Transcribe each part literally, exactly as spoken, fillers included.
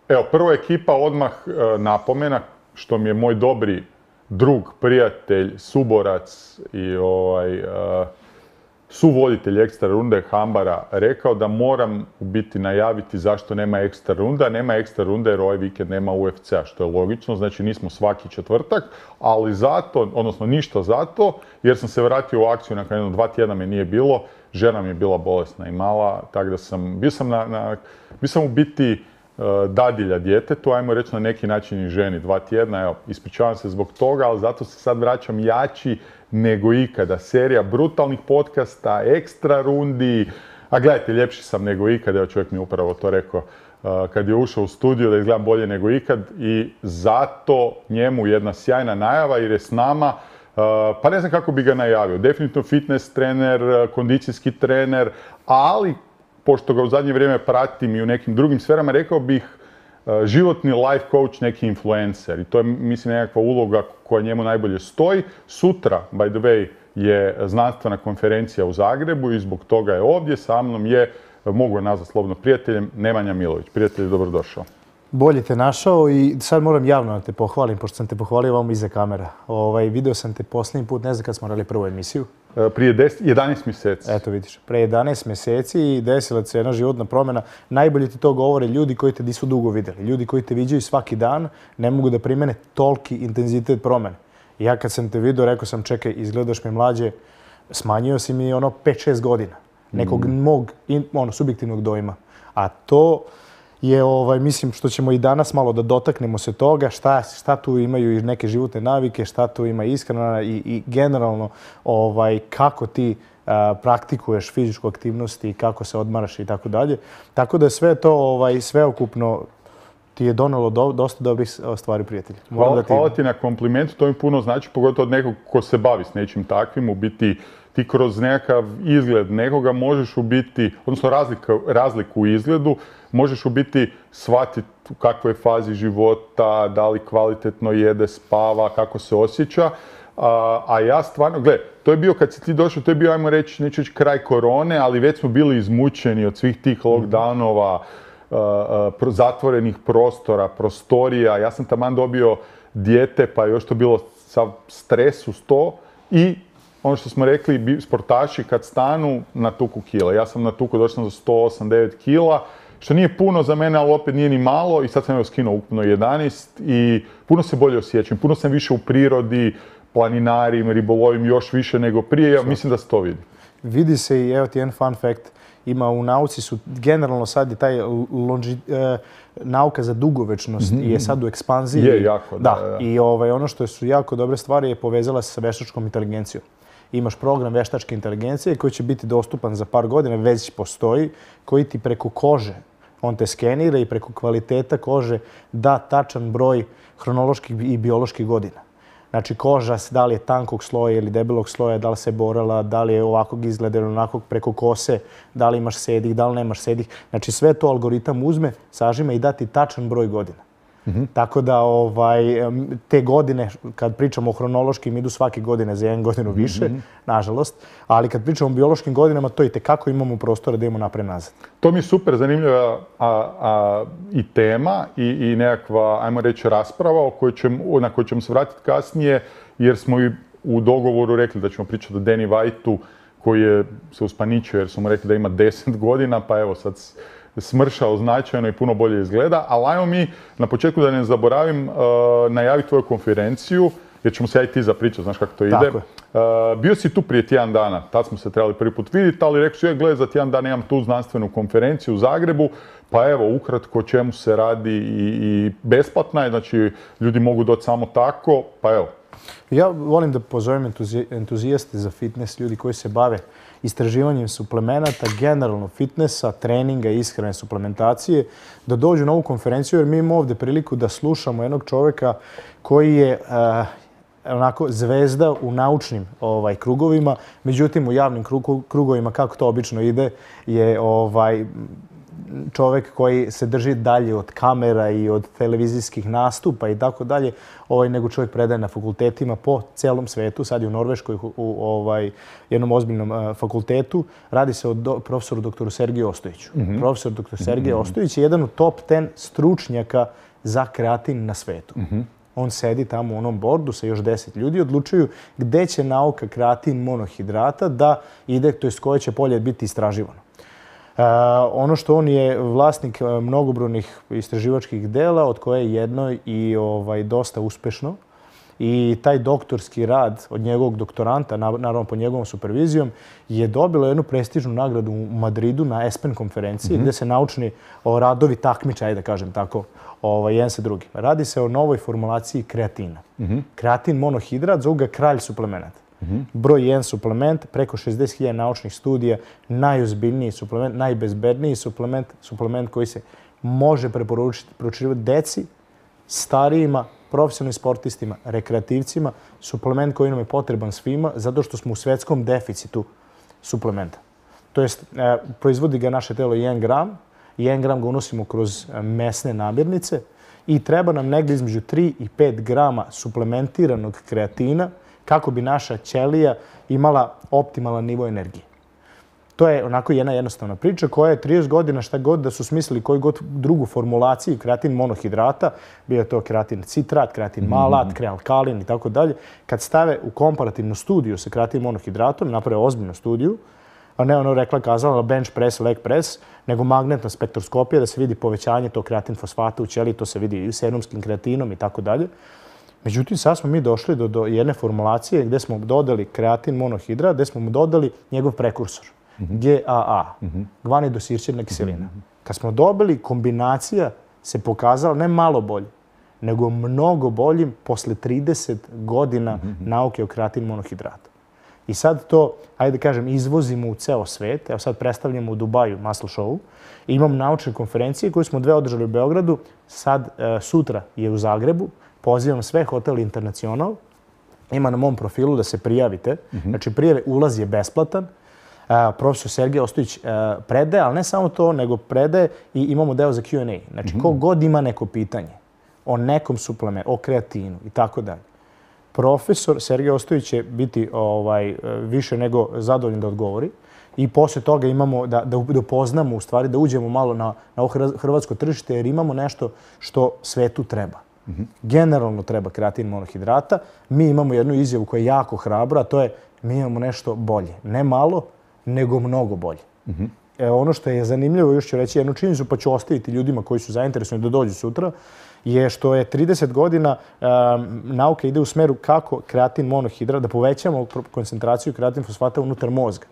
Evo, prva ekipa odmah napomena, što mi je moj dobri drug, prijatelj, suborac i ovaj, suvoditelj ekstra runde Hambara rekao da moram u biti najaviti zašto nema ekstra runda. Nema ekstra runde jer ovaj vikend nema U F C-a, što je logično, znači nismo svaki četvrtak, ali zato, odnosno ništa zato, jer sam se vratio u akciju nakon jedno dva tjedna me nije bilo, žena mi je bila bolesna i mala, tako da sam, bio sam, na, na, bio sam u biti dadilja djetetu, ajmo reći na neki način i ženi dva tjedna, evo, ispričavam se zbog toga, ali zato se sad vraćam jači nego ikada. Serija brutalnih podcasta, ekstra rundi, a gledajte, ljepši sam nego ikada, evo čovjek mi je upravo to rekao kad je ušao u studio da izgledam bolje nego ikad i zato njemu jedna sjajna najava jer je s nama, pa ne znam kako bi ga najavio, definitivno fitness trener, kondicijski trener, ali pošto ga u zadnje vrijeme pratim i u nekim drugim sferama, rekao bih životni life coach, neki influencer. I to je, mislim, nekakva uloga koja njemu najbolje stoji. Sutra, by the way, je znanstvena konferencija u Zagrebu i zbog toga je ovdje. Sa mnom je, mogu je nazvati slobodno prijateljem, Nemanja Milović. Prijatelj, dobrodošao. Bolje te našao i sad moram javno da te pohvalim, pošto sam te pohvalio vam iza kamera. Ovaj, video sam te posljednji put, ne znam kad smo radili prvu emisiju. Prije deset, jedanaest mjeseci. Eto vidiš, pre jedanaest mjeseci i desila se jedna životna promjena. Najbolje ti to govore ljudi koji te nisu dugo vidjeli. Ljudi koji te viđaju svaki dan ne mogu da primene toliki intenzitet promjene. I ja kad sam te vidio, rekao sam čekaj, izgledaš mi mlađe, smanjio si mi ono pet šest godina. Nekog mm. mog ono, subjektivnog dojma. A to je, ovaj, mislim, što ćemo i danas malo da dotaknemo se toga, šta, šta tu imaju i neke životne navike, šta tu ima ishrana i, i generalno ovaj, kako ti a, praktikuješ fizičku aktivnost i kako se odmaraš i tako dalje. Tako da sve to ovaj, sveukupno ti je donelo do, dosta dobrih stvari, prijatelji. Hvala, da ti... hvala ti na komplimentu, to mi puno znači, pogotovo od nekog ko se bavi s nečim takvim, u biti ti kroz nekakav izgled nekoga možeš u biti, odnosno razliku, razliku u izgledu, možeš u biti shvatiti u kakvoj je fazi života, da li kvalitetno jede, spava, kako se osjeća. A, a ja stvarno, gle, to je bio kad si ti došao, to je bio, ajmo reći, neću reći kraj korone, ali već smo bili izmučeni od svih tih lockdownova, uh, uh, zatvorenih prostora, prostorija. Ja sam taman dobio dijete, pa je još to bilo sav stres uz to i ono što smo rekli, sportaši kad stanu na tuku kila. Ja sam na tuku, došao sam za sto osam devet kila, što nije puno za mene, ali opet nije ni malo i sad sam evo skinuo ukupno jedanaest i puno se bolje osjećam. Puno sam više u prirodi, planinarim, ribolovim još više nego prije. Ja mislim da se to vidi. Vidi se i evo ti jedan fun fact. Ima u nauci su, generalno sad je taj lonži, eh, nauka za dugovečnost mm-hmm. je sad u ekspanziji. Je, jako, da. da, da. I ovaj, ono što su jako dobre stvari je povezala se sa veštačkom inteligencijom. Imaš program veštačke inteligencije koji će biti dostupan za par godina, već postoji, koji ti preko kože, on te skenira i preko kvaliteta kože da tačan broj hronoloških i bioloških godina. Znači koža, da li je tankog sloja ili debelog sloja, da li se borala, da li je ovakvog izgleda ili onakvog preko kose, da li imaš sedih, da li nemaš sedih. Znači sve to algoritam uzme, sažime i da ti tačan broj godina. Mm-hmm. Tako da ovaj, te godine, kad pričamo o hronološkim, idu svake godine za jedan godinu više, mm-hmm. nažalost. Ali kad pričamo o biološkim godinama, to i tekako imamo prostora da imamo napred nazad. To mi je super zanimljiva a, a, i tema i, i nekakva, ajmo reći, rasprava o kojoj ćemo, na kojoj ćemo se vratiti kasnije, jer smo i u dogovoru rekli da ćemo pričati o Danny Whiteu, koji je se uspaničio jer su mu rekli da ima deset godina, pa evo sad smršao značajno i puno bolje izgleda. Ali ajmo mi, na početku da ne zaboravim, uh, najaviti tvoju konferenciju, jer ćemo se ja i ti zapričati, znaš kako to ide. Uh, bio si tu prije tjedan dana, tad smo se trebali prvi put vidjeti, ali rekao si, gledaj, za tjedan dana imam tu znanstvenu konferenciju u Zagrebu, pa evo, ukratko o čemu se radi i, i besplatna je, znači ljudi mogu doći samo tako, pa evo. Ja volim da pozovem entuzijaste za fitness, ljudi koji se bave istraživanjem suplemenata, generalno fitnessa, treninga, ishrane, suplementacije, da dođu na ovu konferenciju jer mi imamo ovdje priliku da slušamo jednog čovjeka koji je uh, onako zvezda u naučnim ovaj, krugovima, međutim u javnim krugovima, kako to obično ide, je ovaj, čovek koji se drži dalje od kamera i od televizijskih nastupa i tako dalje, ovaj, nego čovjek predaje na fakultetima po celom svetu, sad je u Norveškoj u, u ovaj, jednom ozbiljnom uh, fakultetu. Radi se o do, profesoru doktoru Sergeju Ostojiću. Mm-hmm. Profesor doktor Sergej mm-hmm. Ostojić je jedan od top deset stručnjaka za kreatin na svetu. Mm-hmm. On sedi tamo u onom bordu sa još deset ljudi i odlučuju gde će nauka kreatin monohidrata da ide, to jest koje će polje biti istraživano. Uh, ono što on je vlasnik mnogobrojnih istraživačkih dela, od koje je jedno i ovaj, dosta uspešno. I taj doktorski rad od njegovog doktoranta, naravno pod njegovom supervizijom, je dobilo jednu prestižnu nagradu u Madridu na ESPEN konferenciji, mm-hmm. gde se naučni o, radovi takmiče, ajde da kažem tako, ovaj, jedan sa drugim. Radi se o novoj formulaciji kreatina. Mm-hmm. Kreatin monohidrat, zovu ga kralj suplemenata. Mm-hmm. Broj jedan suplement, preko šezdeset hiljada naučnih studija, najozbiljniji suplement, najbezbedniji suplement, suplement koji se može preporučiti deci, starijima, profesionalnim sportistima, rekreativcima, suplement koji nam je potreban svima zato što smo u svetskom deficitu suplementa. To jest, e, proizvodi ga naše telo jedan gram, jedan gram ga unosimo kroz mesne namirnice i treba nam negdje između tri i pet grama suplementiranog kreatina kako bi naša ćelija imala optimalan nivo energije. To je onako jedna jednostavna priča koja je trideset godina šta god da su smislili koju god drugu formulaciju kreatin monohidrata, bio to kreatin citrat, kreatin malat, mm-hmm. krealkalin i tako dalje, kad stave u komparativnu studiju sa kreatin monohidratom, naprave ozbiljnu studiju, a ne ono rekla kazala bench press, leg press, nego magnetna spektroskopija da se vidi povećanje tog kreatin fosfata u ćeliji, to se vidi i serumskim kreatinom i tako dalje. Međutim, sad smo mi došli do, do jedne formulacije gdje smo dodali kreatin monohidrat, gdje smo mu dodali njegov prekursor. Mm-hmm. G A A, mm-hmm. gvanidosirćirna kiselina. Mm-hmm. Kad smo dobili, kombinacija se pokazala ne malo bolje, nego mnogo boljim posle trideset godina mm-hmm. nauke o kreatin monohidratu. I sad to, ajde da kažem, izvozimo u ceo svet. Evo sad predstavljamo u Dubaju Muscle Show. I imamo naučne konferencije koje smo dve održali u Beogradu. Sad, e, sutra je u Zagrebu. Pozivam sve Hotel Internacional. Ima na mom profilu da se prijavite. Mm-hmm. Znači, prijave, ulaz je besplatan. Uh, profesor Sergej Ostojić uh, predaje, ali ne samo to, nego predaje i imamo deo za Q and A. Znači, mm-hmm. ko god ima neko pitanje o nekom suplementu, o kreatinu i tako dalje, profesor Sergej Ostojić će biti ovaj, više nego zadovoljan da odgovori. I poslije toga imamo da, da, da upoznamo, u stvari, da uđemo malo na, na ovo hrvatsko tržište, jer imamo nešto što svetu treba. Mm-hmm. Generalno treba kreatin monohidrata. Mi imamo jednu izjavu koja je jako hrabra, a to je mi imamo nešto bolje. Ne malo, nego mnogo bolje. Mm-hmm. E, ono što je zanimljivo, još ću reći jednu činjenicu, pa ću ostaviti ljudima koji su zainteresovani da dođu sutra, je što je trideset godina um, nauka ide u smeru kako kreatin monohidrat, da povećamo koncentraciju kreatin fosfata unutar mozga.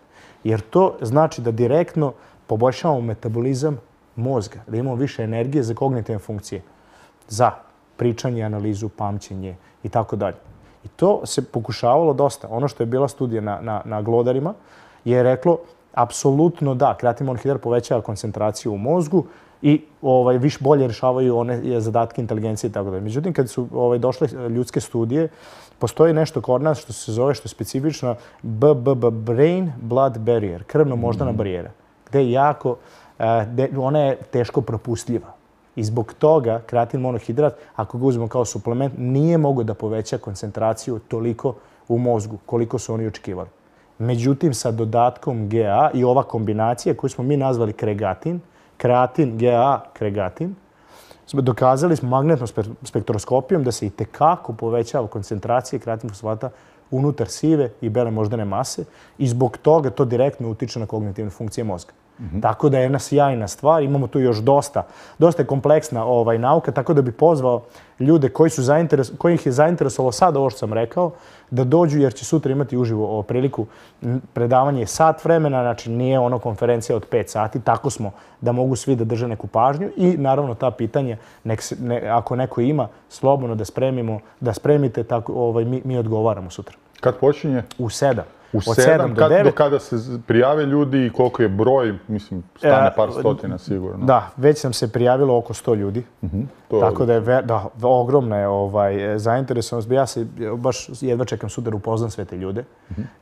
Jer to znači da direktno poboljšavamo metabolizam mozga, da imamo više energije za kognitivne funkcije, za pričanje, analizu, pamćenje i tako dalje. I to se pokušavalo dosta. Ono što je bila studija na, na, na glodarima je reklo apsolutno da, kreatin monohidrat povećava koncentraciju u mozgu i ovaj, više bolje rješavaju one zadatke inteligencije i tako dalje. Međutim, kad su ovaj, došle ljudske studije, postoji nešto kod nas što se zove, što je specifično B B B, Brain Blood Barrier, krvno-moždana barijera, gde je jako, gde ona je teško propustljiva. I zbog toga kreatin monohidrat, ako ga uzmemo kao suplement, nije mogo da poveća koncentraciju toliko u mozgu koliko su oni očekivali. Međutim, sa dodatkom G A i ova kombinacija koju smo mi nazvali kregatin, kreatin, G A, kregatin, dokazali smo magnetnom spektroskopijom da se i tekako povećava koncentracija kreatin fosfata unutar sive i bele moždane mase i zbog toga to direktno utiče na kognitivne funkcije mozga. Mm-hmm. Tako da je jedna sjajna stvar. Imamo tu još dosta, dosta je kompleksna ovaj, nauka, tako da bi pozvao ljude koji su zainteres, kojih je zainteresovalo sad ovo što sam rekao, da dođu jer će sutra imati uživo o, priliku predavanje sat vremena, znači nije ono konferencija od pet sati, tako smo da mogu svi da drže neku pažnju i naravno ta pitanja, nek se, ne, ako neko ima, slobodno da spremimo, da spremite, tako, ovaj, mi, mi odgovaramo sutra. Kad počinje? U sedam. U sedam do devet. Do kada se prijave ljudi i koliko je broj, mislim, stane par stotina sigurno. Da, već nam se prijavilo oko sto ljudi. Tako da je, da, ogromna je ovaj, zainteresovanost. Ja se baš jedva čekam sutra upoznam sve te ljude.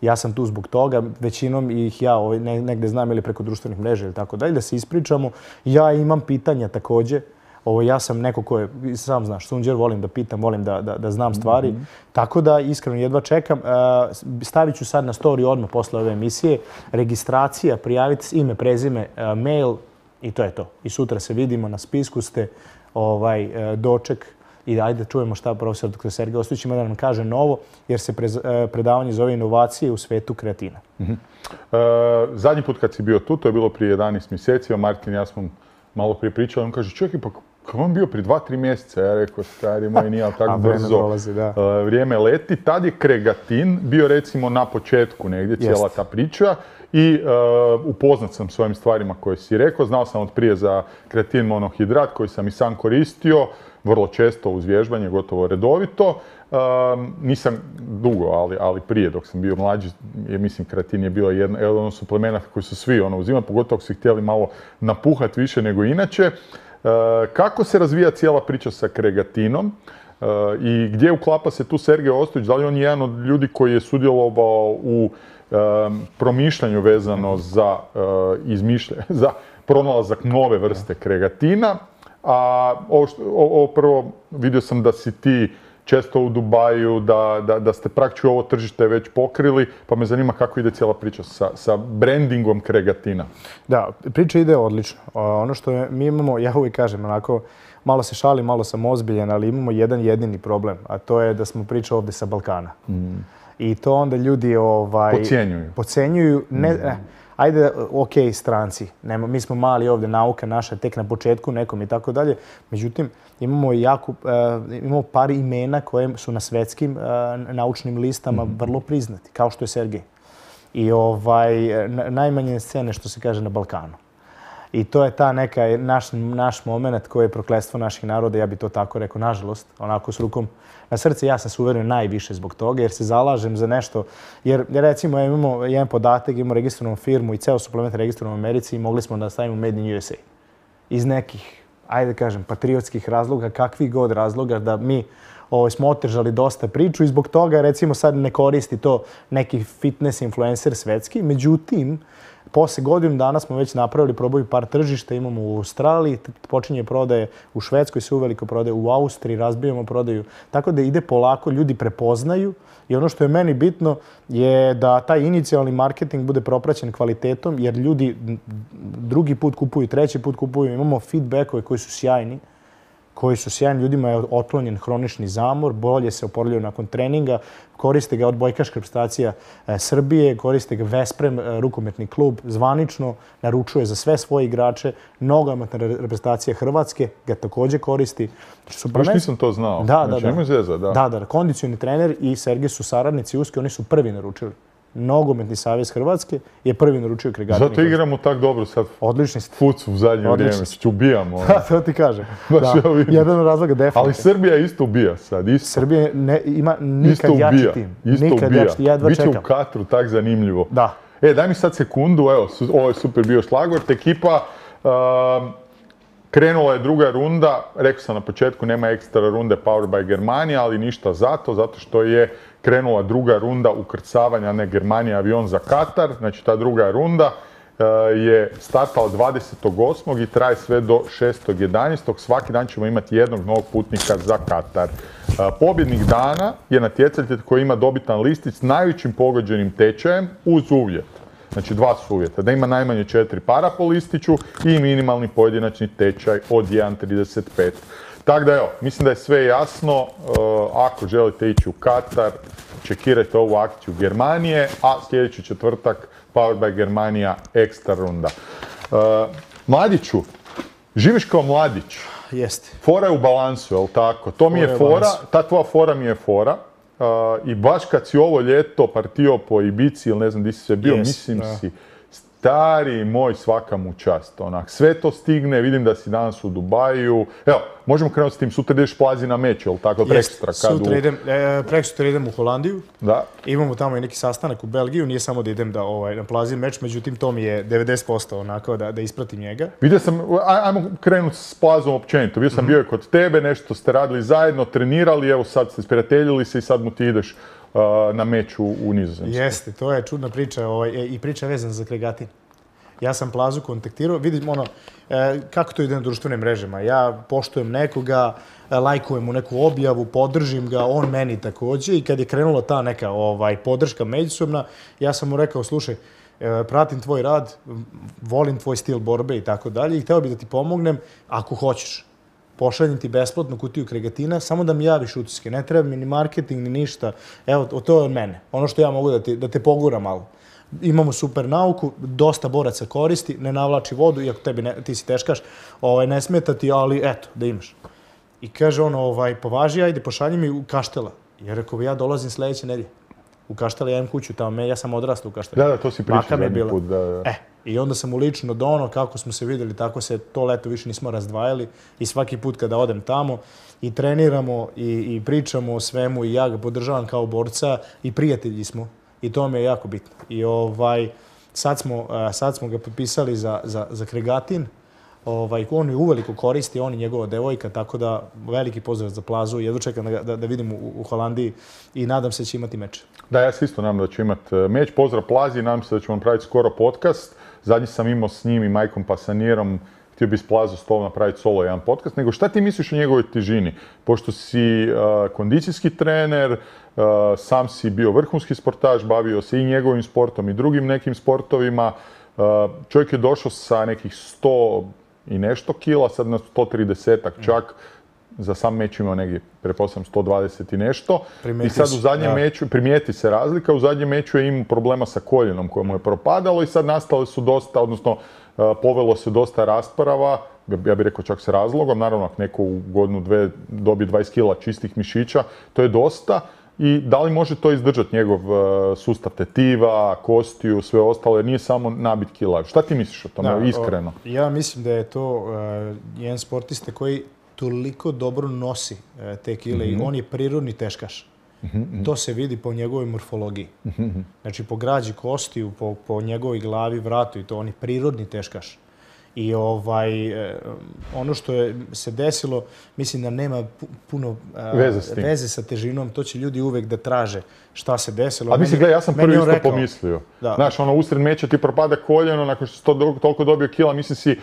Ja sam tu zbog toga, većinom ih ja ovaj, negde znam ili preko društvenih mreža ili tako dalje, da se ispričamo. Ja imam pitanja takođe. Ovo, ja sam neko ko je, sam znaš, sunđer, volim da pitam, volim da, da, da znam stvari. Mm-hmm. Tako da, iskreno, jedva čekam. Stavit ću sad na story odmah posle ove emisije. Registracija, prijaviti ime, prezime, mail i to je to. I sutra se vidimo, na spisku ste, ovaj, doček. I ajde čujemo šta profesor doktor Sergej Ostojić ima da nam kaže novo, jer se predavanje zove inovacije u svetu kreatina. Mm-hmm. e, zadnji put kad si bio tu, to je bilo prije jedanaest mjeseci, a Martin i ja smo malo prije pričali, on kaže, čekaj, pa kako on bio prije dva, tri mjeseca? Ja rekao, stari moj, nije tako brzo. Dolazi, da. Uh, vrijeme leti. Tad je kregatin bio recimo na početku negdje, cijela Jest. ta priča. I uh, upoznat sam s ovim stvarima koje si rekao. Znao sam od prije za kreatin monohidrat koji sam i sam koristio, vrlo često uz vježbanje, gotovo redovito. Uh, nisam dugo, ali, ali prije dok sam bio mlađi, je, mislim, kreatin je bio jedan, jedan od suplemenata koji su svi ono, uzimali, pogotovo ako su htjeli malo napuhati više nego inače. Uh, kako se razvija cijela priča sa kregatinom uh, i gdje uklapa se tu Sergej Ostojić? Da li on je jedan od ljudi koji je sudjelovao u um, promišljanju vezano za, uh, izmišljanje, za pronalazak nove vrste kregatina? A ovo, što, ovo prvo, vidio sam da si ti često u Dubaju, da, da, da ste praktički ovo tržište već pokrili, pa me zanima kako ide cijela priča sa, sa brandingom kregatina. Da, priča ide odlično. Ono što je, mi imamo, ja uvijek kažem, onako, malo se šalim, malo sam ozbiljan, ali imamo jedan jedini problem, a to je da smo priča ovdje sa Balkana. Mm. I to onda ljudi ovaj, Pocijenjuju. Pocijenjuju, ne, mm. ne, ajde, ok, stranci, nema, mi smo mali ovdje, nauka naša tek na početku nekom i tako dalje. Međutim, imamo jako, uh, imamo par imena koje su na svetskim uh, naučnim listama mm-hmm. vrlo priznati, kao što je Sergej. I ovaj, najmanje scene, što se kaže, na Balkanu. I to je ta neka, naš, naš moment koji je prokletstvo naših naroda, ja bi to tako rekao, nažalost, onako s rukom na srce, ja sam se uverio najviše zbog toga, jer se zalažem za nešto. Jer, recimo, imamo jedan podatak, imamo registrovanu firmu i ceo suplement registrovan u Americi i mogli smo da stavimo Made in U S A. Iz nekih, ajde kažem, patriotskih razloga, kakvih god razloga, da mi ovo, smo otežali dosta priču i zbog toga, recimo, sad ne koristi to neki fitness influencer svetski. Međutim, posle godinu dana smo već napravili, probaju par tržišta, imamo u Australiji, počinje prodaje u Švedskoj, se uveliko prodaje u Austriji, razbijamo prodaju. Tako da ide polako, ljudi prepoznaju i ono što je meni bitno je da taj inicijalni marketing bude propraćen kvalitetom, jer ljudi drugi put kupuju, treći put kupuju, imamo feedbackove koji su sjajni, koji su sjajni, ljudima je otklonjen hronični zamor, bolje se oporavljaju nakon treninga, koriste ga odbojkaška reprezentacija Srbije, koriste ga Vesprem, rukometni klub, zvanično naručuje za sve svoje igrače, nogometna reprezentacija Hrvatske ga također koristi. Baš nisam to znao. Da, znači, da, da. Zeza, da. Da, da, kondicioni trener i Sergej su saradnici uski, oni su prvi naručili. Nogometni savez Hrvatske je prvi naručio kregatin. Zato igramo tak dobro sad. Odlični ste. Fucu u zadnje vrijeme, što ubijamo. Da, to ti kažem. Da, jedan od razloga definitivno. Ali Srbija isto ubija sad, isto. Srbija ne, ima nikad jači tim. Isto nikad ubija. Jači, ja jedva Biće čekam. u Katru tak zanimljivo. Da. E, daj mi sad sekundu, evo, ovo je super bio šlagvort. Ekipa, uh, krenula je druga runda, rekao sam na početku, nema ekstra runde Power by Germania, ali ništa zato, zato što je krenula druga runda ukrcavanja, ne Germanija, avion za Katar. Znači, ta druga runda uh, je startala dvadesetog osmog i traje sve do šestog jedanaestog Svaki dan ćemo imati jednog novog putnika za Katar. Uh, pobjednik dana je natjecatelj koji ima dobitan listić s najvećim pogođenim tečajem uz uvjet. Znači, dva su uvjeta. Da ima najmanje četiri para po listiću i minimalni pojedinačni tečaj od jedan zarez trideset pet. Tako da, evo, mislim da je sve jasno. Uh, ako želite ići u Katar, čekirajte ovu akciju Germanije, a sljedeći četvrtak Power by Germania ekstra runda. Uh, Mladiću, živiš kao mladić. Jeste. Fora je u balansu, je li tako? To mi je fora, ta tvoja fora mi je fora. Uh, I baš kad si ovo ljeto partio po Ibici ili ne znam di si sve bio, yes, mislim da. si stari moj, svaka mu čast, onak, sve to stigne, vidim da si danas u Dubaju. Evo, možemo krenuti s tim, sutra ideš Plazi na meč, jel tako, prekstra? Sutra idem, e, prekstra idem u Holandiju. Da. Imamo tamo i neki sastanak u Belgiju, nije samo da idem da ovaj, na Plazi meč, međutim to mi je devedeset posto onako da, da ispratim njega. Vidio sam, ajmo krenuti s Plazom općenito, bio sam mm-hmm. bio kod tebe, nešto ste radili zajedno, trenirali, evo sad ste sprijateljili se i sad mu ti ideš uh, na meč u, u Nizozemsku. Jeste, to je čudna priča ovaj, i priča vezana za Kregatin. Ja sam Plazu kontaktirao, vidim ono, e, kako to ide na društvenim mrežama. Ja poštujem nekoga, lajkujem mu neku objavu, podržim ga, on meni također. I kad je krenula ta neka ovaj, podrška međusobna, ja sam mu rekao, slušaj, e, pratim tvoj rad, volim tvoj stil borbe i tako dalje i hteo bih da ti pomognem ako hoćeš. Pošaljem ti besplatnu kutiju Kregatina, samo da mi javiš utiske. Ne treba mi ni marketing, ni ništa. Evo, to je od mene. Ono što ja mogu da, ti, da te pogura malo. Imamo super nauku, dosta boraca koristi, ne navlači vodu, iako tebi ne, ti si teškaš, ovaj, ne smeta ti, ali eto, da imaš. I kaže on, ovaj, považi, ajde, pošalji mi u Kaštela. Ja rekao, ja dolazim sljedeće nedelje. U Kaštela, ja imam kuću tamo, ja sam odrastao u Kaštela. Da, da, to si pričao zadnji put, da, da. E, i onda sam mu lično dono, kako smo se vidjeli, tako se to leto više nismo razdvajali i svaki put kada odem tamo i treniramo i, i pričamo o svemu i ja ga podržavam kao borca i prijatelji smo. I to mi je jako bitno. I ovaj, sad, smo, sad smo ga potpisali za, za, za Kregatin. Ovaj, on je uveliko koristi, on i njegova devojka, tako da veliki pozdrav za Plazu. Jedva čekam da, da, da vidim u, u Holandiji i nadam se da će imati meč. Da, ja se isto nadam da će imati meč. Pozdrav Plazi, nadam se da ćemo napraviti skoro podcast. Zadnji sam imao s njim i Majkom Pasanirom. Htio bi s Plazo stol napraviti solo jedan podcast, nego šta ti misliš o njegovoj težini? Pošto si uh, kondicijski trener, uh, sam si bio vrhunski sportaš, bavio se i njegovim sportom i drugim nekim sportovima. Uh, čovjek je došao sa nekih sto i nešto kila, sad na sto tridesetak čak. Za sam meč imao negdje, pretpostavljam, sto dvadeset i nešto. Primeti I sad u zadnjem ja. meču, primijeti se razlika, u zadnjem meču je imao problema sa koljenom koje mu je propadalo i sad nastale su dosta, odnosno povelo se dosta rasprava, ja bih rekao čak s razlogom, naravno ako neko u godinu dve dobije dvadeset kila čistih mišića, to je dosta. I da li može to izdržati njegov sustav tetiva, kostiju, sve ostalo, jer nije samo nabit kila. Šta ti misliš o tome, da, iskreno? O, ja mislim da je to uh, jedan sportista koji toliko dobro nosi uh, te kile mm-hmm. i on je prirodni teškaš. Mm-hmm. To se vidi po njegovoj morfologiji. Mm-hmm. Znači, po građi kostiju, po, po njegovoj glavi, vratu i to, on je prirodni teškaš. I ovaj, ono što je se desilo, mislim da nema puno veze, veze sa težinom, to će ljudi uvek da traže šta se desilo. A mislim, gledaj, ja sam prvi isto rekao, pomislio. Da. Znaš, ono, usred meča ti propada koljeno, nakon što si toliko dobio kila, mislim si,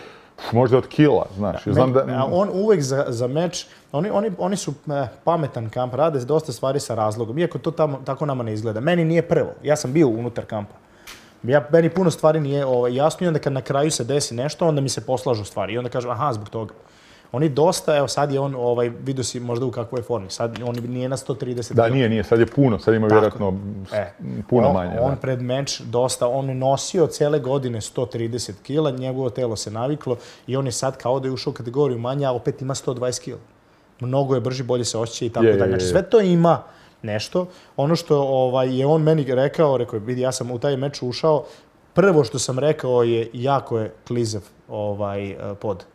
možda od kila, znaš. Da, znam da... On uvek za, za meč, oni, oni, oni su eh, pametan kamp, rade dosta stvari sa razlogom, iako to tamo, tako nama ne izgleda. Meni nije prvo, ja sam bio unutar kampa. Ja, meni puno stvari nije ovaj, jasno i onda kad na kraju se desi nešto, onda mi se poslažu stvari i onda kažem, aha, zbog toga. Oni dosta, evo sad je on, ovaj, vidio si možda u kakvoj je formi, sad on nije na sto trideset. Da, nije, nije, sad je puno, sad ima vjerojatno e, puno on, manje. On da. pred meč dosta, on je nosio cijele godine sto trideset kila, njegovo telo se naviklo i on je sad kao da je ušao u kategoriju manja, a opet ima sto dvadeset kila. Mnogo je brži, bolje se osjeća i tako dalje. Znači sve to ima nešto. Ono što ovaj, je on meni rekao, rekao je, vidi, ja sam u taj meč ušao, prvo što sam rekao je, jako je klizav ovaj, pod.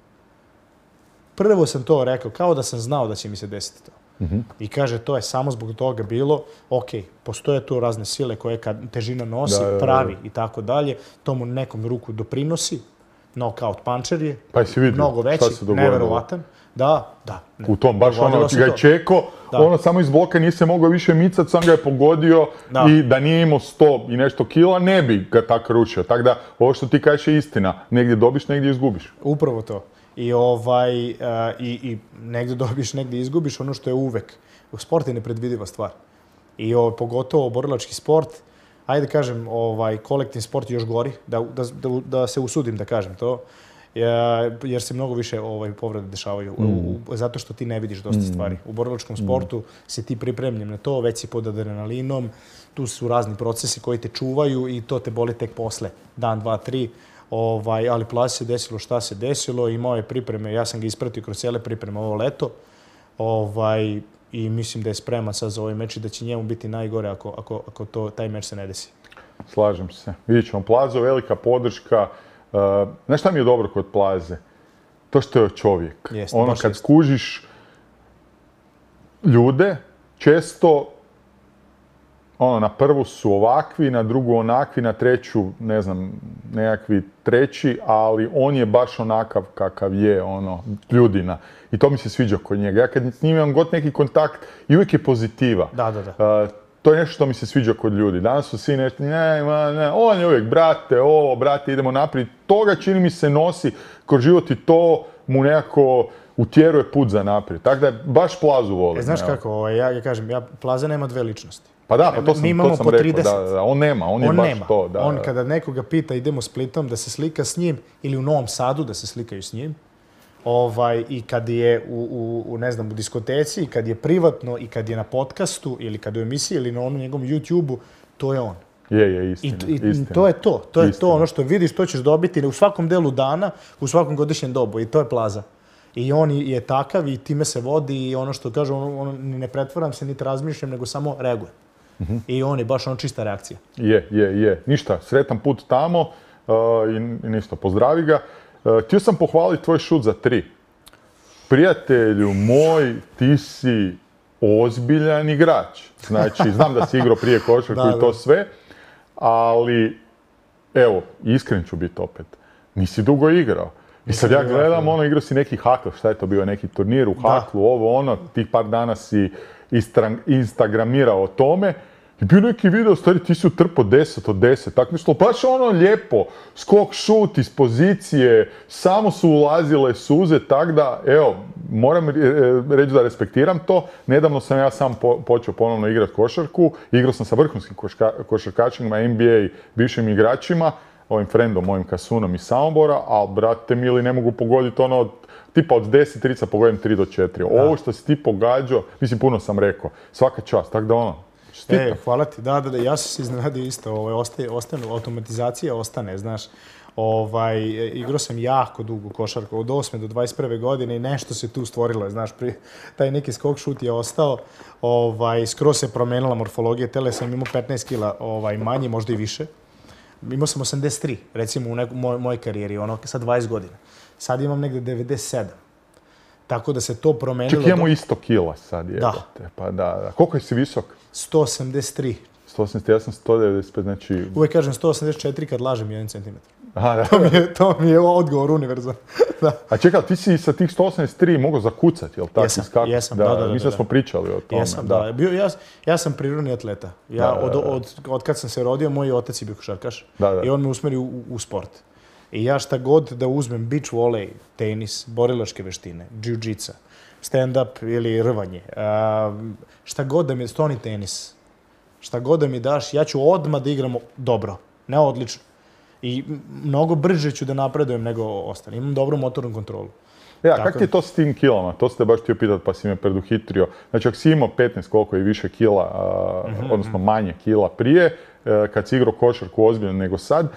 Prvo sam to rekao, kao da sam znao da će mi se desiti to. Mm-hmm. I kaže, to je samo zbog toga bilo, ok, postoje tu razne sile koje kad težina nosi, da, pravi i tako dalje, to mu nekom ruku doprinosi, knockout puncher je, pa si vidio, mnogo veći, neverovatan. Da, da. Ne. U tom, baš ono, ga je čeko, ono samo iz bloka nije se mogao više micat, sam ga je pogodio da. I da nije imao sto i nešto kila, ne bi ga tako ručio. Tako da, ovo što ti kažeš je istina, negdje dobiš, negdje izgubiš. Upravo to. I, ovaj, uh, i, i negdje dobiš, negdje izgubiš, ono što je uvek. Sport je nepredvidiva stvar. I ovaj, pogotovo borilački sport, ajde kažem, ovaj, kolektivni sport je još gori, da, da, da, da se usudim da kažem to. Jer se mnogo više ovaj, povrede dešavaju, mm. u, zato što ti ne vidiš dosta stvari. U borilačkom sportu mm. si ti pripremljen na to, već si pod adrenalinom, tu su razni procesi koji te čuvaju i to te boli tek posle, dan, dva, tri. Ovaj, ali Plazi se desilo šta se desilo, imao je pripreme, ja sam ga ispratio kroz cijele pripreme ovo leto. Ovaj, I mislim da je spreman sad za ovaj meč i da će njemu biti najgore ako, ako, ako to, taj meč se ne desi. slažem se. Vidjet ćemo, Plazo, velika podrška. Uh, znaš šta mi je dobro kod Plaze? To što je čovjek. Jest, ono, baš kad jest. skužiš ljude, često ono, na prvu su ovakvi, na drugu onakvi, na treću, ne znam, nekakvi treći, ali on je baš onakav kakav je, ono, ljudina. I to mi se sviđa kod njega. Ja kad s njim imam god neki kontakt i uvijek je pozitiva. Da, da, da. Uh, to je nešto što mi se sviđa kod ljudi. Danas su svi nešto, ne, ma, ne, on je uvijek, brate, ovo, brate, idemo naprijed. Toga čini mi se nosi kroz život i to mu nekako utjeruje put za naprijed. Tako da baš Plazu volim. E, znaš evo. kako, ovaj, ja, ja kažem, ja, Plaza nema dve ličnosti. Pa da, pa to sam, Mi imamo to sam po rekao, trideset. da, da, on nema, on, je On baš nema. to. Da, on da. kada nekoga pita idemo Splitom da se slika s njim ili u Novom Sadu da se slikaju s njim, ovaj, i kad je u, u, u, ne znam, u diskoteci, i kad je privatno, i kad je na podcastu, ili kad je u emisiji, ili na onom njegovom YouTube-u, to je on. Je, je, I, istina. i istina. to je to. To je Istina. to ono što vidiš, to ćeš dobiti u svakom delu dana, u svakom godišnjem dobu. I to je Plaza. I on je takav i time se vodi i ono što kaže, on, on, ni ne pretvaram se, niti razmišljam, nego samo reagujem. Mm-hmm. I on je baš on čista reakcija. Je, je, je. Ništa, sretan put tamo uh, i, i ništa, pozdravi ga. Uh, htio sam pohvaliti tvoj šut za tri. Prijatelju moj, ti si ozbiljan igrač. Znači, znam da si igrao prije košarku Da, i to da. sve, ali, evo, iskren ću biti opet, nisi dugo igrao. I sad ja gledam, ono, igrao si neki hakl, šta je to bio, neki turnir u haklu, ovo, ono, tih par dana si istra- instagramirao o tome. I bio neki video, stari, ti si utrpao deset od deset, tako nešto, baš ono lijepo, skok, šut iz pozicije, samo su ulazile suze, tak da, evo, moram reći da respektiram to. Nedavno sam ja sam po- počeo ponovno igrati košarku, igrao sam sa vrhunskim koška- košarkačima, N B A bivšim igračima, ovim frendom, mojim Kasunom iz Samobora, ali, brate mili, ne mogu pogoditi ono, od, tipa od deset trica pogodim tri do četiri. Ovo što si ti pogađao, mislim, puno sam rekao, svaka čast, tako da ono, čestitam. E, hvala ti. Da, da, da, ja sam se iznenadio isto. Ovaj, ostaje, ostane, automatizacija ostane, znaš. Ovaj, igrao sam jako dugo košarku, od osme do dvadeset prve godine i nešto se tu stvorilo, znaš, pri, taj neki skok šut je ostao, ovaj, skroz se promenila morfologija tela, sam imao petnaest kila ovaj, manje, možda i više. Imao sam osamdeset tri, recimo, u neku, moj, mojoj karijeri, ono, sa dvadeset godina. Sad imam negde devedeset sedam. Tako da se to promenilo. Čak imamo isto kila sad, jebote. Da. Pa da, da. Koliko si visok? sto osamdeset tri. sto osamdeset jedan, sto devedeset pet, znači... Uvijek kažem sto osamdeset četiri kad lažem jedan centimetar. Aha, da. To mi je, to mi je odgovor univerzalno. Da. A čekaj, ti si sa tih sto osamdeset tri mogao zakucati, jel tako? Jesam, Iskakati? jesam, da, da, da, Mislim da da. smo pričali o tome. Jesam, da. Bio, ja, ja sam prirodni atleta. Ja, Da, da, od, da. od, od kad sam se rodio, moj otac je bio košarkaš. Da, da. I on me usmerio u, u sport. I ja šta god da uzmem, beach volley, tenis, borilačke veštine, jiu-jitsu, stand-up ili rvanje, a, šta god da mi je, stoni tenis, šta god da mi daš, ja ću odmah da igram dobro, ne odlično. I mnogo brže ću da napredujem nego ostali. Imam dobru motornu kontrolu. Ja, Tako kako ti je to s tim kilama? To ste baš htio pitati pa si me preduhitrio. Znači, ako si imao petnaest koliko i više kila, a, Mhm, odnosno manje kila prije, e, kad si igrao košarku ozbiljno nego sad,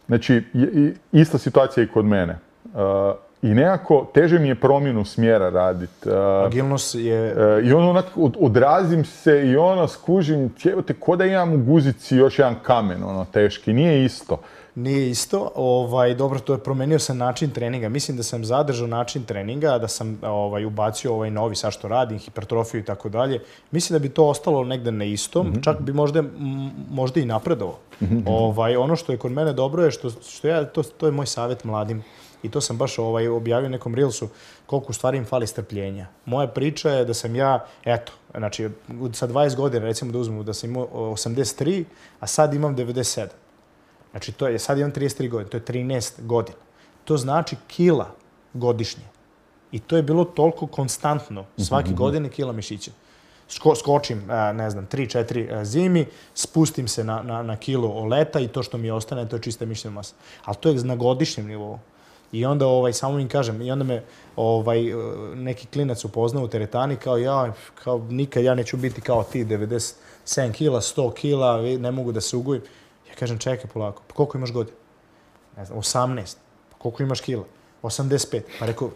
znači, i- i- ista situacija i kod mene. E, I nekako teže mi je promjenu smjera raditi. Agilnost je... I ono, onak, od- odrazim se i ono, skužim, jebote, ko da imam u guzici još jedan kamen, ono, teški. Nije isto. Nije isto, ovaj, dobro, to je promenio sam način treninga. Mislim da sam zadržao način treninga, da sam ovaj, ubacio ovaj novi, sad što radim, hipertrofiju i tako dalje. Mislim da bi to ostalo negde na istom, mm-hmm. čak bi možda, m, možda i napredovao. Mm-hmm. Ovaj, ono što je kod mene dobro je što, što ja, to, to je moj savjet mladim. I to sam baš ovaj, objavio u nekom Reelsu, koliko u stvari im fali strpljenja. Moja priča je da sam ja, eto, znači, sa dvadeset godina, recimo da uzmemo, da sam imao osamdeset tri, a sad imam devedeset sedam. Znači, to je, sad imam trideset tri godine, to je trinaest godina. To znači kila godišnje. I to je bilo toliko konstantno, svake godine kila mišića. Sko, skočim, ne znam, tri četiri zimi, spustim se na, na, na kilo leta i to što mi ostane, to je čista mišićna masa. Ali to je na godišnjem nivou. I onda, ovaj, samo im kažem, i onda me ovaj, neki klinac upoznao u teretani kao ja, kao nikad ja neću biti kao ti, devedeset sedam kila, sto kila, ne mogu da se ugojim. Ja kažem, čekaj polako, pa koliko imaš godina? Ne znam, osamnaest. Pa koliko imaš kila? osamdeset pet. Pa rekao,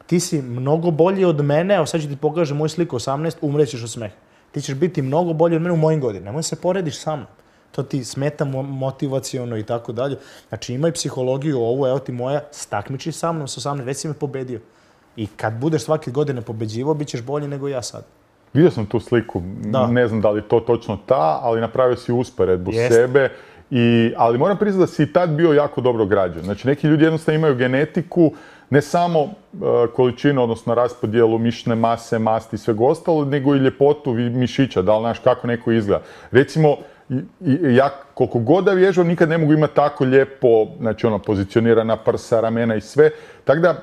ti si mnogo bolji od mene, evo sad ću ti pokažem moju sliku osamnaest, umrećeš od smeha. Ti ćeš biti mnogo bolji od mene u mojim godinama. Nemoj se porediš sa mnom. to ti smeta motivaciono i tako dalje. Znači ima i psihologiju ovu, evo ti moja, stakmiči sa mnom, sa osamnaest, već si me pobedio. I kad budeš svake godine pobeđivao, bit ćeš bolji nego ja sad. Vidio sam tu sliku, da. Ne znam da li je to točno ta, ali napravio si usporedbu Jest. sebe. I, ali moram priznati da si i tad bio jako dobro građen. Znači neki ljudi jednostavno imaju genetiku, ne samo uh, količinu, odnosno raspodjelu mišićne mase, masti i svega ostalo, nego i ljepotu mišića, da li znaš kako neko izgleda. Recimo, ja koliko god da vježbam, nikad ne mogu imati tako lijepo, znači ono, pozicionirana prsa, ramena i sve. Tako da, uh,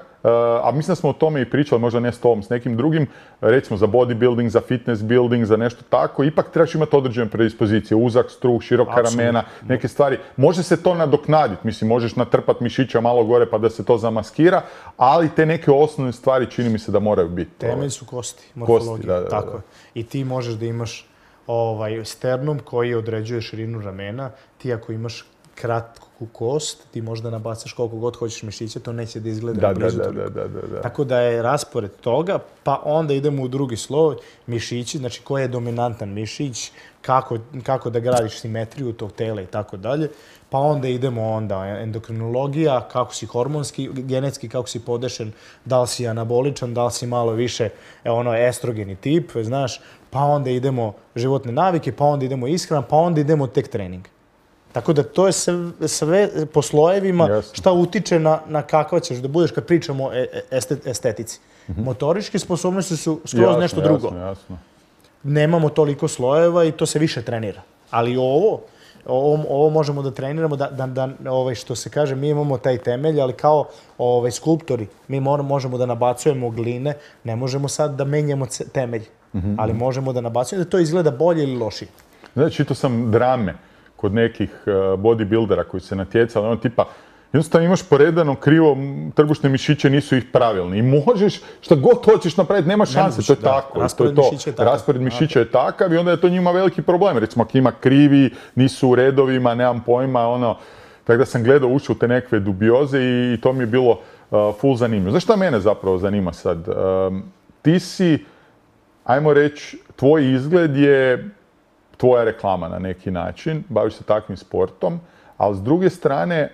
a mislim da smo o tome i pričali, možda ne s tobom, s nekim drugim, recimo za bodybuilding, za fitness building, za nešto tako, ipak trebaš imati određene predispozicije, uzak struk, široka Absolutno. ramena, neke stvari. Može se to nadoknaditi, mislim, možeš natrpati mišića malo gore pa da se to zamaskira, ali te neke osnovne stvari čini mi se da moraju biti. Temelj su kosti, morfologija, kosti, da, da, tako je. I ti možeš da imaš ovaj sternum koji određuje širinu ramena, ti ako imaš kratku kost, ti možda nabacaš koliko god hoćeš mišića, to neće da izgleda da, blizu da, toliko. Da, da, da, da. Tako da je raspored toga, pa onda idemo u drugi sloj, mišići, znači koji je dominantan mišić, kako, kako da gradiš simetriju tog tela i tako dalje. Pa onda idemo onda endokrinologija, kako si hormonski, genetski, kako si podešen, da li si anaboličan, da li si malo više ono estrogeni tip, znaš, pa onda idemo životne navike, pa onda idemo ishrana, pa onda idemo tek trening. Tako da to je sve, sve po slojevima Jasno. šta utiče na, na kakva ćeš da budeš kad pričamo o estet, estetici. Mm-hmm. Motoričke sposobnosti su skroz jasno, nešto drugo. Jasno, jasno. Nemamo toliko slojeva i to se više trenira. Ali ovo, ovo, ovo možemo da treniramo, da, da, da ovaj, što se kaže, mi imamo taj temelj, ali kao ovaj, skulptori, mi moramo, možemo da nabacujemo gline, ne možemo sad da menjamo temelj, mm-hmm. ali možemo da nabacujemo da to izgleda bolje ili lošije. Znači, čitao sam drame kod nekih uh, bodybuildera koji se natjecali, ono tipa, jednostavno imaš poredano krivo, trbušne mišiće nisu ih pravilni i možeš šta god hoćeš napraviti, nema šanse, to je da, tako. Raspored to je to. mišića je takav. Raspored mišića je takav i onda je to njima veliki problem. Recimo, ako ima krivi, nisu u redovima, nemam pojma, ono, tako da sam gledao, ušao u te nekve dubioze i, i to mi je bilo uh, full zanimljivo. Znaš šta mene zapravo zanima sad? Um, ti si, ajmo reći, tvoj izgled je tvoja reklama na neki način, baviš se takvim sportom, ali s druge strane,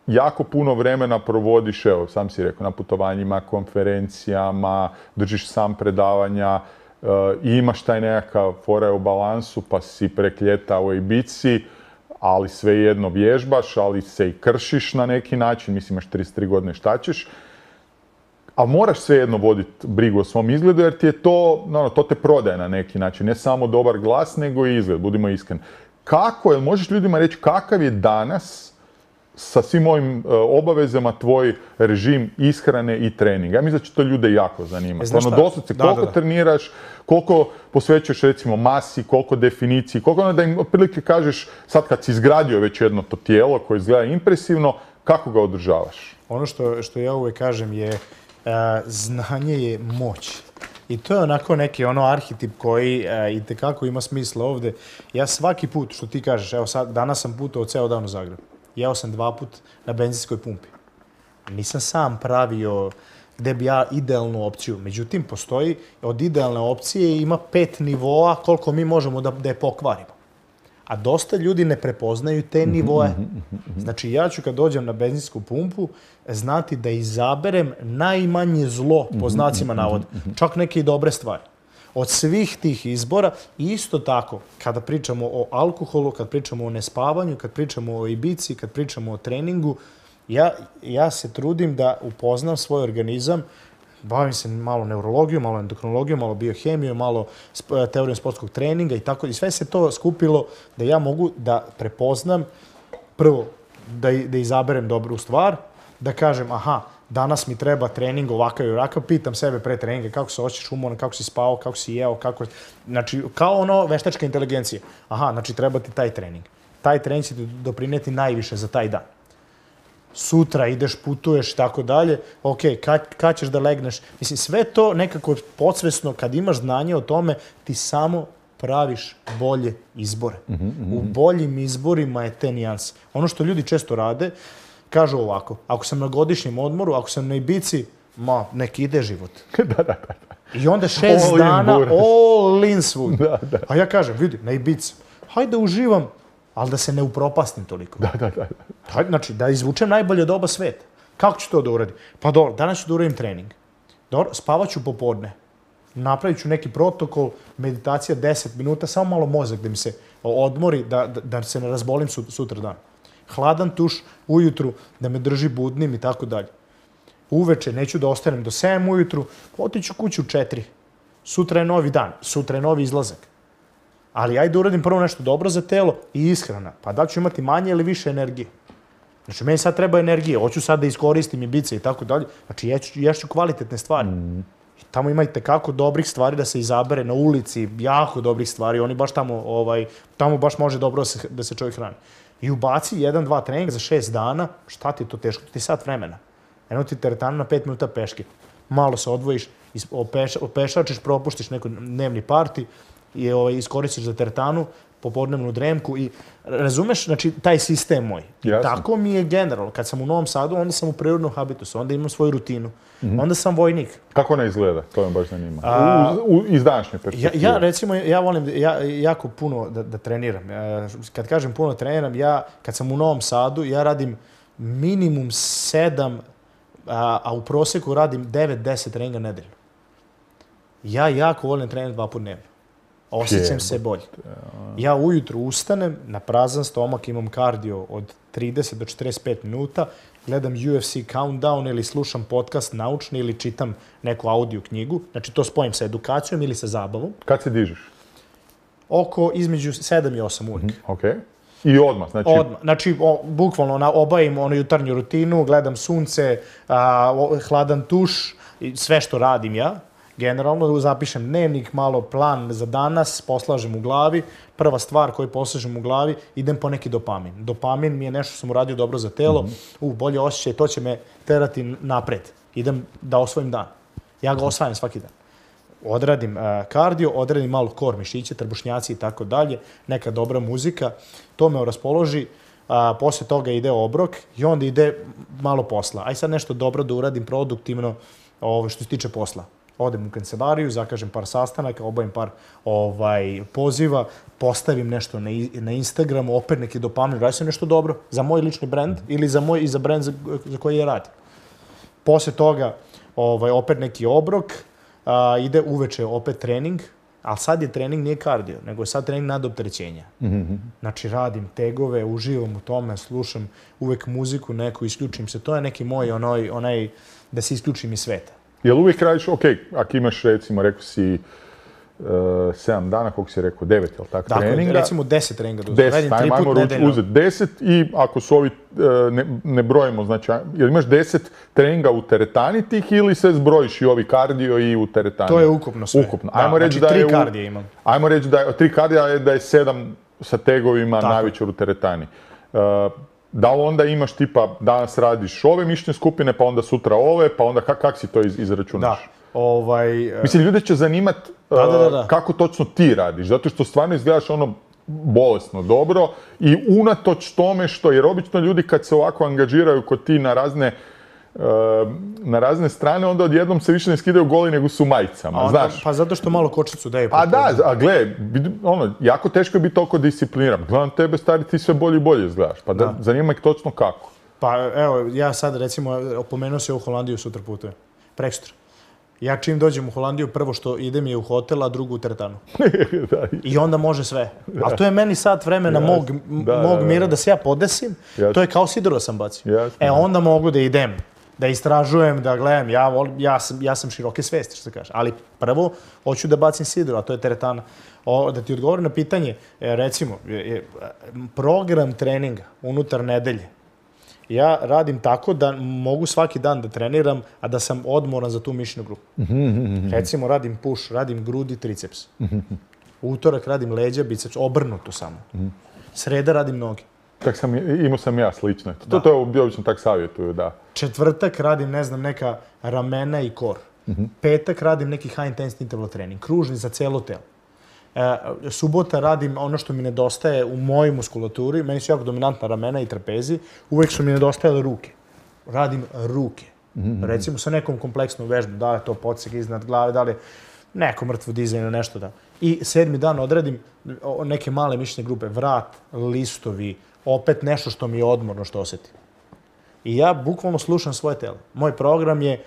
jako puno vremena provodiš, evo, sam si rekao, na putovanjima, konferencijama, držiš sam predavanja, uh, i imaš taj nekakav fora u balansu, pa si prek ljeta u Ibici, ali svejedno vježbaš, ali se i kršiš na neki način, mislim, imaš trideset tri godine, šta ćeš, ali moraš svejedno voditi brigu o svom izgledu, jer ti je to, no, to te prodaje na neki način, ne samo dobar glas, nego i izgled, budimo iskreni. Kako, jel možeš ljudima reći kakav je danas sa svim ovim uh, obavezama tvoj režim ishrane i treninga? Ja mislim da će to ljude jako zanimati. Ono, doslovce, koliko da, da, da. treniraš, koliko posvećuješ recimo masi, koliko definiciji, koliko ono da im otprilike kažeš, sad kad si izgradio već jedno to tijelo koje izgleda impresivno, kako ga održavaš? Ono što, što ja uvijek kažem je, uh, znanje je moć. I to je onako neki ono arhetip koji uh, itekako ima smisla ovdje. Ja svaki put, što ti kažeš, evo sad, danas sam putovao ceo dan u Zagreb. Jeo sam dva put na benzinskoj pumpi. Nisam sam pravio gde bi ja idealnu opciju. Međutim, postoji od idealne opcije ima pet nivoa koliko mi možemo da, da je pokvarimo. A dosta ljudi ne prepoznaju te nivoe. Znači, ja ću kad dođem na benzinsku pumpu znati da izaberem najmanje zlo, po znacima navoda. Čak neke i dobre stvari. Od svih tih izbora, isto tako, kada pričamo o alkoholu, kad pričamo o nespavanju, kad pričamo o Ibici, kad pričamo o treningu, ja, ja se trudim da upoznam svoj organizam, bavim se malo neurologijom, malo endokrinologijom, malo biohemijom, malo teorijom sportskog treninga i tako. I sve se to skupilo da ja mogu da prepoznam, prvo, da, da izaberem dobru stvar, da kažem, aha, danas mi treba trening ovakav i ovakav, pitam sebe pre treninga kako se osjećaš umoran, kako si spao, kako si jeo, kako... Znači, kao ono veštačka inteligencija. Aha, znači treba ti taj trening. Taj trening će ti doprineti najviše za taj dan. Sutra ideš, putuješ i tako dalje. Ok, kad, kad ćeš da legneš? Mislim, sve to nekako podsvesno, kad imaš znanje o tome, ti samo praviš bolje izbore. Mm-hmm, mm-hmm. U boljim izborima je te nijanse. Ono što ljudi često rade, kažu ovako, ako sam na godišnjem odmoru, ako sam na Ibici, ma, nek ide život. da, da, da. I onda šest all dana, in all in svud. Da, da. A ja kažem, vidi, na Ibici, hajde uživam ali da se ne upropastim toliko. Da, da, da. Znači, da izvučem najbolje od oba sveta. Kako ću to da uradim? Pa dobro, danas ću da uradim trening. Dobro, spavat ću popodne. Napravit ću neki protokol, meditacija deset minuta, samo malo mozak da mi se odmori, da, da, da se ne razbolim sutra dan. Hladan tuš ujutru, da me drži budnim i tako dalje. Uveče neću da ostanem do sedam ujutru, otiću kući u četiri. Sutra je novi dan, sutra je novi izlazak. Ali ajde uradim prvo nešto dobro za telo i ishrana. Pa da ću imati manje ili više energije. Znači, meni sad treba energije, hoću sad da iskoristim i bice i tako dalje. Znači, ješću, ješću kvalitetne stvari. Mm. I tamo ima i tekako dobrih stvari da se izabere na ulici, jako dobrih stvari. Oni baš tamo, ovaj, tamo baš može dobro da se, da se čovjek hrani. I ubaci jedan, dva treninga za šest dana, šta ti je to teško? Ti sat vremena. Eno ti teretanu na pet minuta peške. Malo se odvojiš, opeš, opešačiš, propuštiš neko dnevni parti i ovaj, iskoristiš za teretanu, popodnevnu dremku i razumeš, znači, taj sistem moj. Jasne. Tako mi je generalno. Kad sam u Novom Sadu, onda sam u prirodnom habitusu, onda imam svoju rutinu. Mm-hmm. Onda sam vojnik. Kako ona izgleda? To me baš zanima. A, u, u, iz današnje perspektive. Ja, ja, recimo, ja volim ja, jako puno da, da treniram. Kad kažem puno treniram, ja, kad sam u Novom Sadu, ja radim minimum sedam, a, a u proseku radim devet deset treninga nedeljno. Ja jako volim trenirati dva put dnevno. Osjećam se bolje. Ja ujutru ustanem, na prazan stomak imam kardio od trideset do četrdeset pet minuta, gledam U F C Countdown ili slušam podcast naučni ili čitam neku audio knjigu. Znači to spojim sa edukacijom ili sa zabavom. Kad se dižeš? Oko između sedam i osam uvijek. Mm, ok. I odmah? Znači, odmah. Znači o, bukvalno na, obavim onu jutarnju rutinu, gledam sunce, a, o, hladan tuš, sve što radim ja. Generalno, zapišem dnevnik, malo plan za danas, poslažem u glavi. Prva stvar koju poslažem u glavi, idem po neki dopamin. Dopamin mi je nešto što sam uradio dobro za telo. Mm-hmm. U, bolje osjećaj, to će me terati napred. Idem da osvojim dan. Ja ga osvajam svaki dan. Odradim uh, kardio, odradim malo core mišiće, trbušnjaci i tako dalje. Neka dobra muzika. To me raspoloži. Uh, posle toga ide obrok i onda ide malo posla. Aj sad nešto dobro da uradim produktivno ovo što se tiče posla. Odem u kancelariju, zakažem par sastanaka, obavim par ovaj, poziva, postavim nešto na, na Instagramu, opet neki dopamin, radim sam nešto dobro za moj lični brand ili za moj i za brand za, za koji je radim. Posle toga ovaj, opet neki obrok, a, ide uveče opet trening, ali sad je trening nije kardio, nego je sad trening nadopterećenja. Mm-hmm. Znači radim tegove, uživam u tome, slušam uvek muziku neku, isključim se. To je neki moj onaj, onaj da se isključim iz sveta. Jel uvijek radiš, ok, ako imaš recimo, rekao si uh, sedam dana, koliko si rekao, devet, jel tako, dakle, treninga? Recimo deset treninga da uzeti. Deset, ajmo, ajmo uzeti deset i ako su ovi, uh, ne, ne brojimo, znači, jel imaš deset treninga u teretani tih ili se zbrojiš i ovi kardio i u teretani? To je ukupno sve. Ukupno. Da, ajmo reći znači da je tri kardije imam. Ajmo reći da je, tri kardija je da je sedam sa tegovima navečer u teretani. Uh, Da li onda imaš tipa, danas radiš ove mišićne skupine, pa onda sutra ove, pa onda kak, kak si to iz, izračunaš? Da, ovaj... Uh... Mislim, ljude će zanimat uh, da, da, da, da. kako točno ti radiš, zato što stvarno izgledaš ono bolesno dobro i unatoč tome što, jer obično ljudi kad se ovako angažiraju kod ti na razne na razne strane, onda odjednom se više ne skidaju goli nego su majicama, onda, znaš. Pa zato što malo kočicu daju. A da, a gle, ono, jako teško je biti toliko discipliniran. Gledam tebe, stari, ti sve bolje i bolje izgledaš. Pa da, da. Zanima ih točno kako. Pa evo, ja sad recimo, opomenuo se u Holandiju sutra putujem. Preksutra. Ja čim dođem u Holandiju, prvo što idem je u hotel, a drugo u teretanu. da, I onda može sve. A to je meni sat vremena Jasne. mog, da, mog mira da, da. da se ja podesim. Jasne. To je kao sidro sam bacio. Jasne. E onda mogu da idem. Da istražujem, da gledam, ja, volim, ja, sam, ja sam široke svesti, što se kaže. Ali prvo, hoću da bacim sidro, a to je teretana. O, da ti odgovorim na pitanje, recimo, je, program treninga unutar nedelje, ja radim tako da mogu svaki dan da treniram, a da sam odmoran za tu mišićnu grupu. Recimo, radim push, radim grudi, triceps. Utorak radim leđa, biceps, obrnuto samo. Sreda radim noge. Tak sam, imao sam ja slično. To, to je obično tak savjetuju, da. Četvrtak radim, ne znam, neka ramena i kor. Mm-hmm. Petak radim neki high intensity interval trening, kružni za cijelo telo. E, subota radim ono što mi nedostaje u mojoj muskulaturi, meni su jako dominantna ramena i trapezi, uvijek su mi nedostajale ruke. Radim ruke. Mm-hmm. Recimo sa nekom kompleksnom vežbom, da li je to podseg iznad glave, da li je neko mrtvo dizajn ili nešto da. I sedmi dan odradim neke male mišićne grupe, vrat, listovi, opet nešto što mi je odmorno, što osjetim. I ja bukvalno slušam svoje telo. Moj program je,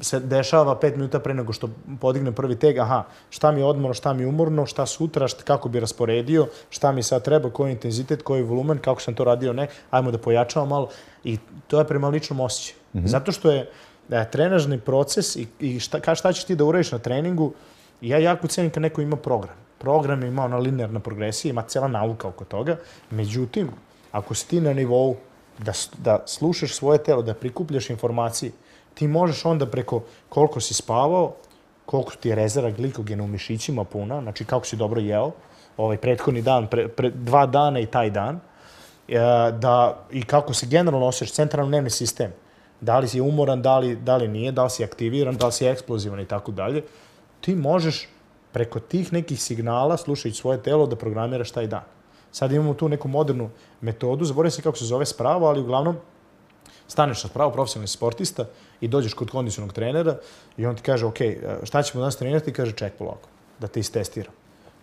se dešava pet minuta pre nego što podignem prvi teg, aha, šta mi je odmorno, šta mi je umorno, šta sutra, šta, kako bi rasporedio, šta mi sad treba, koji intenzitet, koji volumen, kako sam to radio, ne, ajmo da pojačamo malo. I to je prema ličnom osjećaju. Mm-hmm. Zato što je da, trenažni proces i, i šta, šta ćeš ti da uradiš na treningu, ja jako cenim kad neko ima program. Program ima ona linearna progresija, ima cijela nauka oko toga. Međutim, ako si ti na nivou da, da slušaš svoje telo, da prikupljaš informacije, ti možeš onda preko koliko si spavao, koliko ti je rezerva glikogena u mišićima puna, znači kako si dobro jeo, ovaj prethodni dan, pre, pre, dva dana i taj dan, da, i kako se generalno osjećaš, centralni nervni sistem, da li si umoran, da li, da li nije, da li si aktiviran, da li si eksplozivan i tako dalje, ti možeš preko tih nekih signala, slušajući svoje telo, da programiraš taj dan. Sad imamo tu neku modernu metodu, zaboravim se kako se zove spravo, ali uglavnom staneš na spravu, profesionalni sportista, i dođeš kod kondicionog trenera i on ti kaže, ok, šta ćemo danas trenirati? I kaže, ček polako, da te istestiram.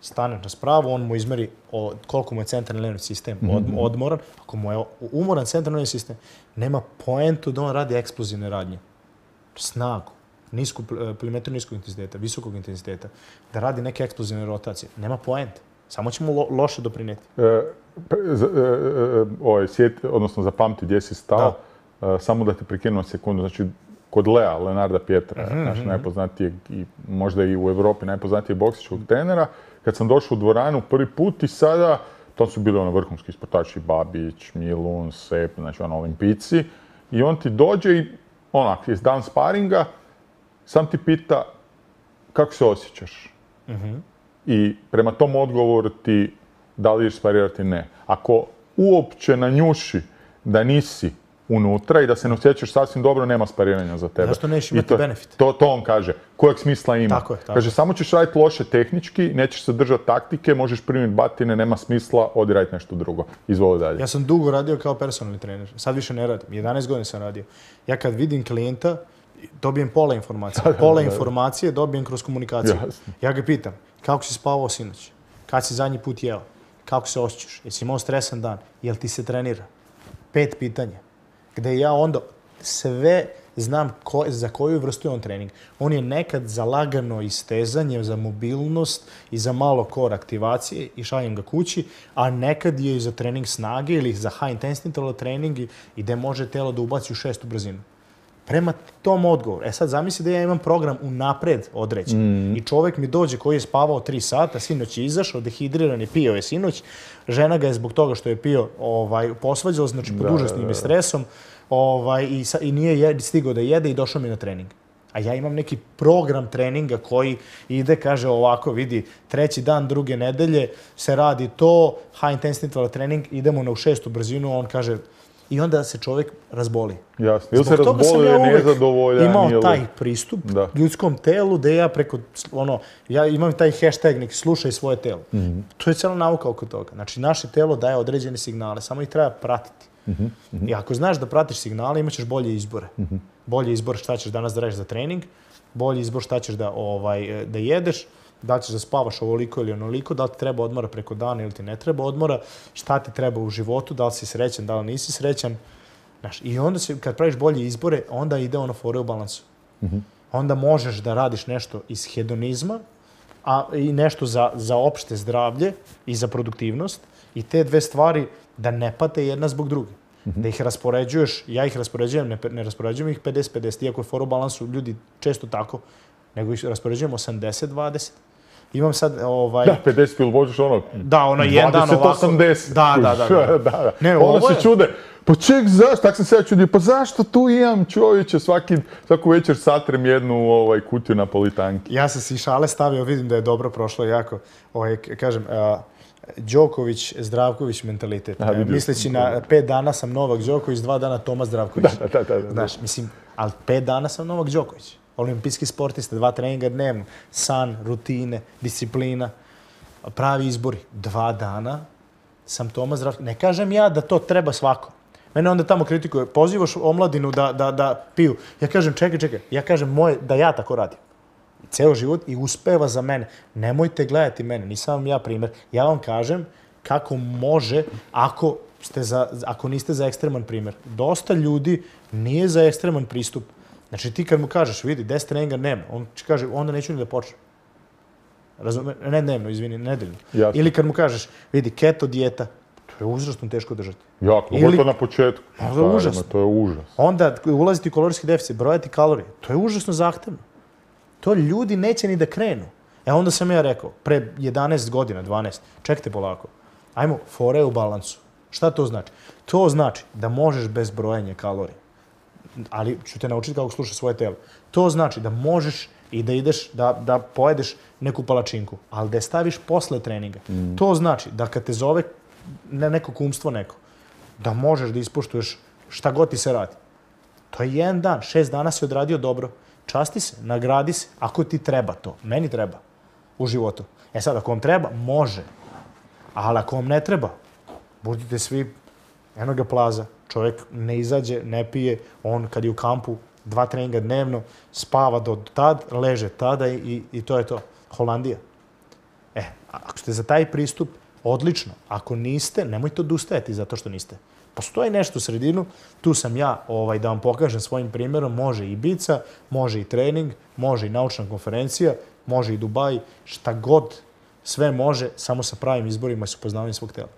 Staneš na spravu, on mu izmeri o, koliko mu je centralni nervni sistem od, odmoran. Ako mu je umoran centralni nervni sistem, nema poentu da on radi eksplozivne radnje. Snagu, nisku, pliometru niskog intenziteta, visokog intenziteta, da radi neke eksplozivne rotacije. Nema poente. Samo će mu lo, loše doprineti. E, e, e, ovaj, sjeti, odnosno zapamti gdje si stao. Da. Samo da te prekinem sekundu, znači kod Lea, Leonarda Pietra, mm-hmm. naš najpoznatijeg i možda i u Evropi najpoznatijeg boksičkog trenera, kad sam došao u dvoranu prvi put i sada, to su bili ono vrhunski sportaši, Babić, Milun, Sep, znači ono olimpijci, i on ti dođe i onak, je dan sparinga, sam ti pita kako se osjećaš. Mm-hmm. I prema tom odgovoru ti da li ješ sparirati, ne. Ako uopće nanjuši da nisi unutra i da se ne osjećaš sasvim dobro, nema spariranja za tebe. Zašto nećeš imati to, benefit? To, to on kaže. Kojeg smisla ima? Tako je, tako. Kaže, samo ćeš raditi loše tehnički, nećeš se držati taktike, možeš primiti batine, nema smisla, odi raditi nešto drugo. Izvoli dalje. Ja sam dugo radio kao personalni trener. Sad više ne radim. jedanaest godina sam radio. Ja kad vidim klijenta, dobijem pola informacije. Pola informacije dobijem kroz komunikaciju. Jasno. Ja ga pitam, kako si spavao sinoć? Kad si zadnji put jeo? Kako se osjećaš? Jesi imao stresan dan? Jel ti se trenira? Pet pitanja. Gde ja onda sve znam ko, za koju vrstu je on trening. On je nekad za lagano istezanje, za mobilnost i za malo core aktivacije i šaljem ga kući, a nekad je i za trening snage ili za high intensity interval trening i gde može telo da ubaci u šestu brzinu. Prema tom odgovoru. E sad zamisli da ja imam program unapred određen. Mm. I čovjek mi dođe koji je spavao tri sata, sinoć je izašao, dehidriran je, pio je sinoć, žena ga je zbog toga što je pio ovaj, posvađala, znači pod užasnim je stresom, ovaj, i, sa, i nije jed, stigao da jede i došao mi na trening. A ja imam neki program treninga koji ide, kaže ovako, vidi, treći dan druge nedelje se radi to, high intensity interval trening, idemo na u šestu brzinu, on kaže, i onda se čovjek razboli. Jasno. Ili se razboli, ja nezadovoljan. Imao ili... taj pristup da. ljudskom telu da ja preko, ono, ja imam taj hashtag neki slušaj svoje telo. Mm-hmm. To je cijela nauka oko toga. Znači, naše telo daje određene signale, samo ih treba pratiti. Mm-hmm. I ako znaš da pratiš signale, imat ćeš bolje izbore. Mm-hmm. Bolje izbor šta ćeš danas da radiš za trening, bolji izbor šta ćeš da, ovaj, da jedeš, da li ćeš da spavaš ovoliko ili onoliko, da li ti treba odmora preko dana ili ti ne treba odmora, šta ti treba u životu, da li si srećan, da li nisi srećan. Znaš, i onda se, kad praviš bolje izbore, onda ide ono fore u balansu. Mm-hmm. Onda možeš da radiš nešto iz hedonizma, a i nešto za, za opšte zdravlje i za produktivnost, i te dve stvari da ne pate jedna zbog druge. Mm-hmm. Da ih raspoređuješ, ja ih raspoređujem, ne, ne raspoređujem ih pedeset pedeset, iako je fore u balansu ljudi često tako, nego ih raspoređujem osamdeset dvadeset. Imam sad ovaj da pedeset ili možeš ono da ono jedan dan ovako osamdeset da da da da, da, da. Ne, onda ovo se je... čude pa ček zašto tak sam se ja čudio pa zašto tu imam čovječe svaki svaku večer satrem jednu ovaj kutiju napolitanki. Ja sam si šale stavio, vidim da je dobro prošlo jako, ovaj kažem uh, Đoković, Zdravković mentalitet. A, misleći na pet dana sam Novak Đoković, dva dana Toma Zdravković. Da, da, da, da. Znaš, mislim, ali pet dana sam Novak Đoković. Olimpijski sportista, dva treninga dnevno, san, rutine, disciplina, pravi izbori. Dva dana sam Toma Zdravković. Ne kažem ja da to treba svako. Mene onda tamo kritikuje, pozivaš omladinu da, da, da piju. Ja kažem, čekaj, čekaj, ja kažem moje, da ja tako radim. Ceo život i uspeva za mene. Nemojte gledati mene, nisam vam ja primer. Ja vam kažem kako može ako, ste za, ako niste za ekstreman primer. Dosta ljudi nije za ekstreman pristup. Znači ti kad mu kažeš, vidi, deset treninga dnevno, on će kaže, onda neću ni da počnem. Razume? Ne dnevno, izvini, nedeljno. Jasno. Ili kad mu kažeš, vidi, keto dijeta, to je užasno teško držati. Jako, pogotovo na početku. To je užasno. To je užas. Onda ulaziti u kalorijski deficit, brojati kalorije, to je užasno zahtevno. To ljudi neće ni da krenu. E onda sam ja rekao, pre jedanaest godina, dvanaest, čekajte polako, ajmo, fore u balansu. Šta to znači? To znači da možeš bez brojanja kalorija, ali ću te naučiti kako slušaš svoje telo. To znači da možeš i da ideš, da, da pojedeš neku palačinku, ali da je staviš posle treninga. Mm. To znači da kad te zove ne, neko kumstvo neko, da možeš da ispoštuješ šta god ti se radi. To je jedan dan, šest dana si odradio dobro. Časti se, nagradi se, ako ti treba to. Meni treba u životu. E sad, ako vam treba, može. Ali ako vam ne treba, budite svi enoga plaza. Čovjek ne izađe, ne pije, on kad je u kampu dva treninga dnevno, spava do tad, leže tada i, i to je to. Holandija. E, ako ste za taj pristup, odlično. Ako niste, nemojte odustajati zato što niste. Postoji nešto u sredinu, tu sam ja ovaj, da vam pokažem svojim primjerom, može i bica, može i trening, može i naučna konferencija, može i Dubaj, šta god, sve može, samo sa pravim izborima i sa upoznavanjem svog tela.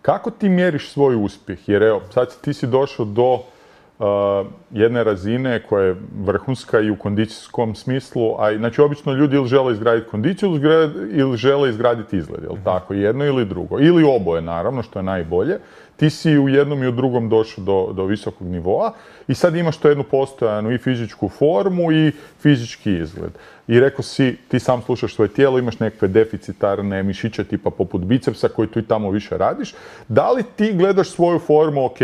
Kako ti mjeriš svoj uspjeh? Jer evo, sad ti si došao do uh, jedne razine koja je vrhunska i u kondicijskom smislu, a znači obično ljudi ili žele izgraditi kondiciju ili žele izgraditi izgled, jel tako? Jedno ili drugo. Ili oboje, naravno, što je najbolje. Ti si u jednom i u drugom došao do, do visokog nivoa i sad imaš to jednu postojanu i fizičku formu i fizički izgled. I rekao si, ti sam slušaš svoje tijelo, imaš nekakve deficitarne mišiće tipa poput bicepsa koji tu i tamo više radiš. Da li ti gledaš svoju formu, ok,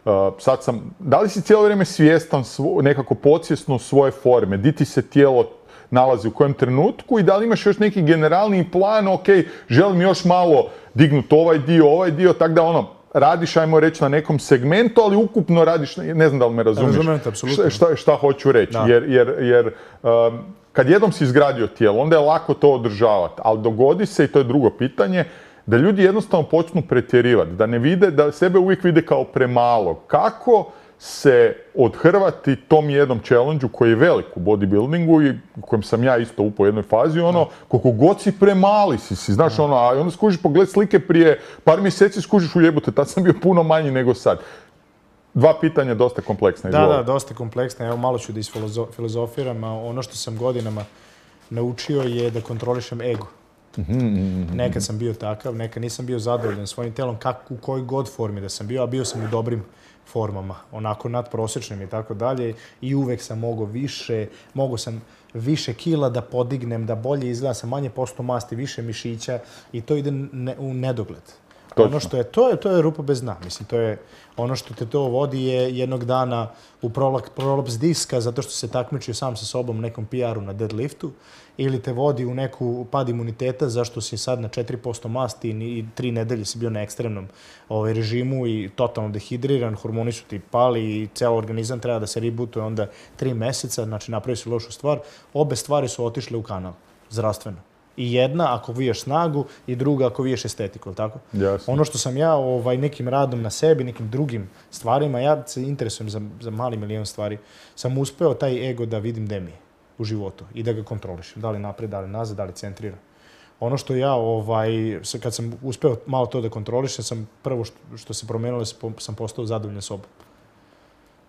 uh, sad sam, da li si cijelo vrijeme svjestan svo, nekako podsvjesno svoje forme, di ti se tijelo nalazi u kojem trenutku i da li imaš još neki generalni plan, ok, želim još malo dignuti ovaj dio, ovaj dio, tako da ono, radiš, ajmo reći, na nekom segmentu, ali ukupno radiš, ne znam da li me razumiješ, Razumijete, apsolutno. šta, šta hoću reći. Da. Jer, jer, jer um, kad jednom si izgradio tijelo, onda je lako to održavati, ali dogodi se, i to je drugo pitanje, da ljudi jednostavno počnu pretjerivati, da ne vide, da sebe uvijek vide kao premalo. Kako se odhrvati tom jednom challenge-u koji je velik u bodybuildingu i u kojem sam ja isto upao u jednoj fazi, ono, koliko god si premali si, si znaš, ono, a onda skužiš pogled slike prije par mjeseci, skužiš u jebote, tad sam bio puno manji nego sad. Dva pitanja dosta kompleksna. Da, da, dosta kompleksna. Evo, malo ću da isfilozofiram, a ono što sam godinama naučio je da kontrolišem ego. Nekad sam bio takav, nekad nisam bio zadovoljan svojim telom, kako, u kojoj god formi da sam bio, a bio sam u dobrim formama, onako nadprosječnim i tako dalje, i uvek sam mogao više, mogao sam više kila da podignem, da bolje izgledam, sam manje posto masti, više mišića i to ide ne, u nedogled. Točno. Ono što je, to je, to je rupa bez dna, mislim, to je, ono što te to vodi je jednog dana u prolaps diska zato što se takmičio sam sa sobom u nekom P R-u na deadliftu, ili te vodi u neku pad imuniteta zašto si sad na četiri posto masti i tri nedelje si bio na ekstremnom ovaj, režimu i totalno dehidriran, hormoni su ti pali i ceo organizam treba da se rebootuje onda tri meseca, znači napravi si lošu stvar. Obe stvari su otišle u kanal, zdravstveno. I jedna ako viješ snagu i druga ako viješ estetiku, tako? Jasno. Ono što sam ja ovaj, nekim radom na sebi, nekim drugim stvarima, ja se interesujem za, za mali milion stvari, sam uspeo taj ego da vidim gde mi je u životu i da ga kontrolišem. Da li napred, da li nazad, da li centriram. Ono što ja, ovaj, kad sam uspeo malo to da kontrolišem, sam prvo što, što se promenilo, sam postao zadovoljan sobom.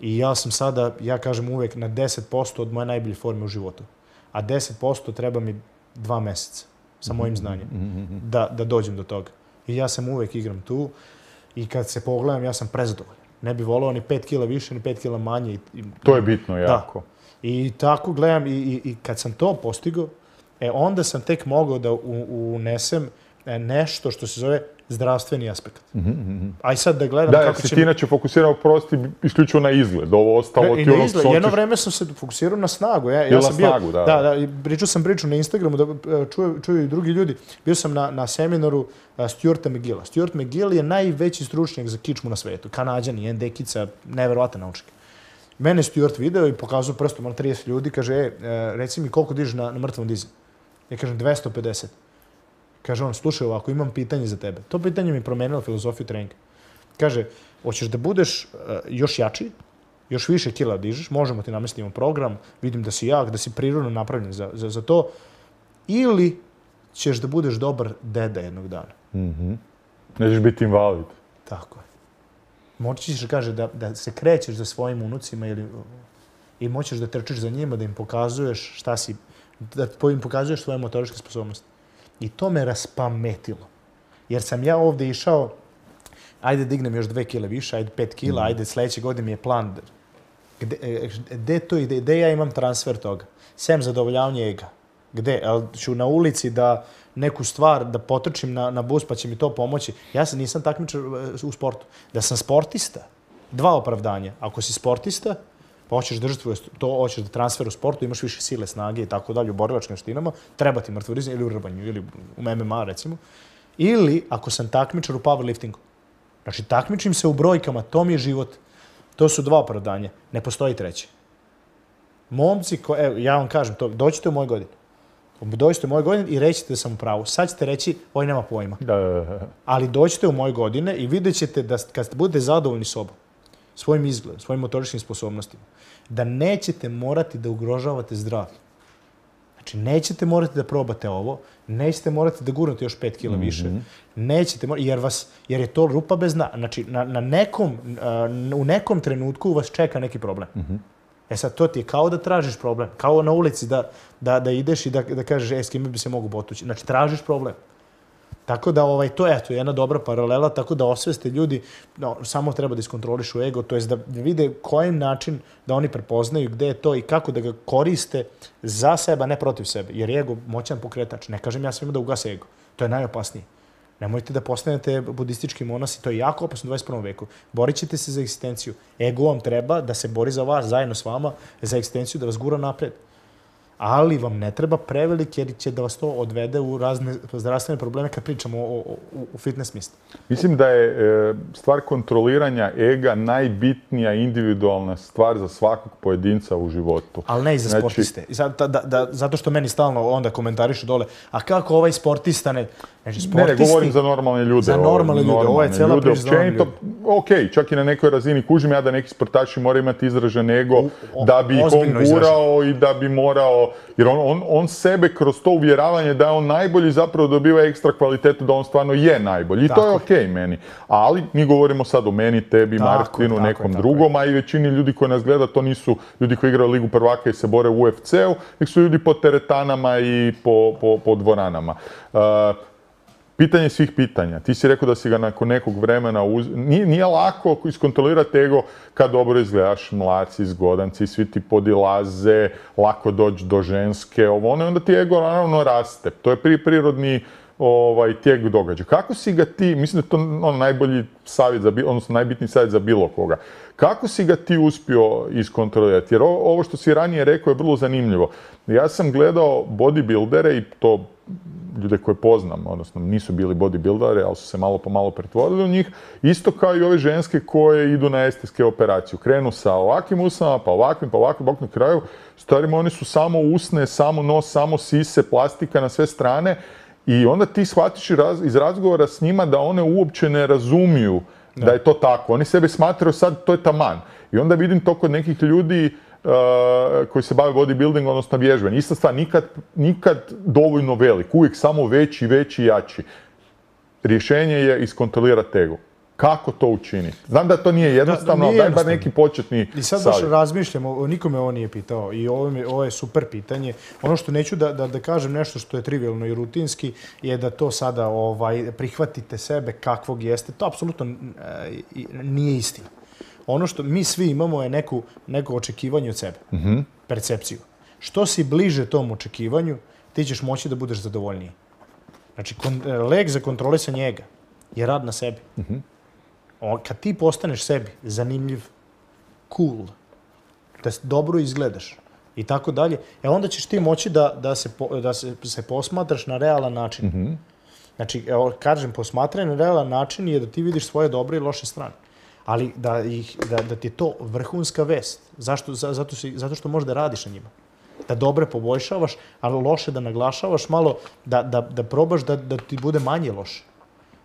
I ja sam sada, ja kažem uvek, na deset posto od moje najbolje forme u životu. A deset posto treba mi dva mjeseca sa mojim znanjem da, da dođem do toga. I ja sam uvek igram tu i kad se pogledam, ja sam prezadovoljan. Ne bi volao ni pet kila više, ni pet kila manje. I, to je bitno jako. Da. I tako gledam i, i, i kad sam to postigao, e, onda sam tek mogao da u, unesem nešto što se zove zdravstveni aspekt. Mm-hmm. Aj sad da gledam da, kako će... Da, će... ti inače fokusirao prosti isključivo na izgled. Ovo ostalo ne, ti ono izgled. Jedno vreme sam se fokusirao na snagu. Ja, ja sam bio, snagu, da. Da, da, pričao sam priču na Instagramu, da čuju, čuju i drugi ljudi. Bio sam na, na seminaru uh, Stuarta McGilla. Stuart McGill je najveći stručnjak za kičmu na svetu. Kanađan, jedan dekica, neverovatan naučnik. Mene Stuart video i pokazao prstom na trideset ljudi, kaže, e, reci mi koliko dižeš na, na mrtvom dizi. Ja kažem, dvesta pedeset. Kaže on, slušaj ovako, imam pitanje za tebe. To pitanje mi promenilo filozofiju treninga. Kaže, hoćeš da budeš uh, još jači, još više kila dižeš, možemo ti namestimo program, vidim da si jak, da si prirodno napravljen za, za, za to, ili ćeš da budeš dobar deda jednog dana. Mm-hmm. Nećeš biti invalid. Tako je. Moći ćeš, kaže, da, da se krećeš za svojim unucima ili, i moćeš da trčiš za njima, da im pokazuješ šta si, da im pokazuješ svoje motoričke sposobnosti. I to me raspametilo. Jer sam ja ovde išao, ajde dignem još dve kile više, ajde pet kila, mm. ajde sljedeće godine mi je plan. Gde, gde to ide? Gde ja imam transfer toga? Sem zadovoljavanje ega. Gde? Ali ću na ulici da neku stvar, da potrčim na, na bus pa će mi to pomoći. Ja sam nisam takmičar u sportu. Da sam sportista, dva opravdanja. Ako si sportista, pa hoćeš držati to, hoćeš da transfer u sportu, imaš više sile, snage i tako dalje u borilačkim štinama, treba ti mrtvorizam ili u rbanju, ili u M M A recimo. Ili ako sam takmičar u powerliftingu. Znači, takmičim se u brojkama, to mi je život. To su dva opravdanja. Ne postoji treće. Momci, ko, evo, ja vam kažem, to, dođite u moje godine. Dođite u moje godine i rećete da sam u pravu. Sad ćete reći, oj, nema pojma. Ali dođite u moje godine i vidjet ćete da kad budete zadovoljni sobom, svojim izgledom, svojim motoričkim sposobnostima, da nećete morati da ugrožavate zdravlje. Znači, nećete morati da probate ovo, nećete morati da gurnete još pet kila više, mm-hmm. nećete morati, jer, vas, jer je to rupa bez dna. Znači, na, na nekom, uh, u nekom trenutku vas čeka neki problem. Mm-hmm. E sad, to ti je kao da tražiš problem, kao na ulici da, da, da ideš i da, da kažeš, e, s kime bi se mogu potući. Znači, tražiš problem. Tako da, ovaj, to je eto, jedna dobra paralela, tako da osveste ljudi, no, samo treba da iskontrolišu ego, to je da vide kojim način da oni prepoznaju gde je to i kako da ga koriste za sebe, a ne protiv sebe. Jer je ego moćan pokretač. Ne kažem ja svima da ugase ego. To je najopasnije. Nemojte da postanete budistički monasi, to je jako opasno u dvadeset prvom veku. Borit ćete se za egzistenciju. Ego vam treba da se bori za vas, zajedno s vama, za egzistenciju, da vas gura napred. Ali vam ne treba prevelik jer će da vas to odvede u razne zdravstvene probleme kad pričamo o, o, o fitness misli. Mislim da je e, stvar kontroliranja ega najbitnija individualna stvar za svakog pojedinca u životu. Ali ne i za znači, sportiste. I sad, da, da, zato što meni stalno onda komentarišu dole, a kako ovaj sportista ne... Znači, sportisti, ne, ne, govorim za normalne ljude. Za normalne ljude, ovo je cijela priča za normalne ljude. Ok, čak i na nekoj razini kužim ja da neki sportaši moraju imati izražen ego u, o, da bi ih on gurao i da bi morao, jer on, on, on sebe kroz to uvjeravanje da je on najbolji zapravo dobiva ekstra kvalitetu da on stvarno je najbolji. I tako to je ok je. Meni. Ali mi govorimo sad o meni, tebi, tako, Martinu, tako, nekom tako, drugom, a i većini ljudi koji nas gleda to nisu ljudi koji igraju Ligu prvaka i se bore u U F C-u, nek su ljudi po teretanama i po, po, po dvoranama. Uh, Pitanje svih pitanja. Ti si rekao da si ga nakon nekog vremena uz... Nije, nije lako iskontrolirati ego kad dobro izgledaš, mlad si, zgodan si, svi ti podilaze, lako doći do ženske, ovo ono, i onda ti ego naravno raste. To je prirodni ovaj, tijek događaja. Kako si ga ti, mislim da je to ono, najbolji savjet, za, odnosno najbitniji savjet za bilo koga. Kako si ga ti uspio iskontrolirati? Jer ovo što si ranije rekao je vrlo zanimljivo. Ja sam gledao bodybuildere i to ljude koje poznam, odnosno nisu bili bodybuilderi, ali su se malo po malo pretvorili u njih, isto kao i ove ženske koje idu na estetske operacije. Krenu sa ovakvim usnama, pa ovakvim, pa ovakvim, ovakvim, na kraju, starima oni su samo usne, samo nos, samo sise, plastika na sve strane i onda ti shvatiš iz razgovora s njima da one uopće ne razumiju da, da je to tako. Oni sebe smatraju sad, to je taman. I onda vidim to kod nekih ljudi Uh, koji se bave bodybuilding, odnosno vježbanjem. Ista stvar, nikad, nikad dovoljno velik, uvijek samo veći, veći i jači. Rješenje je iskontrolirati ego. Kako to učiniti? Znam da to nije jednostavno, ali daj bar neki početni savjet. I sad baš razmišljamo, nikome ovo nije pitao i ovo je, ovo je super pitanje. Ono što neću da, da, da kažem nešto što je trivialno i rutinski je da to sada ovaj, prihvatite sebe kakvog jeste. To apsolutno nije istina. Ono što mi svi imamo je neku, neko očekivanje od sebe, mm-hmm. percepciju. Što si bliže tom očekivanju, ti ćeš moći da budeš zadovoljniji. Znači, kon, lek za kontrolisanje ega je rad na sebi. Mm-hmm. O, kad ti postaneš sebi zanimljiv, cool, da dobro izgledaš i tako dalje, e onda ćeš ti moći da, da, se, po, da se, se posmatraš na realan način. Mm-hmm. Znači, evo, kažem, posmatranje na realan način je da ti vidiš svoje dobre i loše strane. ali da, ih, da, da ti je to vrhunska vest. Zašto? Zato, si, zato što možeš da radiš na njima. Da dobre poboljšavaš, ali loše da naglašavaš malo, da, da, da probaš da, da ti bude manje loše.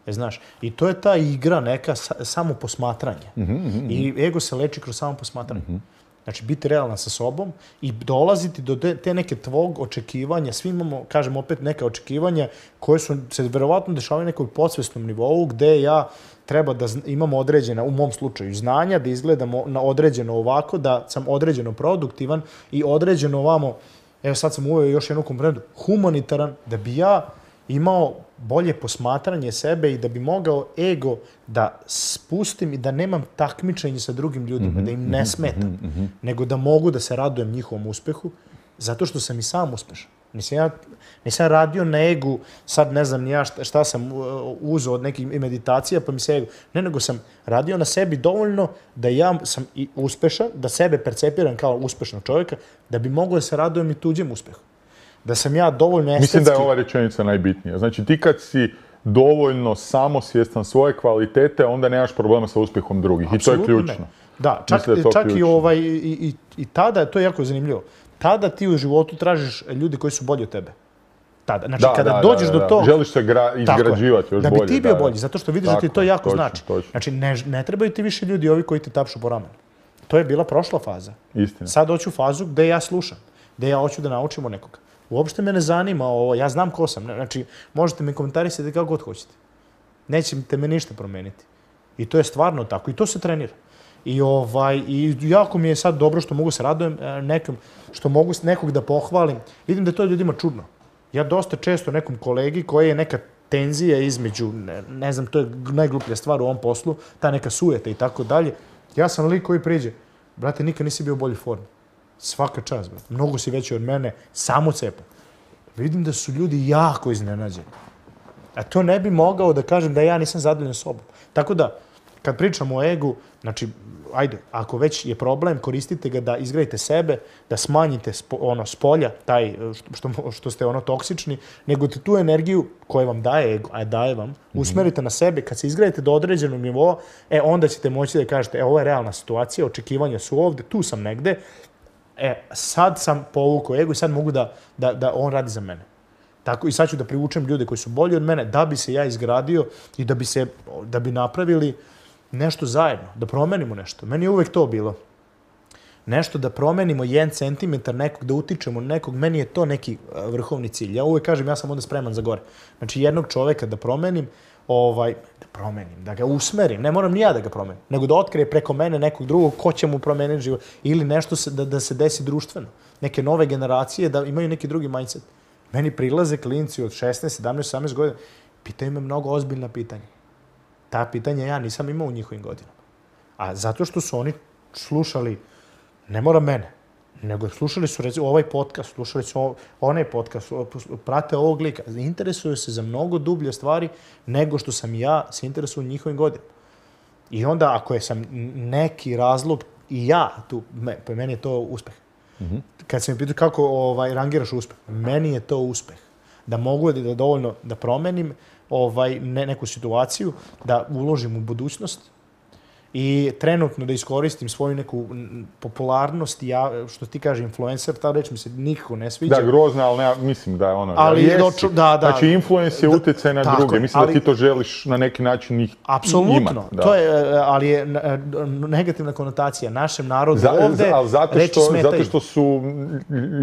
E, znaš, i to je ta igra neka sa, samo posmatranje. Mm-hmm, mm-hmm. I ego se leči kroz samo posmatranje. Mm-hmm. Znači, biti realan sa sobom i dolaziti do te, te neke tvog očekivanja. Svi imamo, kažem opet, neka očekivanja koje su se verovatno dešavaju na nekom podsvesnom nivou gde ja treba da imamo određena, u mom slučaju, znanja, da izgledamo na određeno ovako, da sam određeno produktivan i određeno ovamo, evo sad sam uveo još jednu komponentu, humanitaran, da bi ja imao bolje posmatranje sebe i da bi mogao ego da spustim i da nemam takmičenje sa drugim ljudima, mm-hmm, da im ne smetam, mm-hmm. nego da mogu da se radujem njihovom uspehu, zato što sam i sam uspešan. Nisam ja, nisam radio na egu, sad ne znam ni ja šta, šta sam uzeo od nekih meditacija, pa mi se ego... Ne, nego sam radio na sebi dovoljno da ja sam i uspešan, da sebe percepiram kao uspešnog čovjeka, da bi mogao da se radujem i tuđem uspehu. Da sam ja dovoljno estetski... Mislim da je ova rečenica najbitnija. Znači, ti kad si dovoljno samosvjestan svoje kvalitete, onda nemaš problema sa uspjehom drugih. Apsolutno I to je ključno. Ne. Da, čak, da čak ključno. i, ovaj, i, i, i tada, to je jako zanimljivo, tada ti u životu tražiš ljudi koji su bolji od tebe. Tada. Znači, da, kada da, dođeš da, do da. toga... Želiš se gra, izgrađivati još bolje. Da bi ti bio da, bolji, zato što vidiš tako, da ti to jako točno, znači. Točno. Znači, ne, ne trebaju ti više ljudi ovi koji te tapšu po ramenu. To je bila prošla faza. Istina. Sad hoću fazu gde ja slušam, gde ja hoću da naučim od nekoga. Uopšte me ne zanima ovo, ja znam ko sam. Znači, možete me komentarisati kako god hoćete. Nećete me ništa promeniti. I to je stvarno tako. I to se trenira. I, ovaj, i jako mi je sad dobro što mogu se radujem nekom, što mogu nekog da pohvalim. Vidim da to ljudima čudno. Ja dosta često nekom kolegi koji je neka tenzija između, ne, ne znam, to je najgluplja stvar u ovom poslu, ta neka sujeta i tako dalje. Ja sam lik koji priđe, brate, nikad nisi bio u boljoj formi. Svaka čast, brate. Mnogo si veći od mene, samo cepa. Vidim da su ljudi jako iznenađeni. A to ne bi mogao da kažem da ja nisam zadovoljan sobom. Tako da, kad pričamo o egu, znači, ajde, ako već je problem, koristite ga da izgradite sebe, da smanjite spo, ono, spolja, taj, što, što ste ono toksični, nego te tu energiju koju vam daje ego, a daje vam, usmerite na sebe. Kad se izgradite do određenog nivoa, e, onda ćete moći da kažete, e, ovo je realna situacija, očekivanja su ovde, tu sam negde, e, sad sam povukao ego i sad mogu da, da, da on radi za mene. Tako, i sad ću da privučem ljude koji su bolji od mene, da bi se ja izgradio i da bi, se, da bi napravili nešto zajedno, da promenimo nešto. Meni je uvek to bilo. Nešto da promenimo jedan centimetar nekog, da utičemo nekog, meni je to neki vrhovni cilj. Ja uvek kažem, ja sam onda spreman za gore. Znači, jednog čoveka da promenim, ovaj, da promenim, da ga usmerim, ne moram ni ja da ga promenim, nego da otkrije preko mene nekog drugog ko će mu promeniti život ili nešto se, da, da se desi društveno. Neke nove generacije da imaju neki drugi mindset. Meni prilaze klinci od šesnaest, sedamnaest, osamnaest godina, pitaju me mnogo ozbiljna pitanja. Ta pitanja ja nisam imao u njihovim godinama. A zato što su oni slušali, ne mora mene, nego slušali su recimo ovaj podcast, slušali su onaj podcast, prate ovog lika. Interesuju se za mnogo dublje stvari nego što sam ja se interesuo u njihovim godinama. I onda ako je sam neki razlog i ja tu, pa meni je to uspeh. Mm-hmm. Kad se mi pitao kako ovaj, rangiraš uspeh, meni je to uspeh. Da mogu da dovoljno da promenim ovaj, ne, neku situaciju, da uložim u budućnost i trenutno da iskoristim svoju neku popularnost, ja, što ti kaže influencer, ta reč mi se nikako ne sviđa. Da, grozna, ali ne, mislim da je ono... Ali jesi. Doču, da, da. Znači, influence je utjecaj na tako, druge. Mislim ali, da ti to želiš na neki način ih apsolutno, imati. Apsolutno, to je, ali je negativna konotacija našem narodu za, ovde, ali zato reči što, smetaju. Zato što su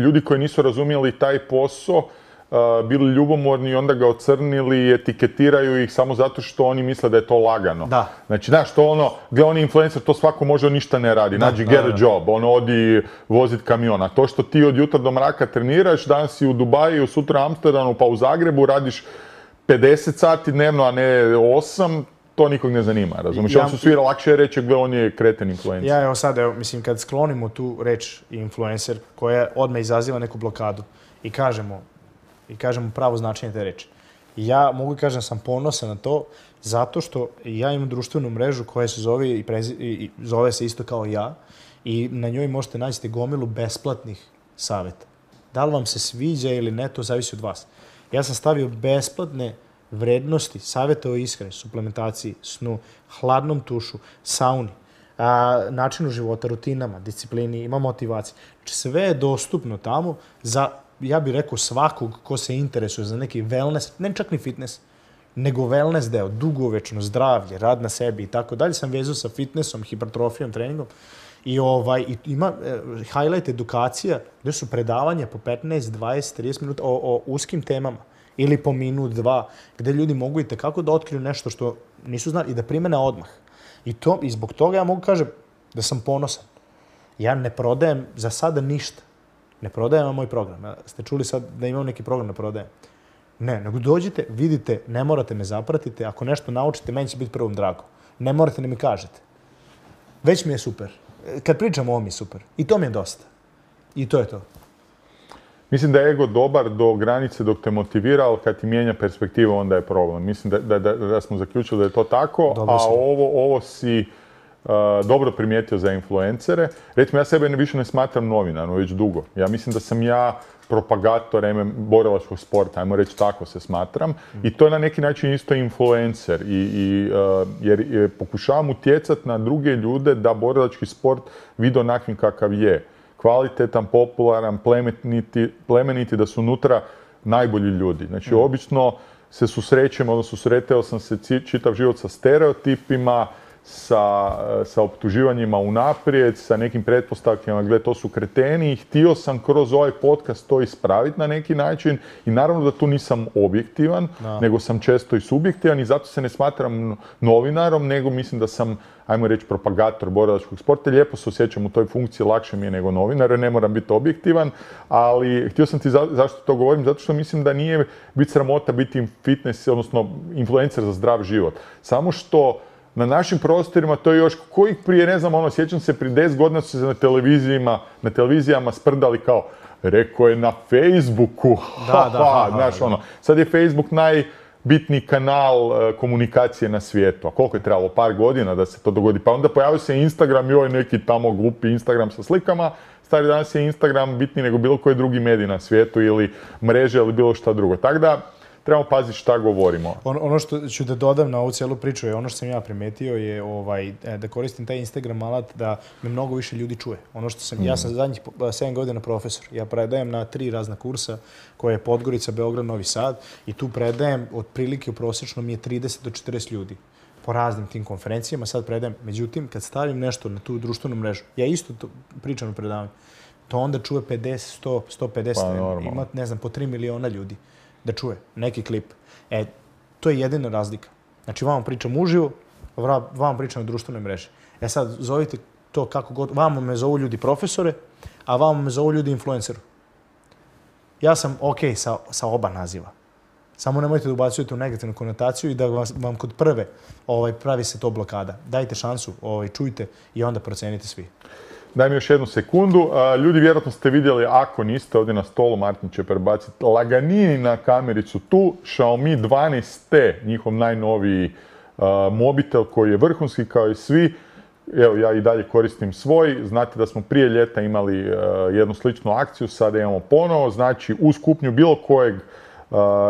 ljudi koji nisu razumijeli taj posao, Uh, bili ljubomorni i onda ga ocrnili i etiketiraju ih samo zato što oni misle da je to lagano. Da. Znači, znaš, to ono, gdje on je influencer, to svako može, on ništa ne radi. Nađi, get a job, ono, odi vozit kamiona. To što ti od jutra do mraka treniraš, danas si u Dubaju, sutra u Amsterdamu, pa u Zagrebu, radiš pedeset sati dnevno, a ne osam, to nikog ne zanima, razumiješ? Ja, on su svi lakše reći gdje on je kreten influencer. Ja, evo sad, evo, mislim, kad sklonimo tu reč influencer, koja odmah izaziva neku blokadu i kažemo, i kažemo pravo značenje te reči. Ja mogu kažem da sam ponosan na to zato što ja imam društvenu mrežu koja se zove i, prezi, i zove se isto kao ja i na njoj možete naći gomilu besplatnih savjeta. Da li vam se sviđa ili ne, to zavisi od vas. Ja sam stavio besplatne vrednosti, savjeta o ishrani, suplementaciji, snu, hladnom tušu, sauni, a, načinu života, rutinama, disciplini, ima motivacije. Znači, sve je dostupno tamo za, ja bih rekao, svakog ko se interesuje za neki wellness, ne čak ni fitness, nego wellness deo, dugovečno zdravlje, rad na sebi i tako dalje. Sam vezao sa fitnessom, hipertrofijom, treningom. I ovaj, i ima eh, highlight edukacija gdje su predavanja po petnaest, dvadeset, trideset minuta o, o uskim temama ili po minut, dva, gdje ljudi mogu i tekako da otkriju nešto što nisu znali i da primene odmah. I, to, i zbog toga ja mogu kažem da sam ponosan. Ja ne prodajem za sada ništa. Ne prodajem vam moj program. Ja, ste čuli sad da imam neki program da prodajem? Ne, nego dođite, vidite, ne morate me zapratiti. Ako nešto naučite, meni će biti prvom drago. Ne morate da mi kažete. Već mi je super. Kad pričam o ovom je super. I to mi je dosta. I to je to. Mislim da je ego dobar do granice dok te motivira, ali kad ti mijenja perspektivu, onda je problem. Mislim da, da, da, da smo zaključili da je to tako, dobro a ovo, ovo si uh, dobro primijetio za influencere. Recimo, ja sebe više ne smatram novinarom, već dugo. Ja mislim da sam ja propagator borilačkog sporta, ajmo reći tako se smatram. Mm. I to je na neki način isto influencer. I, i, uh, jer je, pokušavam utjecati na druge ljude da borilački sport vide onakvim kakav je. Kvalitetan, popularan, plemeniti, plemeniti, da su unutra najbolji ljudi. Znači, mm. obično se susrećem, odnosno susretao sam se čitav život sa stereotipima, sa, sa optuživanjima unaprijed, sa nekim pretpostavkama gdje to su kreteni i htio sam kroz ovaj podcast to ispraviti na neki način i naravno da tu nisam objektivan, no. nego sam često i subjektivan i zato se ne smatram novinarom, nego mislim da sam, ajmo reći, propagator borilačkog sporta. Lijepo se osjećam u toj funkciji, lakše mi je nego novinar, ne moram biti objektivan, ali htio sam ti za, zašto to govorim, zato što mislim da nije biti sramota biti fitness, odnosno influencer za zdrav život. Samo što na našim prostorima to je još kojih prije, ne znam, ono, sjećam se, prije deset godina su se na televizijama, na televizijama sprdali kao, rekao je na Facebooku, da, ha, da, ha, znaš, da. ono, sad je Facebook najbitniji kanal uh, komunikacije na svijetu, a koliko je trebalo, par godina da se to dogodi, pa onda pojavio se Instagram i ovaj neki tamo glupi Instagram sa slikama, stari danas je Instagram bitniji nego bilo koji drugi medij na svijetu ili mreže ili bilo šta drugo, tako da trebamo paziti šta govorimo. Ono, ono što ću da dodam na ovu cijelu priču je ono što sam ja primetio je ovaj, da koristim taj Instagram alat da me mnogo više ljudi čuje. Ono što sam, mm. ja sam zadnjih sedam godina profesor. Ja predajem na tri razna kursa koje je Podgorica, Beograd, Novi Sad i tu predajem otprilike u prosječno mi je trideset do četrdeset ljudi po raznim tim konferencijama. Sad predajem. Međutim, kad stavim nešto na tu društvenu mrežu, ja isto to pričam u predavanju, to onda čuje pedeset, sto, sto pedeset, pa, ima, ne znam, po tri miliona ljudi da čuje neki klip. E, to je jedina razlika. Znači, vam pričam uživo, vam pričam na društvenoj mreži. E sad, zovite to kako god, vamo me zovu ljudi profesore, a vamo me zovu ljudi influenceru. Ja sam okej okay sa, sa oba naziva. Samo nemojte da ubacujete u negativnu konotaciju i da vam, vam kod prve ovaj, pravi se to blokada. Dajte šansu, ovaj, čujte i onda procenite svi. Daj mi još jednu sekundu. Ljudi, vjerojatno ste vidjeli, ako niste, ovdje na stolu, Martin će prebaciti laganini na kamericu tu, Xiaomi dvanaest T, njihov najnoviji uh, mobitel koji je vrhunski kao i svi. Evo, ja i dalje koristim svoj. Znate da smo prije ljeta imali uh, jednu sličnu akciju, sada imamo ponovo. Znači, uz kupnju bilo kojeg uh,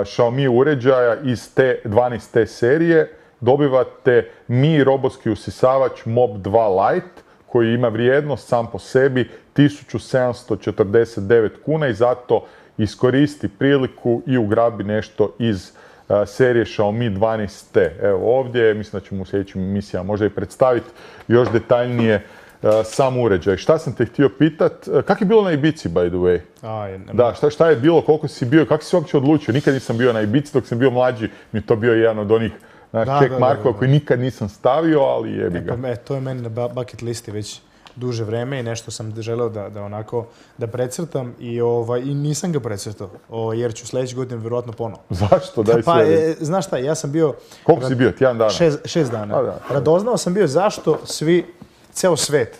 Xiaomi uređaja iz te dvanaest T serije dobivate Mi robotski usisavač Mob dva Lite, koji ima vrijednost sam po sebi tisuću sedamsto četrdeset devet kuna i zato iskoristi priliku i ugrabi nešto iz uh, serije Xiaomi dvanaest T. Evo ovdje, mislim da ćemo u sljedećim emisijama možda i predstaviti još detaljnije uh, sam uređaj. Šta sam te htio pitat? Uh, kak je bilo na Ibici, by the way? A, je, da, šta, šta je bilo, koliko si bio, kako si uopće odlučio? Nikad nisam bio na Ibici, dok sam bio mlađi, mi je to bio jedan od onih Znači, check markova koji nikad nisam stavio, ali jebi ga. E, pa, e, to je meni na bucket listi već duže vreme i nešto sam želeo da, da onako da precrtam i, ovaj, i nisam ga precrtao, o, jer ću sljedeći godin vjerojatno ponovo. Zašto? Daj pa, e, znaš šta, ja sam bio... Koliko si bio? Tjedan dana? Šest, šest dana. A, da, Radoznao sam bio zašto svi, ceo svet,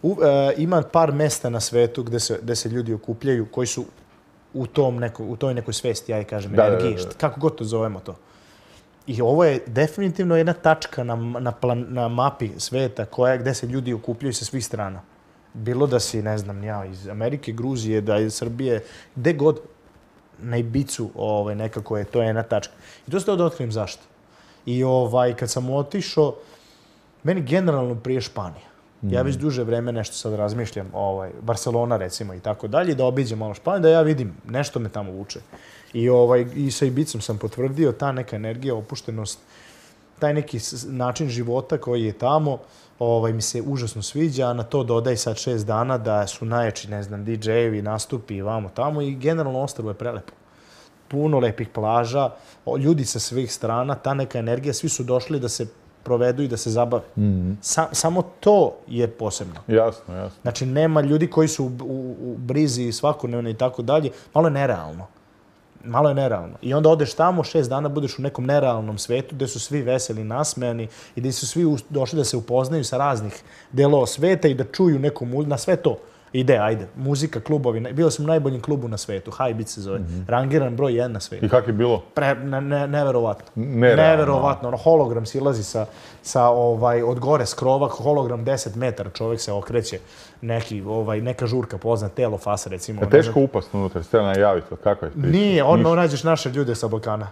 u, e, ima par mesta na svetu gde se, gde se ljudi okupljaju koji su u, tom neko, u toj nekoj svesti, ja kažem, da, energiji, da, da, da. kako god to zovemo to. I ovo je definitivno jedna tačka na, na, plan, na mapi sveta koja, gde se ljudi okupljaju sa svih strana. Bilo da si, ne znam, ja, iz Amerike, Gruzije, da iz Srbije, gde god. na Ibicu, ovaj, nekako je, to je jedna tačka. I to se da otkrijem zašto. I ovaj, kad sam otišao, meni generalno prije Španija. Ja već duže vreme nešto sad razmišljam, ovaj, Barcelona recimo i tako dalje, da obiđem malo Španiju, da ja vidim, nešto me tamo vuče. I, ovaj, i sa Ibicom sam potvrdio, ta neka energija, opuštenost, taj neki način života koji je tamo, ovaj, mi se užasno sviđa, a na to dodaj sad šest dana da su najjači, ne znam, di džejevi, nastupi, vamo tamo i generalno ostrvo je prelepo. Puno lepih plaža, ljudi sa svih strana, ta neka energija, svi su došli da se provedu i da se zabave. Mm-hmm. Sa, samo to je posebno. Jasno, jasno. Znači, nema ljudi koji su u, u, u brizi svakodnevno i tako dalje. Malo je nerealno. Malo je nerealno. I onda odeš tamo, šest dana budeš u nekom nerealnom svetu gde su svi veseli, nasmejani i gde su svi došli da se upoznaju sa raznih delova sveta i da čuju neku muziku. Na sve to ide, ajde. Muzika, klubovi. Bio sam u najboljem klubu na svetu. High Beat se zove. Mm-hmm. Rangiran broj jedan na svetu. I kako je bilo? Pre, ne, ne, neverovatno. Nerealno. Neverovatno. Ono, hologram silazi sa, sa ovaj, od gore skrova, hologram deset metara, čovjek se okreće. Neki, ovaj, neka žurka pozna, telo fasa, recimo. Je teško upast unutra, ste najaviti, kako je priča? Nije, odmah nađeš naše ljude sa Balkana.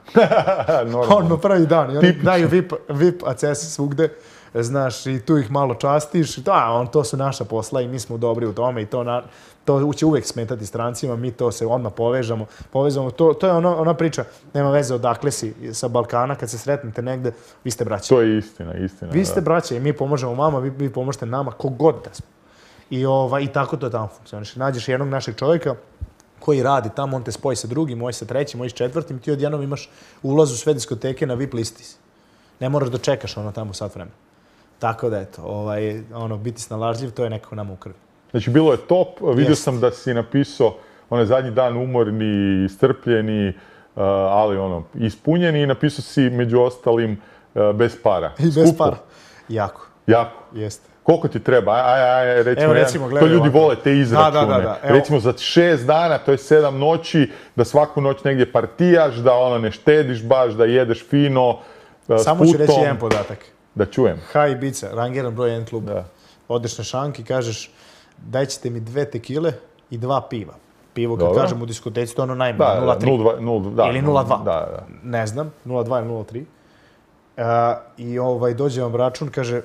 Odmah prvi dan. I oni daju V I P, V I P access svugde. Znaš, i tu ih malo častiš. Da, on, to su naša posla i mi smo dobri u tome i to, na, to će uvijek smetati strancima, mi to se odmah povežamo. povežamo. To, to je ono, ona priča, nema veze odakle si sa Balkana, kad se sretnete negde, vi ste braća. To je istina, istina. Vi ste braća i mi pomožemo vama, vi, vi pomožete nama, kogod da smo. I, ova, I tako to tamo funkcioniše. Nađeš jednog našeg čovjeka koji radi tamo, on te spoji sa drugim, moj sa trećim, moj sa četvrtim, ti odjednom imaš ulaz u sve diskoteke na V I P listi. Ne moraš da čekaš ono tamo sat vremena. Tako da, eto, ovaj, ono, biti snalažljiv, to je nekako nama u krvi. Znači, bilo je top. Vidio Jest. sam da si napisao onaj zadnji dan umorni, strpljeni, uh, ali ono, ispunjeni i napisao si među ostalim uh, bez para. I bez Skupo. para. Jako. Jako? Jeste. Koliko ti treba? Aj, aj, aj, recimo, Evo, recimo jedan, to ljudi ovako. vole, te izračune. Da, da, da, da. Recimo, za šest dana, to je sedam noći, da svaku noć negdje partijaš, da ono ne štediš baš, da jedeš fino, uh, Samo ću reći jedan podatak. Da čujem. High Ibiza, rangiran broj jedan klub. Da. Odeš na šank i kažeš daj ćete mi dve tekile i dva piva. Pivo, kad Dobro. kažem u diskoteci, to je ono najmanje, da, nula tri. Da, ili nula dva. Da, da. Ne znam, nula dva ili nula tri. Uh, I ovaj, dođe vam račun, kaže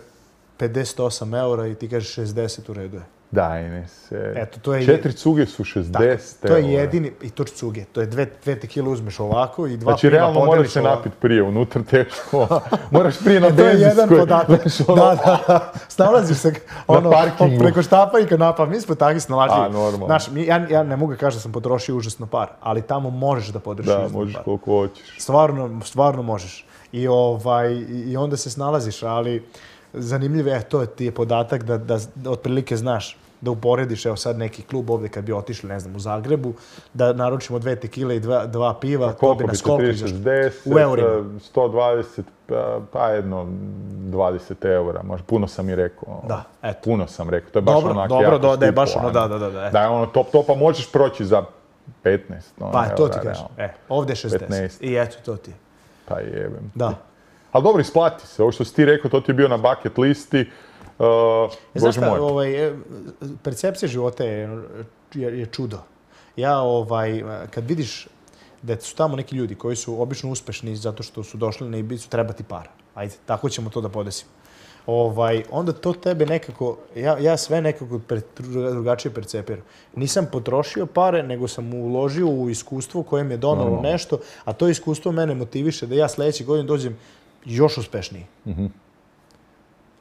pedeset osam eura i ti kažeš šezdeset u redu je. Daj ne se. Eto, to je Četiri cuge su šezdeset eura. To je eura. jedini, i to cuge, to je dve, dve tekile uzmeš ovako i dva znači, piva realno podeliš moraš se ovako. napiti prije, unutra teško. Moraš prije na E, to je jedan benzinskoj. podatak. Ono, Da, da. Snalaziš se ono, parkingu. preko štapa i kanapa. Mi smo takvi snalažljivi. A, normalno. Znaš, mi, ja, ja ne mogu kažem da sam potrošio užasno par, ali tamo možeš da podržiš Da, užasno možeš par. koliko hoćeš. Stvarno, stvarno možeš. I, ovaj, I onda se snalaziš, ali zanimljivo je, to ti je podatak da, da, da otprilike znaš da uporediš, evo sad neki klub ovdje kad bi otišli, ne znam, u Zagrebu, da naručimo dve tekile i dva, dva piva, to bi nas koliko izašlo? U eurima. sto dvadeset, pa, pa jedno dvadeset eura, možda puno sam i rekao. Da, eto. Puno sam rekao, to je baš dobro, onak dobro, jako do, da je skupo, baš ono, ajmo. da, da, da. Eto. Da je ono top topa, možeš proći za petnaest. No, Pa, to eura, ti kažem. realno. E, ovdje je šezdeset. petnaest. I eto, to ti je. Pa jebem. Da. Ali dobro, isplati se. Ovo što si ti rekao, to ti je bio na bucket listi. Uh, Znaš Bože šta, moj. ovaj, percepcija života je, je, je čudo. Ja, ovaj, kad vidiš da su tamo neki ljudi koji su obično uspešni zato što su došli na Ibizu, treba ti para. Ajde, tako ćemo to da podesimo. Ovaj, onda to tebe nekako, ja, ja sve nekako per, drugačije percepiram. Nisam potrošio pare, nego sam uložio u iskustvo koje mi je donalo no. nešto, a to iskustvo mene motiviše da ja sljedeći godin dođem još uspešniji. Mm-hmm.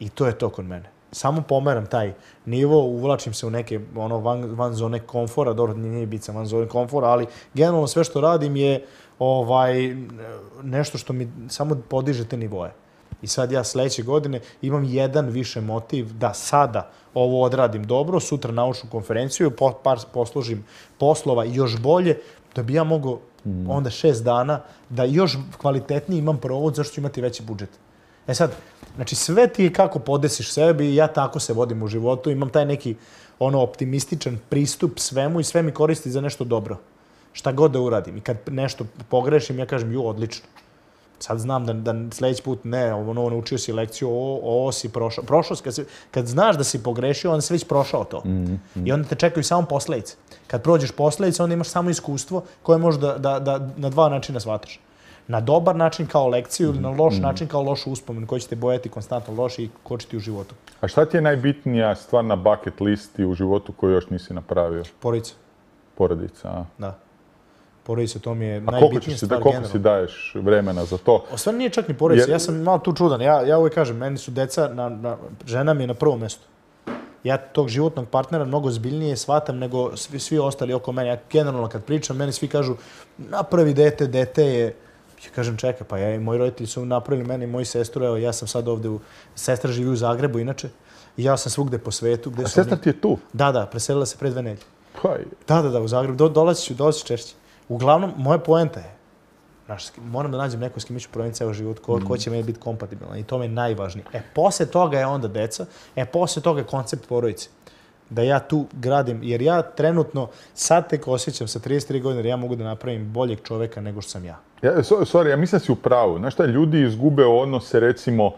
I to je to kod mene. Samo pomeram taj nivo, uvlačim se u neke ono, van, van zone komfora, dobro, nije Ibiza van zone komfora, ali generalno sve što radim je ovaj, nešto što mi samo podiže te nivoje. I sad ja sljedeće godine imam jedan više motiv da sada ovo odradim dobro, sutra naučnu konferenciju, po, par poslužim poslova još bolje, da bi ja mogao mm. onda šest dana da još kvalitetniji imam provod, zašto ću imati veći budžet. E sad, znači sve ti je kako podesiš sebi i ja tako se vodim u životu, imam taj neki ono optimističan pristup svemu i sve mi koristi za nešto dobro. Šta god da uradim. I kad nešto pogrešim, ja kažem, ju, odlično. Sad znam da, da sljedeći put ne, ono, naučio si lekciju, ovo, ovo si prošao. Prošao si, kad, si, kad znaš da si pogrešio, onda si već prošao to. Mm -hmm. I onda te čekaju samo posledice. Kad prođeš posledice, onda imaš samo iskustvo koje možeš da, da, da na dva načina shvataš. Na dobar način kao lekciju ili na loš mm. način kao lošu uspomenu koji će te bojati konstantno loš i kočiti u životu. A šta ti je najbitnija stvar na bucket listi u životu koju još nisi napravio? Porodica. Porodica, a? Da. Porodica, to mi je a najbitnija stvar generalno. A koliko si daješ vremena za to? O stvari nije čak ni porodica, Jer... ja sam malo tu čudan. Ja, ja uvijek kažem, meni su deca, na, na, žena mi je na prvom mjestu. Ja tog životnog partnera mnogo zbiljnije shvatam nego svi, svi ostali oko mene. Ja generalno kad pričam, meni svi kažu napravi dete, dete je... Ja kažem, čekaj, pa ja i moji roditelji su napravili mene i moji sestru, evo ja sam sad ovdje, u... sestra živi u Zagrebu inače, i ja sam svugdje po svetu. Gde A sestra ti je tu? Da, da, preselila se pre dve nedelje. Pa Da, da, da, u Zagrebu, Do, dolazit ću, dolazit ću češće. Uglavnom, moja poenta je, znaš, moram da nađem neko s kim ću provjeriti ceo život, ko, mm. ko će meni biti kompatibilan i to mi je najvažnije. E, posle toga je onda deca, e, posle toga je koncept porodice. Da ja tu gradim, jer ja trenutno sad tek osjećam sa trideset tri godine, jer ja mogu da napravim boljeg čoveka nego što sam ja. Ja, sorry, ja mislim da si u pravu. Znaš šta, ljudi izgube odnose, recimo, uh,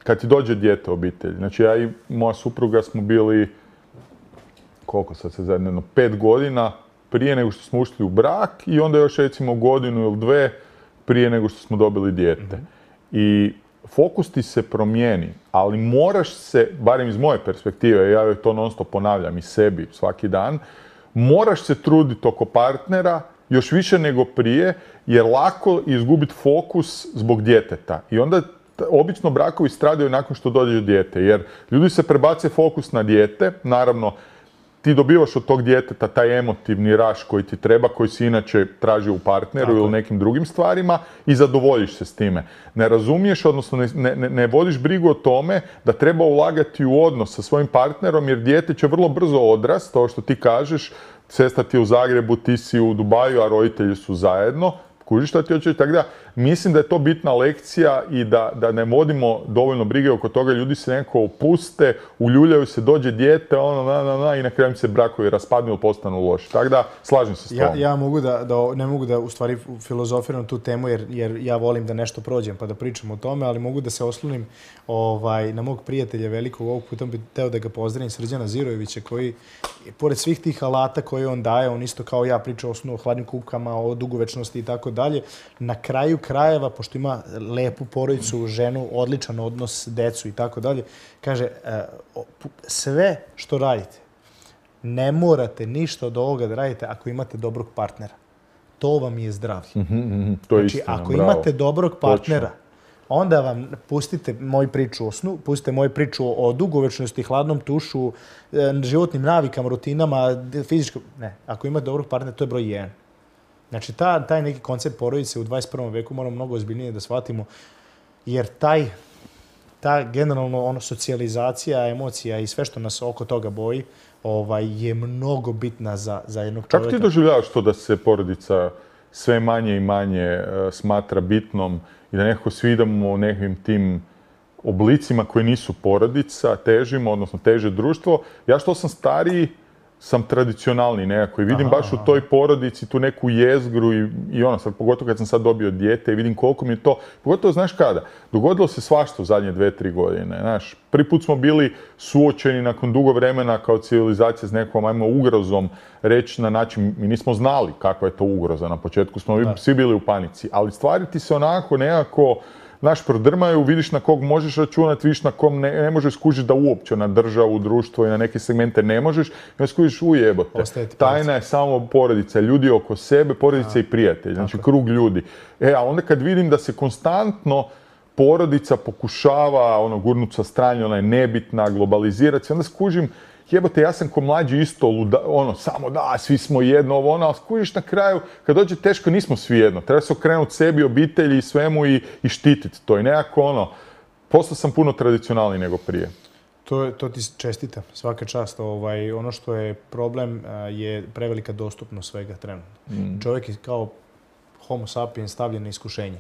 kad ti dođe dijete u obitelj. Znači, ja i moja supruga smo bili, koliko sad se zajedno, pet godina prije nego što smo ušli u brak i onda još, recimo, godinu ili dve prije nego što smo dobili dijete. Mm-hmm. I fokus ti se promijeni, ali moraš se, barem iz moje perspektive, ja to non stop ponavljam i sebi svaki dan, moraš se truditi oko partnera još više nego prije, jer lako izgubiti fokus zbog djeteta. I onda obično brakovi stradaju nakon što dođe dijete, jer ljudi se prebace fokus na dijete, naravno, ti dobivaš od tog djeteta taj emotivni raš koji ti treba, koji si inače traži u partneru Tako. ili nekim drugim stvarima i zadovoljiš se s time. Ne razumiješ, odnosno ne, ne, ne vodiš brigu o tome da treba ulagati u odnos sa svojim partnerom, jer dijete će vrlo brzo odrast, to što ti kažeš, sestra ti je u Zagrebu, ti si u Dubaju, a roditelji su zajedno. Kužiš šta ti hoćeš? Tako da, mislim da je to bitna lekcija i da, da ne vodimo dovoljno brige oko toga. Ljudi se nekako opuste, uljuljaju se, dođe dijete, ono, na, na, na, i na kraju se brakovi raspadnu ili postanu loši. Tako da, slažem se s ja, tom. ja mogu da, da, ne mogu da u stvari filozofiram tu temu, jer, jer ja volim da nešto prođem pa da pričam o tome, ali mogu da se oslonim ovaj, na mog prijatelja velikog, ovog puta bih teo da ga pozdravim, Srđana Zirojevića, koji, pored svih tih alata koje on daje, on isto kao ja priča o hladnim kupkama, o dugovečnosti i tako dalje. Na kraju krajeva, pošto ima lepu porodicu, ženu, odličan odnos, decu i tako dalje, kaže, sve što radite, ne morate ništa od ovoga da radite ako imate dobrog partnera. To vam je zdravlje. Mm-hmm, to je znači, istina, ako bravo. imate dobrog partnera, Točno. onda vam pustite moju priču o snu, pustite moju priču o dugovečnosti, hladnom tušu, životnim navikama, rutinama, fizičkom... Ne, ako imate dobrog partnera, to je broj jedan. Znači, ta, taj neki koncept porodice u dvadeset prvom veku moramo mnogo ozbiljnije da shvatimo, jer taj, ta generalno ono, socijalizacija, emocija i sve što nas oko toga boji ovaj, je mnogo bitna za, za jednog čovjeka. Kako ti doživljavaš to da se porodica sve manje i manje uh, smatra bitnom i da nekako svi idemo u nekim tim oblicima koji nisu porodica, težimo, odnosno teže društvo? Ja što sam stariji, sam tradicionalni nekako i vidim aha, baš u toj porodici tu neku jezgru i, i ono, sad, pogotovo kad sam sad dobio dijete i vidim koliko mi je to, pogotovo znaš kada, dogodilo se svašta u zadnje dve, tri godine, znaš, prvi put smo bili suočeni nakon dugo vremena kao civilizacija s nekom, ajmo, ugrozom, reći na način, mi nismo znali kakva je to ugroza, na početku smo da. svi bili u panici, ali stvari ti se onako nekako, znaš, prodrmaju, vidiš na kog možeš računati, vidiš na kom ne, ne možeš skužiti da uopće na državu, društvo i na neke segmente ne možeš, i onda skužiš ujebote. Tajna je samo porodica, ljudi oko sebe, porodica a, i prijatelji, znači tako. krug ljudi. E, a onda kad vidim da se konstantno porodica pokušava ono, gurnuti sa strane, ona je nebitna, globalizirati se, onda skužim, jebote, ja sam ko mlađi isto, luda, ono, samo da, svi smo jedno, ovo, ono, ali skužiš na kraju, kad dođe teško, nismo svi jedno. Treba se okrenuti sebi, obitelji i svemu i, i štititi to. I nekako, ono, postao sam puno tradicionalniji nego prije. To, to ti čestitam, svaka čast. Ovaj, ono što je problem je prevelika dostupnost svega trenutno. Mm. Čovjek je kao homo sapiens stavljen na iskušenje.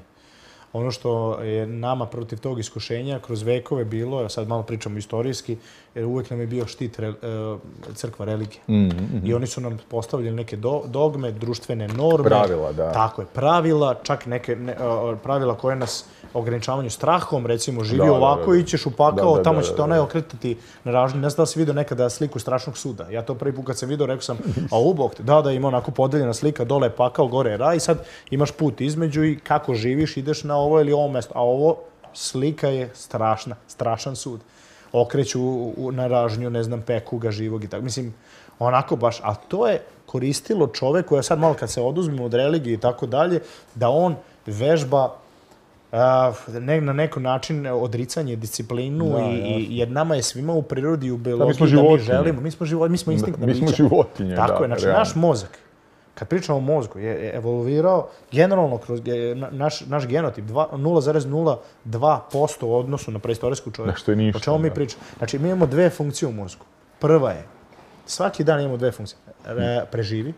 ono što je nama protiv tog iskušenja kroz vekove bilo, ja sad malo pričamo istorijski, jer uvek nam je bio štit re, crkva, religije. Mm, mm. I oni su nam postavljali neke do, dogme, društvene norme. Pravila, da. Tako je, pravila, čak neke ne, pravila koje nas ograničavaju strahom, recimo živi da, ovako da, da. i ćeš u pakao, da, da, tamo da, će te da, onaj da. okretati na ražnju. Ne znam da si vidio nekada sliku strašnog suda. Ja to prvi put kad sam vidio, rekao sam, a ubog te, da, da, ima onako podeljena slika, dole je pakao, gore je raj, i sad imaš put između i kako živiš, ideš na ovo ili ovo mesto. A ovo slika je strašna, strašan sud. Okreću u, na ražnju, ne znam, peku ga živog i tako. Mislim, onako baš, a to je koristilo čoveku, ja sad malo kad se oduzmemo od religije i tako dalje, da on vežba a, ne, na neki način odricanje, disciplinu, da, i, i, jer nama je svima u prirodi i u biologiji da, mi, da mi želimo. Mi smo, život, mi smo instinktna mi bića. smo životinje, tako da. je, znači realno. naš mozak, kad pričamo o mozgu, je evoluirao generalno kroz naš, naš genotip nula zarez nula dva posto u odnosu na preistorijsku čovjeka. Što je ništa. O čemu mi pričamo? Znači, mi imamo dve funkcije u mozgu. Prva je, svaki dan imamo dve funkcije. Re, preživi,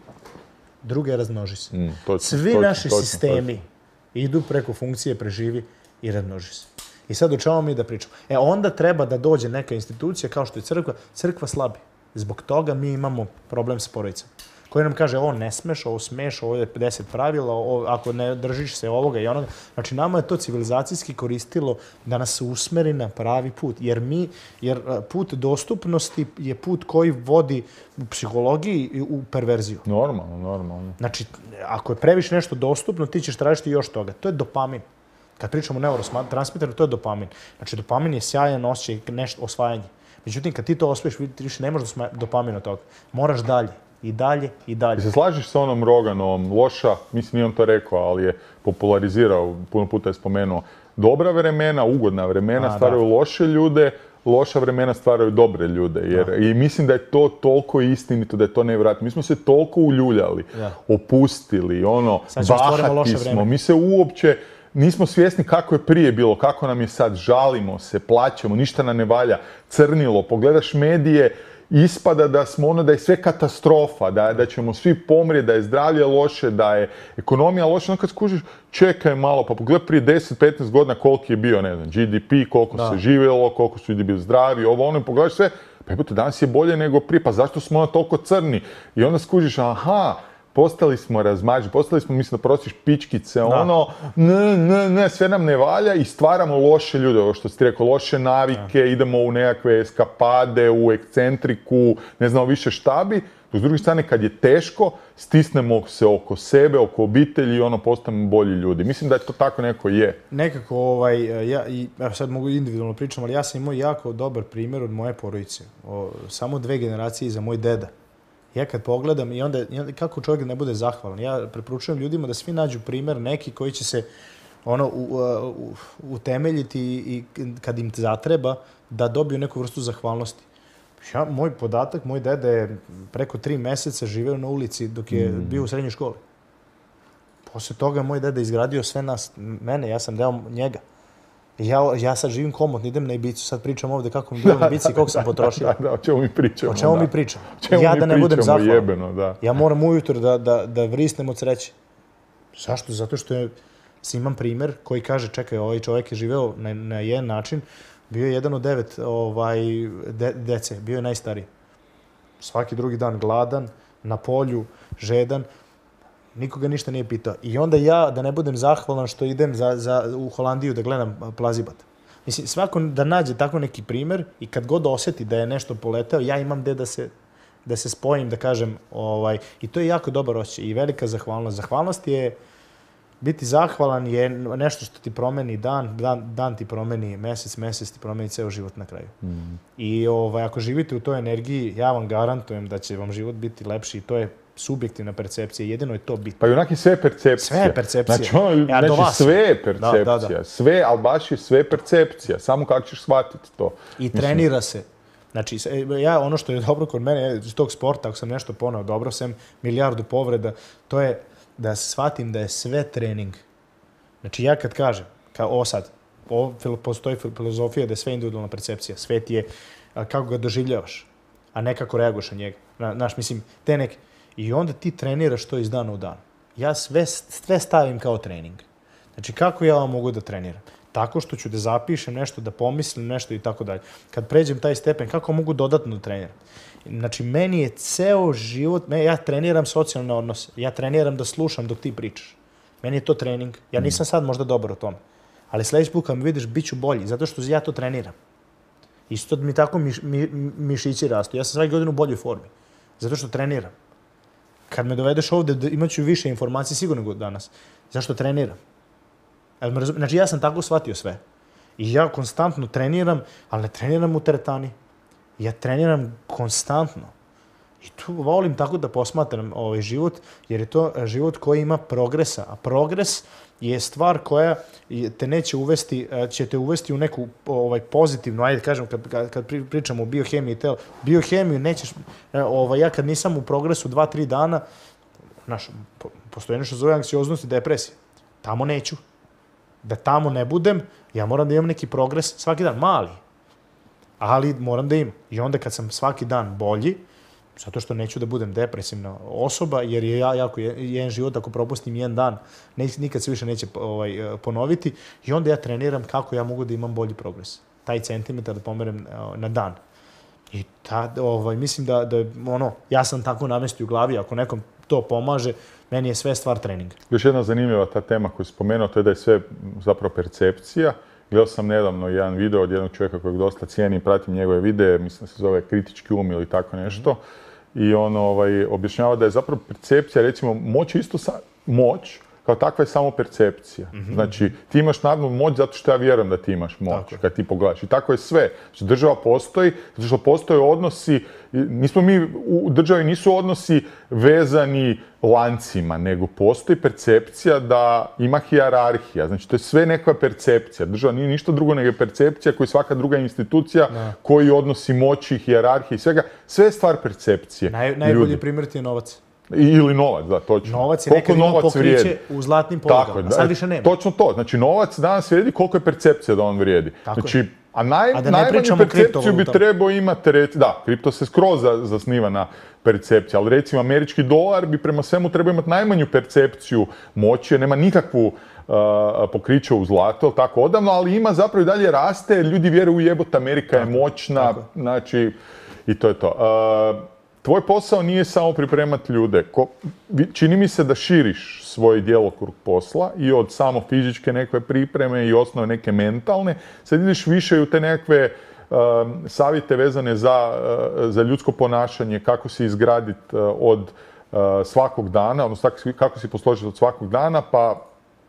druga je razmnoži se. Mm, točno, Svi točno, naši točno, sistemi točno. idu preko funkcije preživi i razmnoži se. I sad o čemu mi da pričamo? E, onda treba da dođe neka institucija kao što je crkva. Crkva slabi. Zbog toga mi imamo problem sa porodicama. Koji nam kaže, ovo ne smeš, ovo smeš, ovo je pedeset pravila, ovo, ako ne držiš se ovoga i onoga. Znači, nama je to civilizacijski koristilo da nas usmeri na pravi put. Jer mi, jer put dostupnosti je put koji vodi u psihologiji u perverziju. Normalno, normalno. Znači, ako je previše nešto dostupno, ti ćeš tražiti još toga. To je dopamin. Kad pričamo o neurotransmiteru, to je dopamin. Znači, dopamin je sjajan osjećaj, nešto osvajanje. Međutim, kad ti to osvojiš, ti više ne možeš dopamin od toga. Moraš dalje. I dalje, i dalje. I se slažeš sa onom Roganovom, loša, mislim nije on to rekao, ali je popularizirao, puno puta je spomenuo, dobra vremena, ugodna vremena A, stvaraju da. loše ljude, loša vremena stvaraju dobre ljude. Jer, da. I mislim da je to toliko istinito, da je to nevjerojatno. Mi smo se toliko uljuljali, da. opustili, ono, bahati smo. Mi se uopće nismo svjesni kako je prije bilo, kako nam je sad, žalimo se, plaćamo, ništa nam ne valja, crnilo, pogledaš medije, ispada da smo ono, da je sve katastrofa, da, da ćemo svi pomrijeti, da je zdravlje loše, da je ekonomija loša. Onda kad skužiš, čekaj malo, pa pogledaj prije deset petnaest godina koliki je bio, ne znam, G D P, koliko da. se živjelo, koliko su ljudi bili zdravi, ovo ono, i pogledaš sve, pa jebote, danas je bolje nego prije, pa zašto smo ono toliko crni? I onda skužiš, aha, postali smo razmađi, postali smo, mislim da prosiš pičkice, da. ono, ne, ne, ne, sve nam ne valja i stvaramo loše ljude, ovo što si ti rekao, loše navike, da. idemo u nekakve eskapade, u ekscentriku, ne znam više šta bi. S druge strane, kad je teško, stisnemo se oko sebe, oko obitelji i ono, postanemo bolji ljudi. Mislim da je to tako neko je. Nekako, ovaj, ja, i, evo sad mogu individualno pričam, ali ja sam imao jako dobar primjer od moje porodice. O, samo dve generacije iza moj deda. Ja kad pogledam i onda, i onda kako čovjek ne bude zahvalan, ja preporučujem ljudima da svi nađu primjer neki koji će se ono u, u, utemeljiti i kad im zatreba da dobiju neku vrstu zahvalnosti. Ja, moj podatak, moj deda je preko tri mjeseca živeo na ulici dok je mm. bio u srednjoj školi. Posle toga moj deda izgradio sve nas, mene, ja sam deo njega. Ja, ja sad živim komotno, idem na Ibicu, sad pričam ovdje kako mi bilo na Ibici i koliko sam potrošio. Da, da, o čemu mi pričamo. O čemu da. mi pričamo. Čemu ja mi da ne budem zahvalan. Jebeno, da. Ja moram ujutro da, da, da vrisnem od sreće. Zašto? Zato što je, imam primjer koji kaže, čekaj, ovaj čovjek je živeo na, na jedan način, bio je jedan od devet ovaj, de, dece, bio je najstariji. Svaki drugi dan gladan, na polju, žedan, nikoga ništa nije pitao. I onda ja, da ne budem zahvalan što idem za, za, u Holandiju da gledam plazibat. Mislim, svako da nađe tako neki primjer i kad god osjeti da je nešto poletao, ja imam gde da se, da se spojim, da kažem, ovaj, i to je jako dobar osjećaj i velika zahvalnost. Zahvalnost je, biti zahvalan je nešto što ti promeni dan, dan, dan ti promeni mesec, mesec ti promeni ceo život na kraju. Mm. I ovaj, ako živite u toj energiji, ja vam garantujem da će vam život biti lepši i to je subjektivna percepcija, jedino je to bitno. Pa i onak je sve percepcija. Sve je percepcija. Znači, ono, ja, znači sve je percepcija. Da, da, da. Sve, ali baš je sve percepcija. Samo kako ćeš shvatiti to. I Mislim... trenira se. Znači, ja, ono što je dobro kod mene, iz tog sporta, ako sam nešto ponao dobro, sam milijardu povreda, to je da shvatim da je sve trening. Znači, ja kad kažem, kao o sad, o, postoji filozofija da je sve individualna percepcija. Svet je kako ga doživljavaš, a ne kako reaguješ na njega. Znaš, mislim, te neke... I onda ti treniraš to iz dana u dan. Ja sve, sve stavim kao trening. Znači, kako ja vam mogu da treniram? Tako što ću da zapišem nešto, da pomislim nešto i tako dalje. Kad pređem taj stepen, kako mogu dodatno da treniram? Znači, meni je ceo život, ja treniram socijalne odnose, ja treniram da slušam dok ti pričaš. Meni je to trening. Ja nisam sad možda dobar u tome. Ali sledeći put kad me vidiš, bit ću bolji, zato što ja to treniram. Isto mi tako miš, mi, mišići rastu. Ja sam svake godine u boljoj formi, zato što treniram. Kad me dovedeš ovde, imat ću više informacije sigurno nego danas. Zašto treniram? Znači, ja sam tako shvatio sve. I ja konstantno treniram, ali ne treniram u teretani. Ja treniram konstantno. I tu volim tako da posmatram ovaj život, jer je to život koji ima progresa. A progres je stvar koja te neće uvesti, će te uvesti u neku ovaj, pozitivnu, ajde kažem, kad, kad, kad pričamo o biohemiji tela, biohemiju nećeš, ovaj, ja kad nisam u progresu dva, tri dana, znaš, postoje nešto zove anksioznost i depresija. Tamo neću. Da tamo ne budem, ja moram da imam neki progres svaki dan, mali. Ali moram da imam. I onda kad sam svaki dan bolji, zato što neću da budem depresivna osoba, jer je ja jako jedan život, ako propustim jedan dan, ne, nikad se više neće ovaj, ponoviti. I onda ja treniram kako ja mogu da imam bolji progres. Taj centimetar da pomerem na dan. I ta, ovaj, mislim da, da ono, ja sam tako namestio u glavi, ako nekom to pomaže, meni je sve stvar treninga. Još jedna zanimljiva ta tema koju si spomenuo, to je da je sve zapravo percepcija. Gledao sam nedavno jedan video od jednog čovjeka kojeg dosta cijenim, pratim njegove videe, mislim da se zove Kritički um ili tako nešto. Mm-hmm. I on ovaj, objašnjava da je zapravo percepcija, recimo, moć isto sa, moć, kao takva je samo percepcija. Mm-hmm. Znači, ti imaš naravno moć zato što ja vjerujem da ti imaš moć tako kad ti pogledaš. I tako je sve. Znači, država postoji, zato što postoje odnosi, nismo mi, u državi nisu odnosi vezani lancima, nego postoji percepcija da ima hijerarhija. Znači, to je sve neka percepcija. Država nije ništa drugo nego percepcija koju svaka druga institucija ne. Koji odnosi moći, hijerarhije i svega. Sve je stvar percepcije. Naj, najbolji primjer ti je novac. Ili novac, da, točno. Novac je nekad imao pokriće u zlatnim polugama, a sad više nema. Točno to. Znači, novac danas vrijedi koliko je percepcija da on vrijedi. Tako znači, je. A, naj, a najmanju percepciju bi trebao imati, reci, da, kripto se skroz zasniva na percepciji, ali recimo američki dolar bi prema svemu trebao imati najmanju percepciju moći, nema nikakvu uh, pokriće u zlato, tako odavno, ali ima zapravo i dalje raste, ljudi vjeruju u jebot, Amerika tako, je moćna, tako. Znači, i to je to. Uh, Tvoj posao nije samo pripremati ljude. Ko, čini mi se da širiš svoj djelokrug posla i od samo fizičke nekakve pripreme i osnove neke mentalne. Sad ideš više i u te nekakve uh, savjete vezane za, uh, za ljudsko ponašanje, kako se izgraditi uh, od uh, svakog dana, odnosno kako se posložiti od svakog dana, pa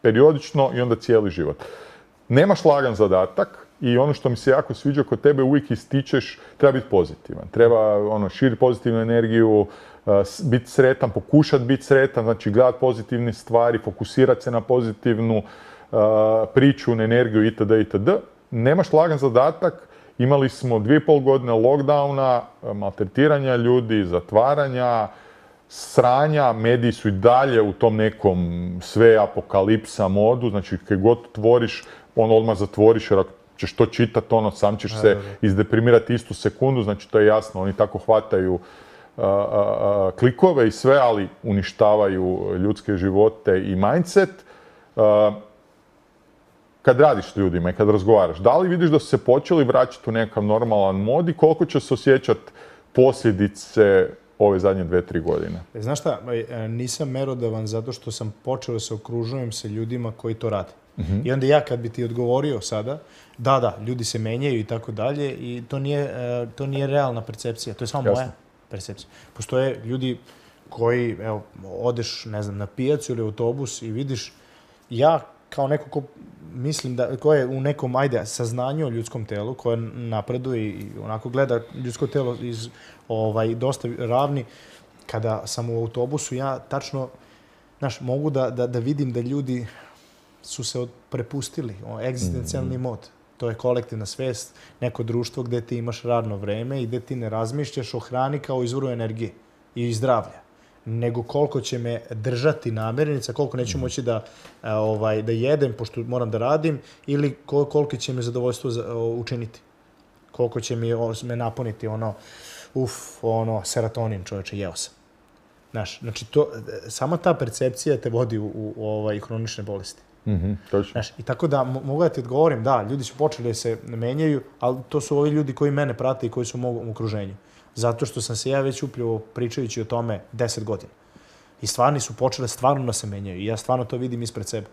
periodično i onda cijeli život. Nemaš lagan zadatak. I ono što mi se jako sviđa kod tebe, uvijek ističeš, treba biti pozitivan. Treba ono, širiti pozitivnu energiju, uh, biti sretan, pokušati biti sretan, znači gledati pozitivne stvari, fokusirati se na pozitivnu uh, priču, na energiju itd. itd. Nemaš lagan zadatak, imali smo dvije i pol godine lockdowna, maltretiranja ljudi, zatvaranja, sranja, mediji su i dalje u tom nekom sve apokalipsa modu, znači kad god otvoriš, on odmah zatvoriš jer ako ćeš to čitati, ono, sam ćeš se izdeprimirati istu sekundu, znači to je jasno, oni tako hvataju a, a, a, klikove i sve, ali uništavaju ljudske živote i mindset. A, kad radiš s ljudima i kad razgovaraš, da li vidiš da su se počeli vraćati u nekakav normalan mod i koliko će se osjećati posljedice ove zadnje dve, tri godine? Znaš šta, nisam merodavan zato što sam počeo da se okružujem sa ljudima koji to rade. Mm-hmm. I onda ja kad bi ti odgovorio sada, da, da, ljudi se menjaju i tako dalje i to nije, to nije realna percepcija, to je samo moja percepcija. Postoje ljudi koji, evo, odeš, ne znam, na pijacu ili autobus i vidiš, ja kao neko ko mislim da, ko je u nekom, ajde, saznanju o ljudskom telu, koje napreduje i onako gleda ljudsko telo iz, ovaj, dosta ravni, kada sam u autobusu, ja tačno, znaš, mogu da, da, da vidim da ljudi su se prepustili, egzistencijalni mod. To je kolektivna svest, neko društvo gdje ti imaš radno vreme i gdje ti ne razmišljaš o hrani kao izvoru energije i zdravlja, nego koliko će me držati namirnica, koliko neću moći da, ovaj, da jedem, pošto moram da radim, ili koliko će me zadovoljstvo učiniti. Koliko će mi, me napuniti ono, uf, ono, serotonin, čovječe, jeo sam. Znaš, znači, to, sama ta percepcija te vodi u, u, u ovaj, hronične bolesti. Mm-hmm, točno. Znaš, i tako da mogu da ti odgovorim, da, ljudi su počeli da se menjaju, ali to su ovi ljudi koji mene prate i koji su u mom okruženju. Zato što sam se ja već upravo pričajući o tome deset godina. I stvarni su počele stvarno da se menjaju. I ja stvarno to vidim ispred sebe.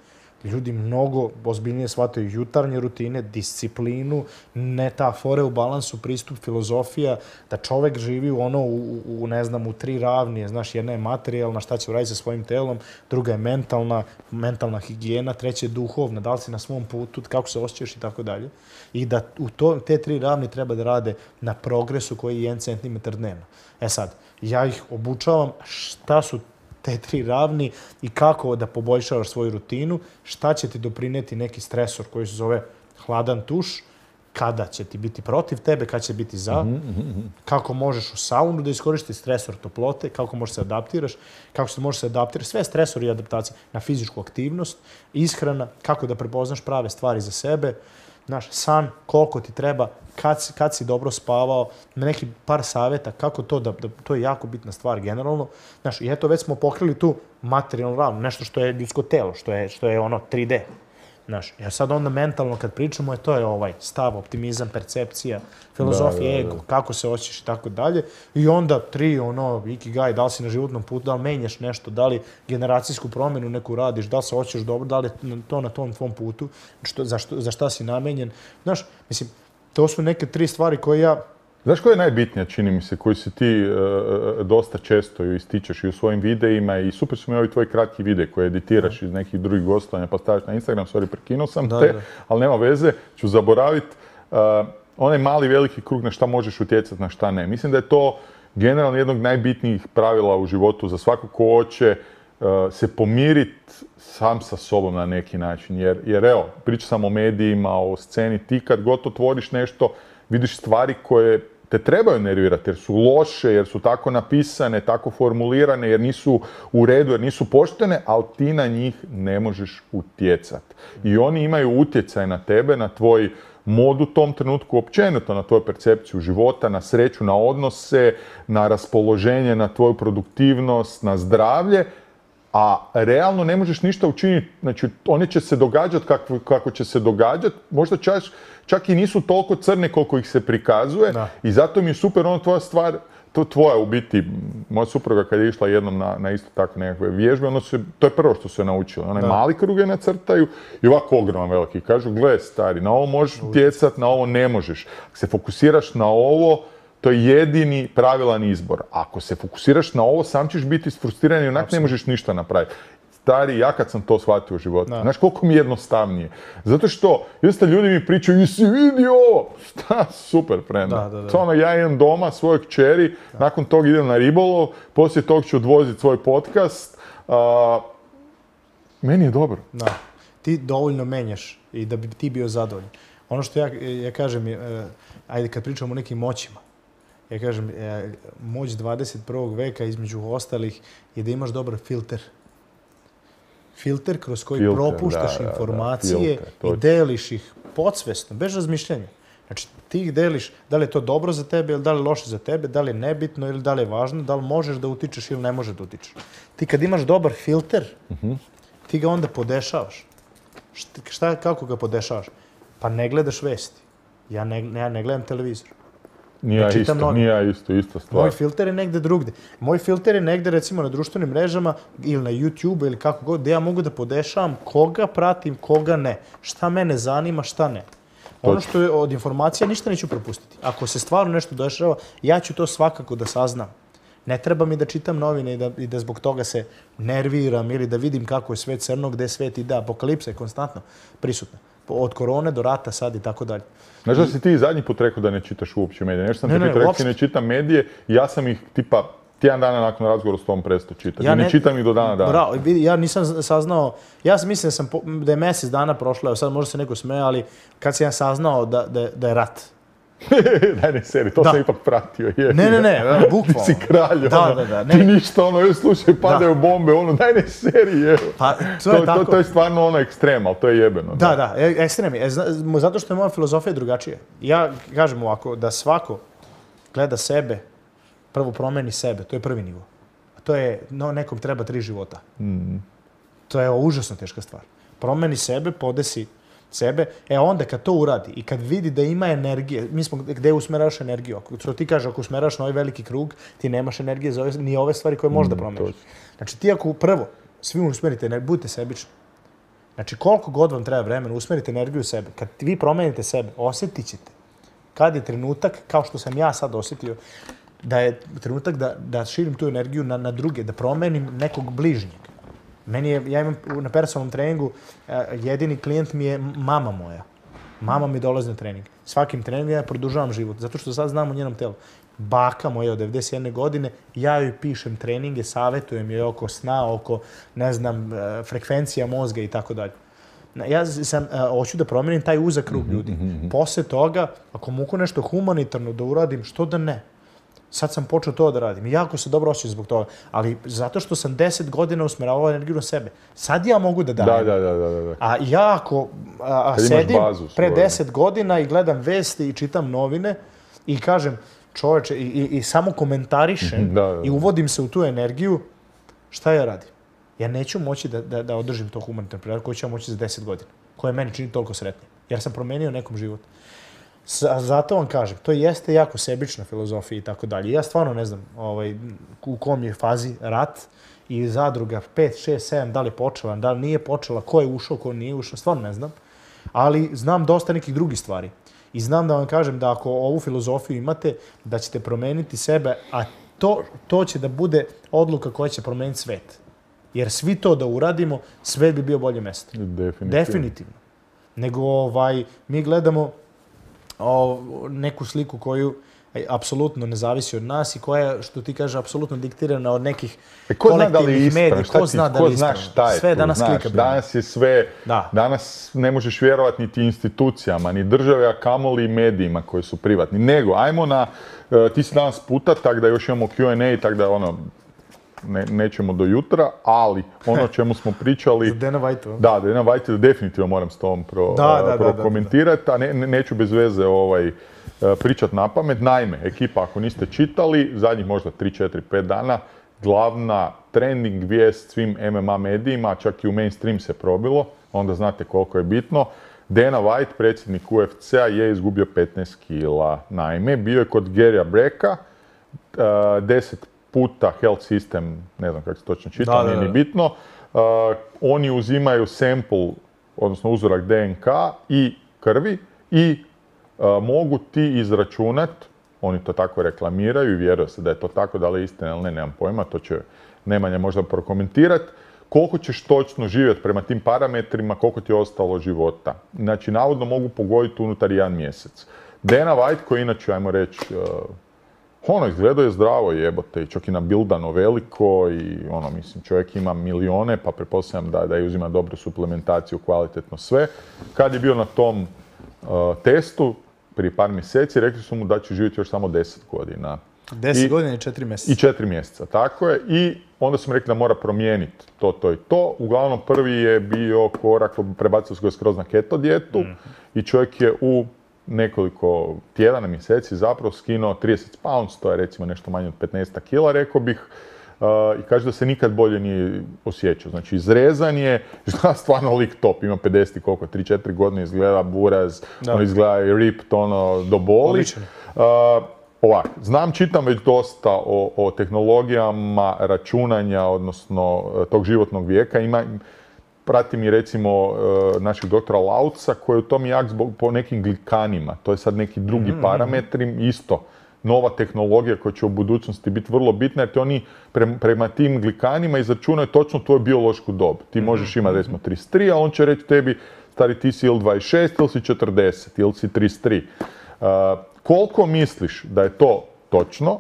Ljudi mnogo ozbiljnije shvataju jutarnje rutine, disciplinu, ne ta fore u balansu, pristup, filozofija, da čovek živi u ono, u, u ne znam, u tri ravnije. Znaš, jedna je materijalna, šta će uraditi sa svojim telom, druga je mentalna, mentalna higijena, treća je duhovna, da li si na svom putu, kako se osjećaš i tako dalje. I da u to, te tri ravni treba da rade na progresu koji je jedan centimetar dnevno. E sad, ja ih obučavam šta su te tri ravni i kako da poboljšavaš svoju rutinu, šta će ti doprineti neki stresor koji se zove hladan tuš, kada će ti biti protiv tebe, kada će biti za, mm-hmm. kako možeš u saunu da iskoristiš stresor toplote, kako možeš se adaptiraš, kako se možeš se adaptiraš, sve stresori i adaptacije na fizičku aktivnost, ishrana, kako da prepoznaš prave stvari za sebe, znaš, san, koliko ti treba, kad si, kad si dobro spavao, neki par savjeta, kako to, da, da, to je jako bitna stvar generalno. Znaš, i eto, već smo pokrili tu materijalnu ravnu, nešto što je ljudsko telo, što je, što je ono tri D. Znaš, ja sad onda mentalno kad pričamo, je to je ovaj stav, optimizam, percepcija, filozofija, ego, kako se osjećaš i tako dalje. I onda tri, ono, ikigai, da li si na životnom putu, da li menjaš nešto, da li generacijsku promjenu neku radiš, da li se osjećaš dobro, da li je to na tom tvom putu, što, za, što, za šta si namenjen. Znaš, mislim, to su neke tri stvari koje ja... Znaš koja je najbitnija, čini mi se, koju se ti uh, dosta često ističeš i u svojim videima i super su mi ovi tvoji kratki videi koje editiraš iz nekih drugih gostovanja pa stavиш na Instagram, sorry, prekinuo sam da, te, da. ali nema veze, ću zaboraviti uh, onaj mali veliki krug na šta možeš utjecati, na šta ne. Mislim da je to generalno jednog najbitnijih pravila u životu za svakog ko hoće uh, se pomiriti sam sa sobom na neki način, jer, jer evo, priča sam o medijima, o sceni, ti kad god otvoriš nešto, vidiš stvari koje te trebaju nervirati jer su loše, jer su tako napisane, tako formulirane, jer nisu u redu, jer nisu poštene, ali ti na njih ne možeš utjecati. I oni imaju utjecaj na tebe, na tvoj mod u tom trenutku, općenito na tvoju percepciju života, na sreću, na odnose, na raspoloženje, na tvoju produktivnost, na zdravlje, a realno ne možeš ništa učiniti. Znači, oni će se događati kako, kako će se događati, možda čak, čak i nisu toliko crne koliko ih se prikazuje. Da. I zato mi je super ono tvoja stvar, to tvoja u biti, moja supruga kad je išla jednom na, na isto tako nekakve vježbe, ono se, to je prvo što su je naučila. One mali kruge nacrtaju i ovako ogroman veliki. Kažu, gle stari, na ovo možeš utjecati, na ovo ne možeš. Ako se fokusiraš na ovo, to je jedini pravilan izbor. Ako se fokusiraš na ovo, sam ćeš biti isfrustriran i onak ne možeš ništa napraviti. Stari, ja kad sam to shvatio u životu, znaš koliko mi je jednostavnije. Zato što, jeste ljudi mi pričaju, jesi vidio ovo? Šta, super, prenda. Da, da, da. Ono, ja idem doma, svojoj kćeri, da. Nakon toga idem na ribolov, poslije tog ću odvoziti svoj podcast. Uh, meni je dobro. Da. Ti dovoljno menjaš i da bi ti bio zadovoljan. Ono što ja, ja kažem, je, ajde kad pričamo o nekim moćima, ja kažem, moć dvadeset prvog veka između ostalih je da imaš dobar filter. Filter kroz koji filter, propuštaš da, informacije da, filter, i deliš ih podsvesno, bez razmišljanja. Znači, ti ih deliš, da li je to dobro za tebe ili da li je loše za tebe, da li je nebitno ili da li je važno, da li možeš da utičeš ili ne možeš da utičeš. Ti kad imaš dobar filter, uh-huh. ti ga onda podešavaš. Šta, šta, kako ga podešavaš? Pa ne gledaš vesti. Ja ne, ja ne gledam televizor. Nije ja isto, nije ja isto, isto stvar. Moj filter je negde drugde. Moj filter je negde, recimo, na društvenim mrežama ili na YouTube ili kako god, gdje ja mogu da podešavam koga pratim, koga ne. Šta mene zanima, šta ne. Ono što je od informacija, ništa neću propustiti. Ako se stvarno nešto dešava, ja ću to svakako da saznam. Ne treba mi da čitam novine i da, i da zbog toga se nerviram ili da vidim kako je svet crno, gde svet ide. Apokalipsa je konstantno prisutna. Od korone do rata sad i tako dalje. Znaš da si ti zadnji put rekao da ne čitaš uopće medije? Nešto sam ne, ti pitao, rekao si ne čitam medije i ja sam ih tipa tjedan dana nakon razgovora s tom prestao čitati. Ja ne, ne čitam ih do dana dana. Bravo, ja nisam saznao, ja sam mislim da, sam, da je mjesec dana prošlo, sad možda se neko smeje, ali kad sam ja saznao da, da, da je rat. Daj ne seri, to da. Sam ipak pratio. Je. Ne, ne, ne, bukvalno. Ti si kralj, da, ono, da, da, ne. Ti ništa, ono, još slušaj, padaju da. Bombe, ono, daj ne seri, evo. Pa, to je to, tako. To, to je stvarno ono ekstrem, ali to je jebeno. Da, da, da ekstrem je. Zato što je moja filozofija drugačija. Ja kažem ovako, da svako gleda sebe, prvo promeni sebe, to je prvi nivo. A to je, no, nekom treba tri života. Mm. To je užasno teška stvar. promeni sebe, podesi sebe, e onda kad to uradi i kad vidi da ima energije, mi smo gde usmeraš energiju, ako što ti kaže, ako usmeraš na ovaj veliki krug, ti nemaš energije za ove, ni ove stvari koje možda promeniš. Znači ti ako prvo svi usmerite energiju, budite sebični. Znači koliko god vam treba vremena, usmerite energiju u sebe. Kad vi promenite sebe, osjetit ćete kad je trenutak, kao što sam ja sad osjetio, da je trenutak da, da širim tu energiju na, na druge, da promenim nekog bližnjeg. Meni je, ja imam na personalnom treningu, jedini klijent mi je mama moja. Mama mi dolazi na trening. Svakim treningom ja produžavam život, zato što sad znam o njenom telu. Baka moja od devedeset jedne godine, ja joj pišem treninge, savjetujem joj oko sna, oko, ne znam, frekvencija mozga i tako dalje. Ja sam, hoću da promenim taj uzak krug ljudi. Posle toga, ako mogu nešto humanitarno da uradim, što da ne? Sad sam počeo to da radim. Jako se dobro osjećam zbog toga. Ali zato što sam deset godina usmeravao energiju na sebe. Sad ja mogu da dajem. Da, da, da, da. A ja ako a, sedim pre deset godina i gledam vesti i čitam novine i kažem, čoveče, i, i, i samo komentarišem da, da, da. i uvodim se u tu energiju, šta ja radim? Ja neću moći da, da, da održim to humanitarno predavanje koje ću ja moći za deset godina, koje meni čini toliko sretnim. Jer sam promenio nekom život. Zato vam kažem, to jeste jako sebična filozofija i tako dalje. Ja stvarno ne znam ovaj, u kom je fazi rat i zadruga pet, šest, sedam, da li je počela, da li nije počela, ko je ušao, ko nije ušao, stvarno ne znam. Ali znam dosta nekih drugih stvari. I znam da vam kažem da ako ovu filozofiju imate, da ćete promeniti sebe, a to, to će da bude odluka koja će promeniti svet. Jer svi to da uradimo, svet bi bio bolje mesto. Definitivno. Definitivno. Nego ovaj, mi gledamo o, neku sliku koju apsolutno ne zavisi od nas i koja, što ti kaže, apsolutno diktirana od nekih e, ko kolektivnih medija. Ko zna da li je ispravno? Šta je sve tu, danas znaš, klika. Danas je sve, da. Danas ne možeš vjerovati niti institucijama, ni države, a kamoli medijima koji su privatni. Nego, ajmo na, uh, ti si danas puta, tak da još imamo Q and A, tak da ono, ne, nećemo do jutra, ali ono o čemu smo pričali... Za Dana White. Da, Dana White, definitivno moram s tom pro, da, da, prokomentirati, da, da, da. a ne, neću bez veze ovaj, pričat na pamet. Naime, ekipa, ako niste čitali, zadnjih možda tri, četiri, pet dana, glavna trending vijest svim M M A medijima, čak i u mainstream se probilo, onda znate koliko je bitno. Dana White, predsjednik U F C-a, je izgubio petnaest kila. Naime, bio je kod Gary'a Brecka, deset puta health system, ne znam kako se točno čita, nije ni bitno. Uh, oni uzimaju sample, odnosno uzorak D N K i krvi i uh, mogu ti izračunat, oni to tako reklamiraju i vjeruje se da je to tako, da li je istina ili ne, nemam pojma, to će Nemanja možda prokomentirati, koliko ćeš točno živjeti prema tim parametrima, koliko ti je ostalo života. Znači, navodno mogu pogoditi unutar jedan mjesec. Dana White, koji inače, ajmo reći, uh, ono, izgledao je zdravo, jebote, i čak i nabildano veliko i ono, mislim, čovjek ima milijone, pa pretpostavljam da, da je uzima dobru suplementaciju, kvalitetno sve. Kad je bio na tom uh, testu, prije par mjeseci, rekli su mu da će živjeti još samo deset godina. deset I, godina i četiri mjeseca. I četiri mjeseca, tako je. I onda su mi rekli da mora promijeniti to, to i to. Uglavnom, prvi je bio korak, prebacio se ga skroz na keto dijetu mm. i čovjek je u nekoliko tjedana, mjeseci zapravo skinuo trideset pounds, to je recimo nešto manje od petnaest kila, rekao bih, uh, i kaže da se nikad bolje nije osjećao. Znači, izrezan je, izgleda stvarno lik top, ima pedeset i koliko, tri četiri godine, izgleda buraz, on izgleda i ripped, ono, do boli. Uh, ovak, znam, čitam već dosta o, o tehnologijama računanja, odnosno tog životnog vijeka, ima... Pratim i recimo našeg doktora Lauca koji je u tom jak zbog po nekim glikanima. To je sad neki drugi mm-hmm. parametri, isto nova tehnologija koja će u budućnosti biti vrlo bitna jer ti oni pre, prema tim glikanima izračunaju točno tvoju biološku dob. Ti možeš imati recimo trideset tri, a on će reći tebi stari ti si ili dvadeset šest ili si četrdeset ili si trideset tri. Uh, koliko misliš da je to točno,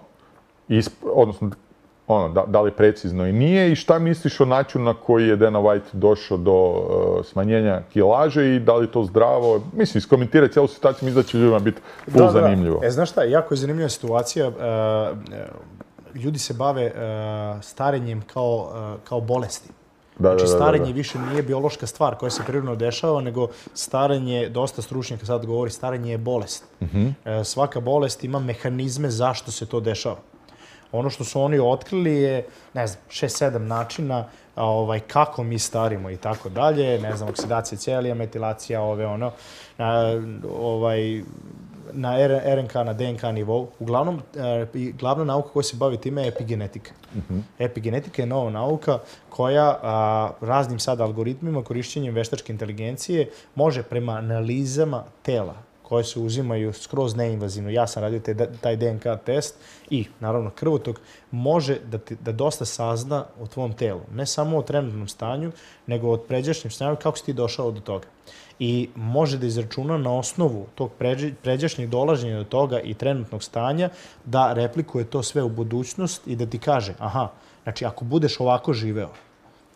isp, odnosno ono, da, da li precizno i nije, i šta misliš o načinu na koji je Dana White došao do uh, smanjenja kilaže i da li je to zdravo? Mislim, iskomentirati cijelu situaciju, mislim da će ljudima biti pol da, zanimljivo. Da. E, znaš šta, jako je zanimljiva situacija. Uh, ljudi se bave uh, starenjem kao, uh, kao bolesti. Da, znači, da, da, starenje da. više nije biološka stvar koja se prirodno dešava, nego starenje, dosta stručnjaka sad govori, starenje je bolest. Uh-huh. Uh, svaka bolest ima mehanizme zašto se to dešava. Ono što su oni otkrili je, ne znam, šest sedam načina ovaj, kako mi starimo i tako dalje, ne znam, oksidacija ćelija, metilacija, ove ono, na, ovaj, na R N K, na D N K nivou. Uglavnom, glavna nauka koja se bavi time je epigenetika. Mm-hmm. Epigenetika je nova nauka koja a, raznim sad algoritmima, korišćenjem veštačke inteligencije, može prema analizama tela koje se uzimaju skroz neinvazivno. Ja sam radio te, taj D N K test i, naravno, krvotok može da, ti, da dosta sazna o tvom telu. Ne samo o trenutnom stanju, nego o pređašnjem stanju, kako si ti došao do toga. I može da izračuna na osnovu tog pređašnjeg dolaženja do toga i trenutnog stanja da replikuje to sve u budućnost i da ti kaže, aha, znači ako budeš ovako živeo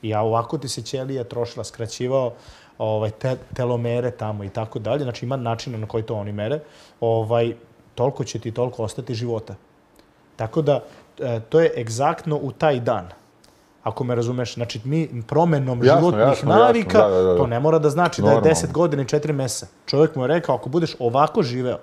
i ovako ti se ćelija trošila, skraćivao, ovaj, te, telomere tamo i tako dalje, znači ima načina na koji to oni mere, ovaj, toliko će ti toliko ostati života. Tako da, to je egzaktno u taj dan. Ako me razumeš, znači mi promenom jasno, životnih jasno, navika, jasno, da, da, da. To ne mora da znači Normalno. Da je deset godina i četiri meseca. Čovjek mu je rekao, ako budeš ovako živeo,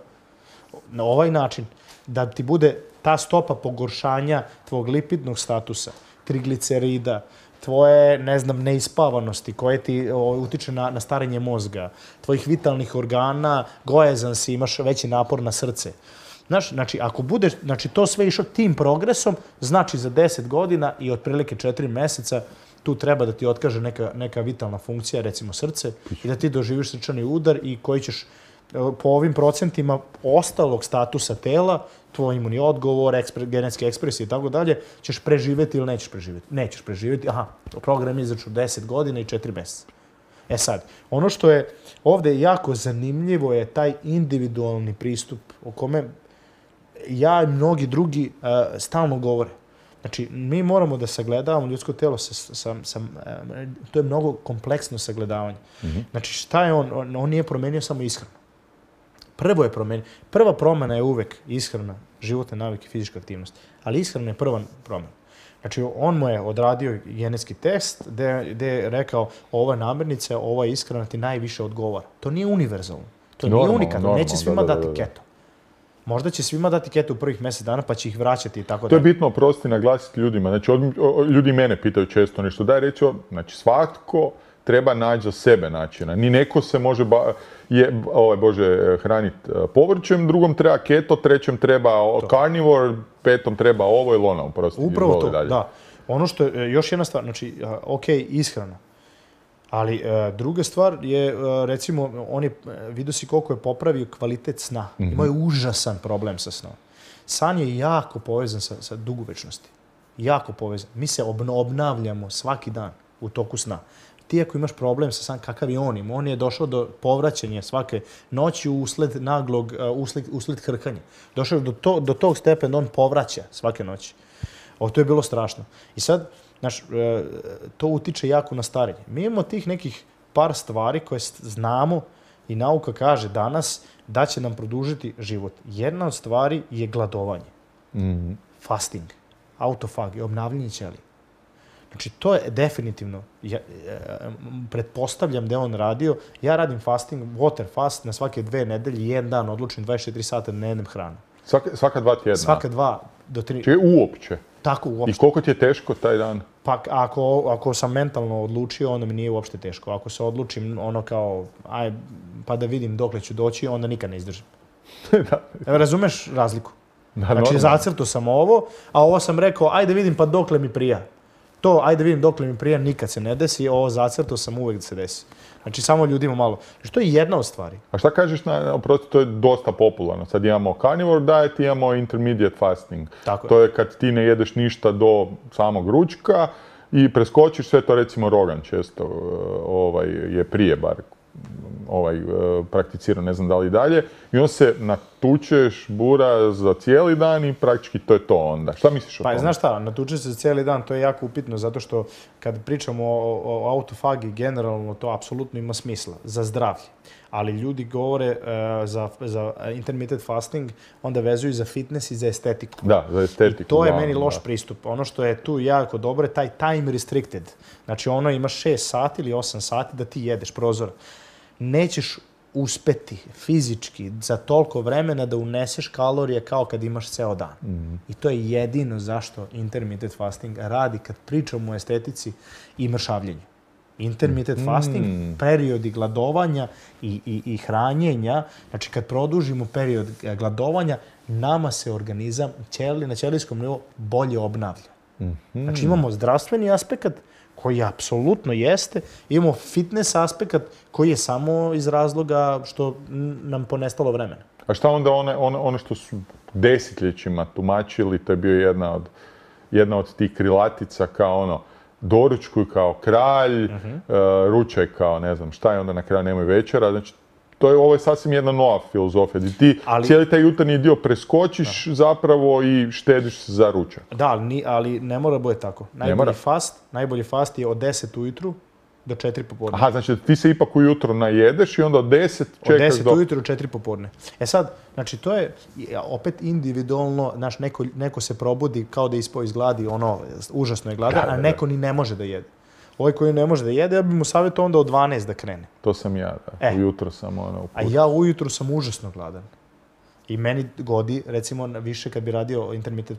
na ovaj način, da ti bude ta stopa pogoršanja tvog lipidnog statusa, triglicerida, tvoje, ne znam, neispavanosti koje ti o, utiče na, na starenje mozga, tvojih vitalnih organa, gojazan si, imaš veći napor na srce. Znaš, znači, ako budeš, znači, to sve išao tim progresom, znači za deset godina i otprilike četiri meseca tu treba da ti otkaže neka, neka vitalna funkcija, recimo srce, i da ti doživiš srčani udar i koji ćeš po ovim procentima ostalog statusa tela, tvoj imunni odgovor, ekspre, genetski ekspresije i tako dalje, ćeš preživjeti ili nećeš preživjeti. Nećeš preživjeti, aha, program je izračun deset godina i četiri meseca. E sad, ono što je ovdje jako zanimljivo je taj individualni pristup o kome ja i mnogi drugi uh, stalno govore. Znači, mi moramo da sagledavamo ljudsko telo, sa, sa, sa, uh, to je mnogo kompleksno sagledavanje. Mm-hmm. Znači, šta je on? on? On nije promenio samo ishranu. Prvo je promenio. Prva promjena je uvek ishrana, životne navike, fizička aktivnost. Ali ishrana je prva promjena. Znači, on mu je odradio genetski test gde je rekao ova namirnica, ova ishrana ti najviše odgovara. To nije univerzalno. To normal, nije unikatno. Neće svima da, da, da, da. dati keto. Možda će svima dati keto u prvih mjesec dana, pa će ih vraćati i tako dalje. To je bitno, oprosti, naglasiti ljudima. Znači, od, o, ljudi mene pitaju često nešto. Daj reći, znači, svatko treba naći za sebe načina. Ni neko se može ba, je, ovaj, Bože, hraniti povrćem, drugom treba keto, trećem treba to. Carnivore, petom treba ovo ili ono. Oprosti, upravo to, dalje. Da. Ono što je još jedna stvar, znači, ok, ishrana. Ali e, druga stvar je, e, recimo, on je, vidio si koliko je popravio kvalitet sna. Mm-hmm. Imao je užasan problem sa snom. San je jako povezan sa, sa dugovečnosti. Jako povezan. Mi se obno, obnavljamo svaki dan u toku sna. Ti ako imaš problem sa san, kakav je on im? On je došao do povraćanja svake noći usled naglog, usled, usled hrkanja. Došao je do, to, do tog stepena, on povraća svake noći. O, to je bilo strašno. I sad, znaš, to utiče jako na starenje. Mi imamo tih nekih par stvari koje znamo i nauka kaže danas da će nam produžiti život. Jedna od stvari je gladovanje. Mm-hmm. Fasting, autofag, obnavljanje ćelija. Znači, to je definitivno, ja, pretpostavljam da je on radio. Ja radim fasting, water fast, na svake dve nedelje, jedan dan odlučim dvadeset četiri sata ne jedem hranu. Svaka, svaka dva tjedna? Svaka dva do tri. Če uopće? Tako, uopšte. I koliko ti je teško taj dan? Pa ako, ako sam mentalno odlučio, onda mi nije uopšte teško. Ako se odlučim ono kao, aj, pa da vidim dokle ću doći, onda nikad ne izdržim. da. Evo, razumeš razliku? Da, znači, normalno. Zacrto sam ovo, a ovo sam rekao, ajde vidim pa dokle mi prija. To, ajde vidim dokle mi prija, nikad se ne desi, ovo zacrto sam uvek da se desi. Znači, samo ljudima malo. Znači, to je jedna od stvari. A šta kažeš, na, oprosti, to je dosta popularno. Sad imamo carnivore diet, imamo intermediate fasting. Tako to je. je kad ti ne jedeš ništa do samog ručka i preskočiš sve to, recimo Rogan često ovaj, je prije bar ovaj, prakticirao, ne znam da li dalje. I on se natučeš bura za cijeli dan i praktički to je to onda. Šta misliš o tome? Pa znaš šta, natučeš se za cijeli dan, to je jako upitno, zato što kad pričamo o, o autofagi, generalno to apsolutno ima smisla za zdravlje. Ali ljudi govore uh, za, za intermittent fasting, onda vezuju za fitness i za estetiku. Da, za estetiku. I to je da, meni loš da. pristup. Ono što je tu jako dobro je taj time restricted. Znači ono ima šest sati ili osam sati da ti jedeš prozor. Nećeš uspeti fizički za toliko vremena da uneseš kalorije kao kad imaš ceo dan. Mm. I to je jedino zašto intermittent fasting radi kad pričamo o estetici i mršavljenju. Intermittent mm. fasting, periodi gladovanja i, i, i hranjenja, znači kad produžimo period gladovanja, nama se organizam ćeli, na ćelijskom nivou bolje obnavlja. Mm-hmm. Znači imamo zdravstveni aspekt koji apsolutno jeste, imamo fitness aspekt koji je samo iz razloga što nam ponestalo vremena. A šta onda one, one, one što su desetljećima tumačili, to je bio jedna od, jedna od tih krilatica kao ono, doručkuj kao kralj, uh-huh. uh, ručaj kao ne znam šta je, onda na kraju nemoj večera. Znači, to je, ovo je sasvim jedna nova filozofija, gdje ti ali, cijeli taj jutarnji dio preskočiš da. zapravo i štediš se za ručak. Da, ali, ni, ali ne mora bude tako. Najbolji fast, najbolji fast je od deset ujutru do četiri popodne. Aha, znači ti se ipak ujutro najedeš i onda od deset čekaš do... Od deset ujutru do četiri popodne. E sad, znači to je opet individualno, znaš, neko, neko se probudi kao da ispao iz gladi, ono, užasno je gladan, a neko ni ne može da jede. Ovaj koji ne može da jede, ja bih mu savjetao onda od dvanaest da krene. To sam ja, da. E. Ujutro sam ono... A ja ujutro sam užasno gladan. I meni godi, recimo, više kad bi radio intermittent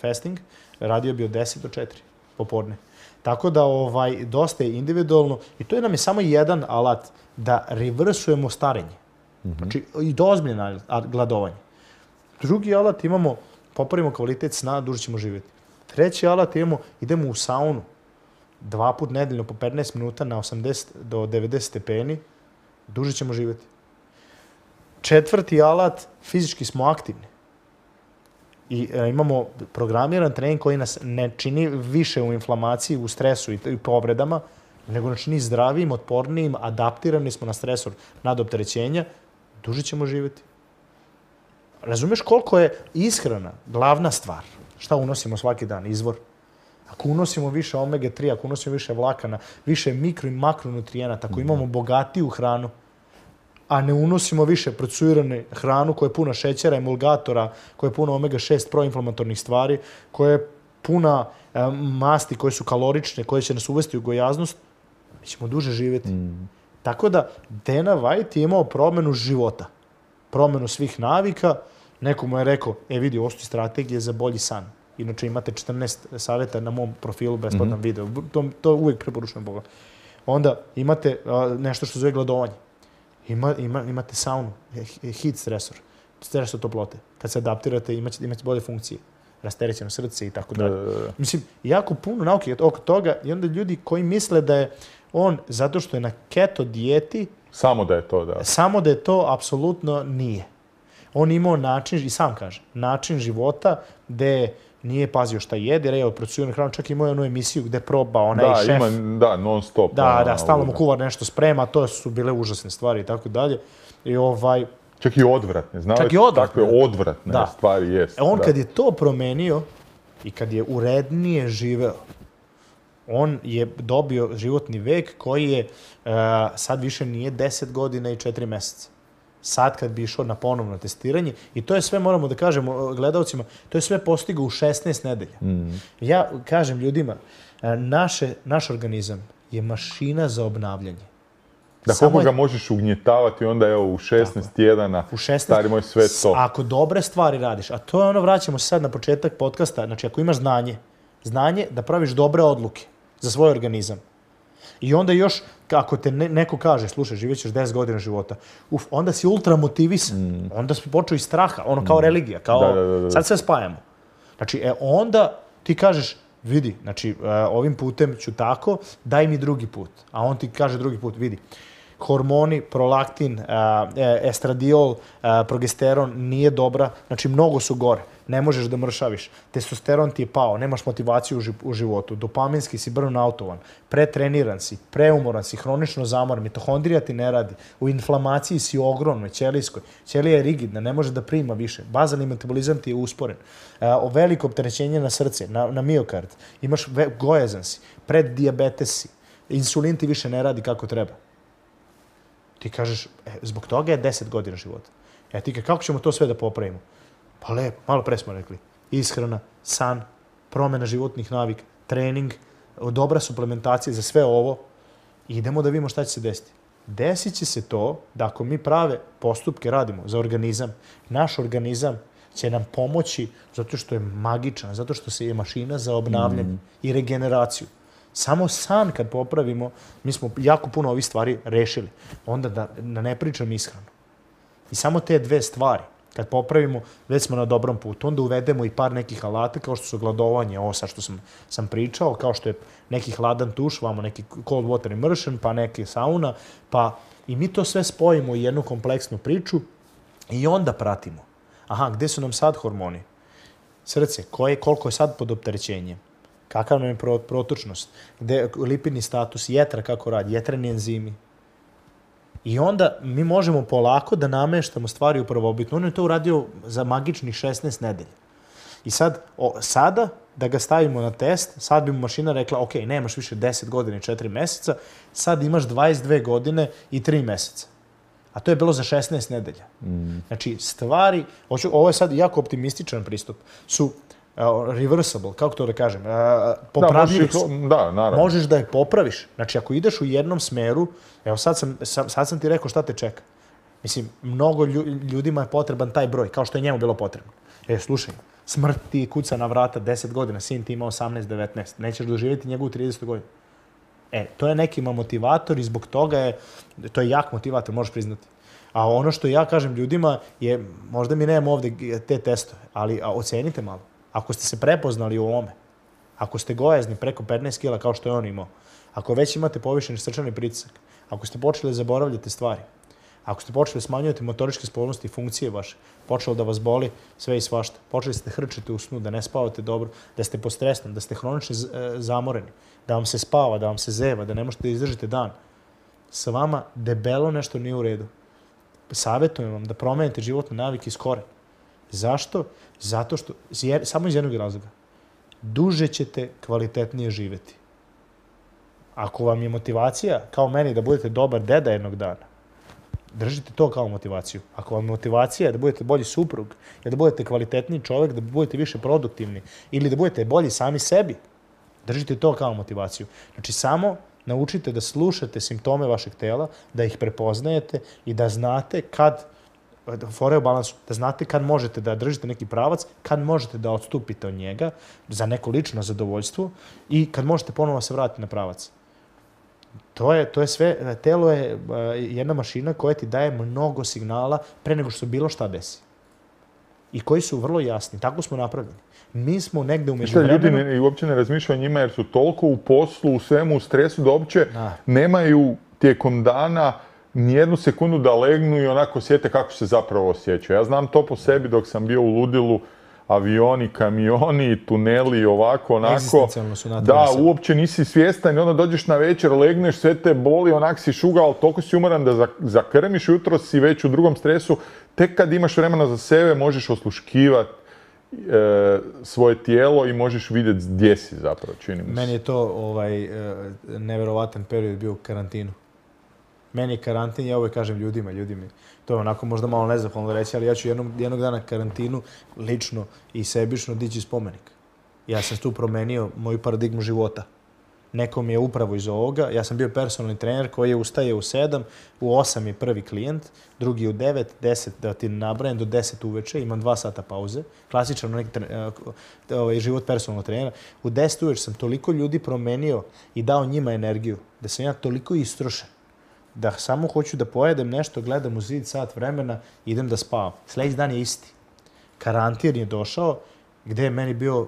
fasting, radio bi od deset do četiri popodne. Tako da ovaj, dosta je individualno i to je nam je samo jedan alat da reversujemo starenje. Mm-hmm. Znači, i dozbiljeno gladovanje. Drugi alat imamo, popravimo kvalitet sna, duže ćemo živjeti. Treći alat imamo, idemo u saunu. Dva put nedeljno po petnaest minuta na osamdeset do devedeset stepeni, duže ćemo živjeti. Četvrti alat, fizički smo aktivni. I e, imamo programiran trening koji nas ne čini više u inflamaciji, u stresu i, i povredama, nego nas čini zdravijim, otpornijim, adaptirani smo na stresor nadopterećenja, duže ćemo živjeti. Razumeš koliko je ishrana glavna stvar? Šta unosimo svaki dan? Izvor. Ako unosimo više omega tri, ako unosimo više vlakana, više mikro i makronutrijenata, ako imamo bogatiju hranu, a ne unosimo više procesirane hranu koja je puna šećera, emulgatora, koja je puna omega šest proinflamatornih stvari, koja je puna e, masti koje su kalorične, koje će nas uvesti u gojaznost, mi ćemo duže živjeti. Mm. Tako da Dana White je imao promjenu života, promjenu svih navika. Neko mu je rekao, e vidi, ovo su strategije za bolji san. Inače imate četrnaest savjeta na mom profilu, besplatan mm-hmm. video. To, to uvijek preporučujem Boga. Onda imate a, nešto što zove gladovanje. Ima, ima, imate saunu, heat stresor, stresor toplote. Kad se adaptirate, imate, imate bolje funkcije. Rasterećeno srce i tako dalje. Mislim, jako puno nauke oko toga i onda ljudi koji misle da je on, zato što je na keto dijeti... Samo da je to, da. Samo da je to, apsolutno nije. On imao način, i sam kaže, način života gde nije pazio šta jede, jer je procesiranu hranu, čak imao je onu emisiju gde proba onaj da, šef. Ima, da, non stop. Da, ona, da, stalno mu kuvar nešto sprema, to su bile užasne stvari i tako dalje. I ovaj... Čak i odvratne, znao čak i odvratne. Takve odvratne da. stvari jest. On da. kad je to promenio i kad je urednije živeo, on je dobio životni vek koji je uh, sad više nije deset godina i četiri mjeseca. Sad kad bi išao na ponovno testiranje, i to je sve, moramo da kažemo gledalcima, to je sve postigao u šesnaest nedelja. Mm. Ja kažem ljudima, naše, naš organizam je mašina za obnavljanje. Da koliko ga možeš ugnjetavati, onda evo u šesnaest tjedana, u šesnaest, stari moj, sve to. Ako dobre stvari radiš, a to je ono, vraćamo se sad na početak podcasta, znači ako imaš znanje, znanje da praviš dobre odluke za svoj organizam. I onda još, ako te ne, neko kaže, slušaj, živjet ćeš deset godina života, uf, onda si ultra motivisan, mm. onda si počeo iz straha, ono kao mm. religija, kao da, da, da. Sad sve spajamo. Znači, e, onda ti kažeš, vidi, znači, ovim putem ću tako, daj mi drugi put. A on ti kaže drugi put, vidi, hormoni, prolaktin, estradiol, progesteron nije dobra, znači mnogo su gore. Ne možeš da mršaviš. Testosteron ti je pao, nemaš motivaciju u životu. Dopaminski si burnoutovan, pretreniran si, preumoran si, hronično zamoran, mitohondrija ti ne radi, u inflamaciji si ogromnoj, ćelijskoj. Ćelija je rigidna, ne može da prima više. Bazalni metabolizam ti je usporen. O veliko opterećenje na srce, na, na miokard. Imaš ve, gojazan si, preddijabetes si. Insulin ti više ne radi kako treba. Ti kažeš, e, zbog toga je deset godina života. E ti kako ćemo to sve da popravimo? Pa lepo, malo pre smo rekli. Ishrana, san, promjena životnih navika, trening, dobra suplementacija za sve ovo. I idemo da vidimo šta će se desiti. Desit će se to da ako mi prave postupke radimo za organizam, naš organizam će nam pomoći zato što je magičan, zato što se je mašina za obnavljanje mm. i regeneraciju. Samo san kad popravimo, mi smo jako puno ovih stvari rešili. Onda da, da ne pričam ishranu. I samo te dve stvari, kad popravimo, već smo na dobrom putu. Onda uvedemo i par nekih alata, kao što su gladovanje, ovo sad što sam, sam pričao, kao što je neki hladan tuš, vamo neki cold water immersion, pa neki sauna, pa i mi to sve spojimo u jednu kompleksnu priču i onda pratimo. Aha, gde su nam sad hormoni? Srce, koje, koliko je sad pod opterećenjem? Kakav nam je protočnost? Gde, lipidni status, jetra kako radi, jetreni enzimi. I onda mi možemo polako da nameštamo stvari u prvobitno. On je to uradio za magičnih šesnaest nedelja. I sad, o, sada, da ga stavimo na test, sad bi mu mašina rekla, ok, nemaš više deset godina i četiri meseca, sad imaš dvadeset dve godine i tri meseca. A to je bilo za šesnaest nedelja. Mm. Znači, stvari, hoću, ovo je sad jako optimističan pristup, su uh, reversible, kako to da kažem, uh, popravljivi su. Da, naravno. Možeš da je popraviš. Znači, ako ideš u jednom smeru, evo sad sam, sam, sad sam ti rekao šta te čeka. Mislim, mnogo ljudima je potreban taj broj, kao što je njemu bilo potrebno. E, slušaj, smrt ti kuca na vrata deset godina, sin ti ima osamnaest devetnaest, nećeš doživjeti njegovu tridesetu godinu. E, to je nekima motivator i zbog toga je, to je jak motivator, možeš priznati. A ono što ja kažem ljudima je, možda mi nemamo ovde te testove, ali a, ocenite malo. Ako ste se prepoznali u ovome, ako ste gojazni preko petnaest kila kao što je on imao, ako već imate povišeni srčani pritisak, ako ste počeli da zaboravljate stvari, ako ste počeli smanjujete motoričke spolnosti i funkcije vaše, počelo da vas boli sve i svašta, počeli ste hrčete u snu, da ne spavate dobro, da ste postresni, da ste hronično zamoreni, da vam se spava, da vam se zeva, da ne možete da izdržite dan, sa vama debelo nešto nije u redu. Savjetujem vam da promenite životne navike iz korena. Zašto? Zato što, samo iz jednog razloga, duže ćete kvalitetnije živeti. Ako vam je motivacija, kao meni, da budete dobar deda jednog dana, držite to kao motivaciju. Ako vam je motivacija da budete bolji suprug, da budete kvalitetniji čovjek, da budete više produktivni ili da budete bolji sami sebi, držite to kao motivaciju. Znači, samo naučite da slušate simptome vašeg tela, da ih prepoznajete i da znate kad, fore u balansu, da znate kad možete da držite neki pravac, kad možete da odstupite od njega za neko lično zadovoljstvo i kad možete ponovo se vratiti na pravac. To je, to je sve, telo je jedna mašina koja ti daje mnogo signala pre nego što bilo šta desi. I koji su vrlo jasni. Tako smo napravljeni. Mi smo negde u međuvremenu... Ljudi ne, uopće ne razmišljaju o njima jer su toliko u poslu, u svemu, u stresu da uopće da. nemaju tijekom dana nijednu sekundu da legnu i onako osjete kako se zapravo osjećaju. Ja znam to po sebi dok sam bio u ludilu, avioni, kamioni, tuneli, ovako, onako. Su da, uopće nisi svjestan i onda dođeš na večer, legneš, sve te boli, onak si šuga, ali toliko si umoran da zakrmiš, jutro si već u drugom stresu. Tek kad imaš vremena za sebe, možeš osluškivati e, svoje tijelo i možeš vidjeti gdje si zapravo, čini mi se. Meni je to ovaj, neverovatan period bio u karantinu. Meni je karantin, ja uvijek kažem ljudima, ljudi mi, to je onako možda malo nezahvalno reći, ali ja ću jednog, jednog dana karantinu lično i sebično dići spomenik. Ja sam tu promenio moju paradigmu života. Neko mi je upravo iz ovoga, ja sam bio personalni trener koji je ustaje u sedam, u osam je prvi klijent, drugi u devet, deset, da ti nabrajem, do deset uveče, imam dva sata pauze, klasičan neki ovaj, život personalnog trenera. U deset uveče sam toliko ljudi promenio i dao njima energiju, da sam ja toliko istrošen, da samo hoću da pojedem nešto, gledam u zid sat vremena, idem da spavam. Sljedeći dan je isti. Karantin je došao, gdje je meni bio...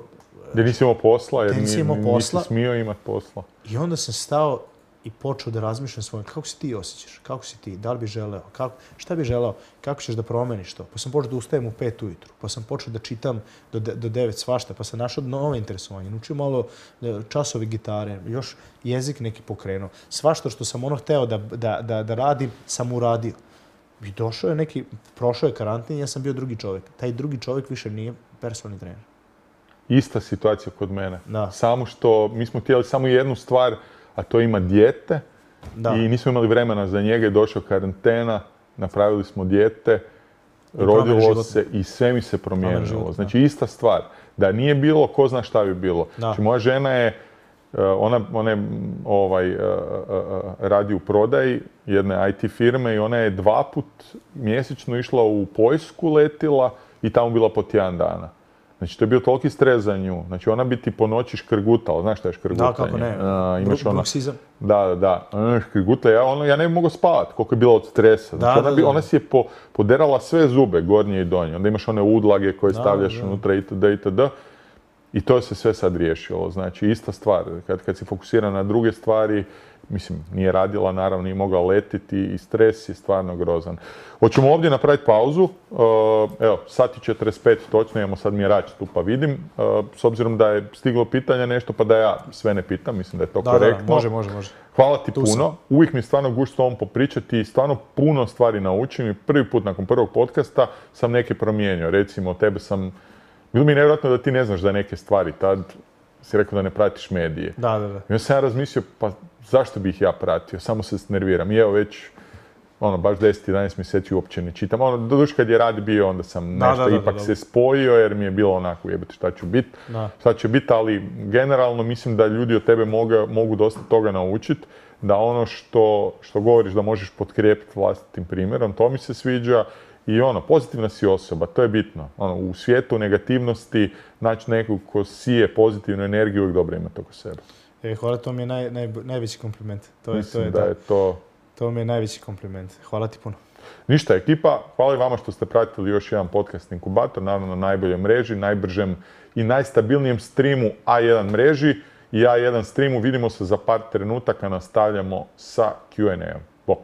Gdje nisi imao posla, jer nisi, nisi smio imati posla. I onda sam stao i počeo da razmišljam svojom, kako se ti osjećaš, kako si ti, da li bi želeo, kako, šta bi želeo, kako ćeš da promeniš to. Pa sam počeo da ustajem u pet ujutru, pa sam počeo da čitam do, de, do devet svašta, pa sam našao nove interesovanje, naučio malo časovi gitare, još jezik neki pokrenuo. Svašta što sam ono hteo da, da, da, da radim, sam uradio. I došao je neki, prošao je karantin i ja sam bio drugi čovjek. Taj drugi čovjek više nije personalni trener. Ista situacija kod mene. Da. Samo što mi smo htjeli samo jednu stvar, a to ima dijete. Da. I nismo imali vremena za njega, je došao karantena, napravili smo dijete, I rodilo se i sve mi se promijenilo. Znači ista stvar. Da nije bilo, ko zna šta bi bilo. Da. Znači moja žena je ona, ona je ovaj, radi u prodaji jedne I T firme i ona je dva put mjesečno išla u Poljsku, letila i tamo bila po tjedan dana. Znači, to je bio toliki stres za nju. Znači, ona bi ti po noći škrgutala. Znaš šta je škrgutanje? Da, kako ne. Uh, imaš Bru- ona, bruksizam. Da, da, da. Škrgutla, ja, ono, ja ne bi mogao spavati koliko je bila od stresa. Znači, Da, ona, da, bi, da. ona si je po, poderala sve zube, gornje i donje. Onda imaš one udlage koje Da, stavljaš da. unutra itd. itd. I to se sve sad riješilo. Znači, ista stvar. Kad, kad si fokusira na druge stvari, mislim, nije radila, naravno, nije mogla letiti i stres je stvarno grozan. Hoćemo ovdje napraviti pauzu. Uh, evo, sat i četrdeset pet točno, imamo sad mjerač tu pa vidim. Uh, s obzirom da je stiglo pitanja nešto, pa da ja sve ne pitam, mislim da je to Da, korektno. da, može, može, može. Hvala ti Tu puno. sam. Uvijek mi je stvarno gušt s tobom popričati i stvarno puno stvari naučim i prvi put nakon prvog podcasta sam neke promijenio. Recimo, tebe sam... Bilo mi je nevjerojatno da ti ne znaš za neke stvari. Tad si rekao da ne pratiš medije. Da, da, da. I onda sam ja razmislio, pa zašto bih ja pratio? Samo se nerviram. I evo već, ono, baš deset jedanaest mjeseci uopće ne čitam. Ono, doduše kad je rad bio, onda sam Da, nešto da, da, ipak da, se da. spojio, jer mi je bilo onako, jebate, šta ću bit, Da. šta će bit, ali generalno mislim da ljudi od tebe moga, mogu dosta toga naučiti, da ono što, što govoriš da možeš potkrijepiti vlastitim primjerom, to mi se sviđa. I ono, pozitivna si osoba, to je bitno. Ono, u svijetu negativnosti naći nekog ko sije pozitivnu energiju, uvijek dobro imati oko sebe. E, hvala, to mi je naj, naj, najveći kompliment. To je, Mislim to je, da da. je to... To mi je najveći kompliment. Hvala ti puno. Ništa, ekipa, hvala i vama što ste pratili još jedan podcast Inkubator, naravno na najboljoj mreži, najbržem i najstabilnijem streamu A jedan mreži i A jedan streamu. Vidimo se za par trenutaka, nastavljamo sa Q and A-om. Bok!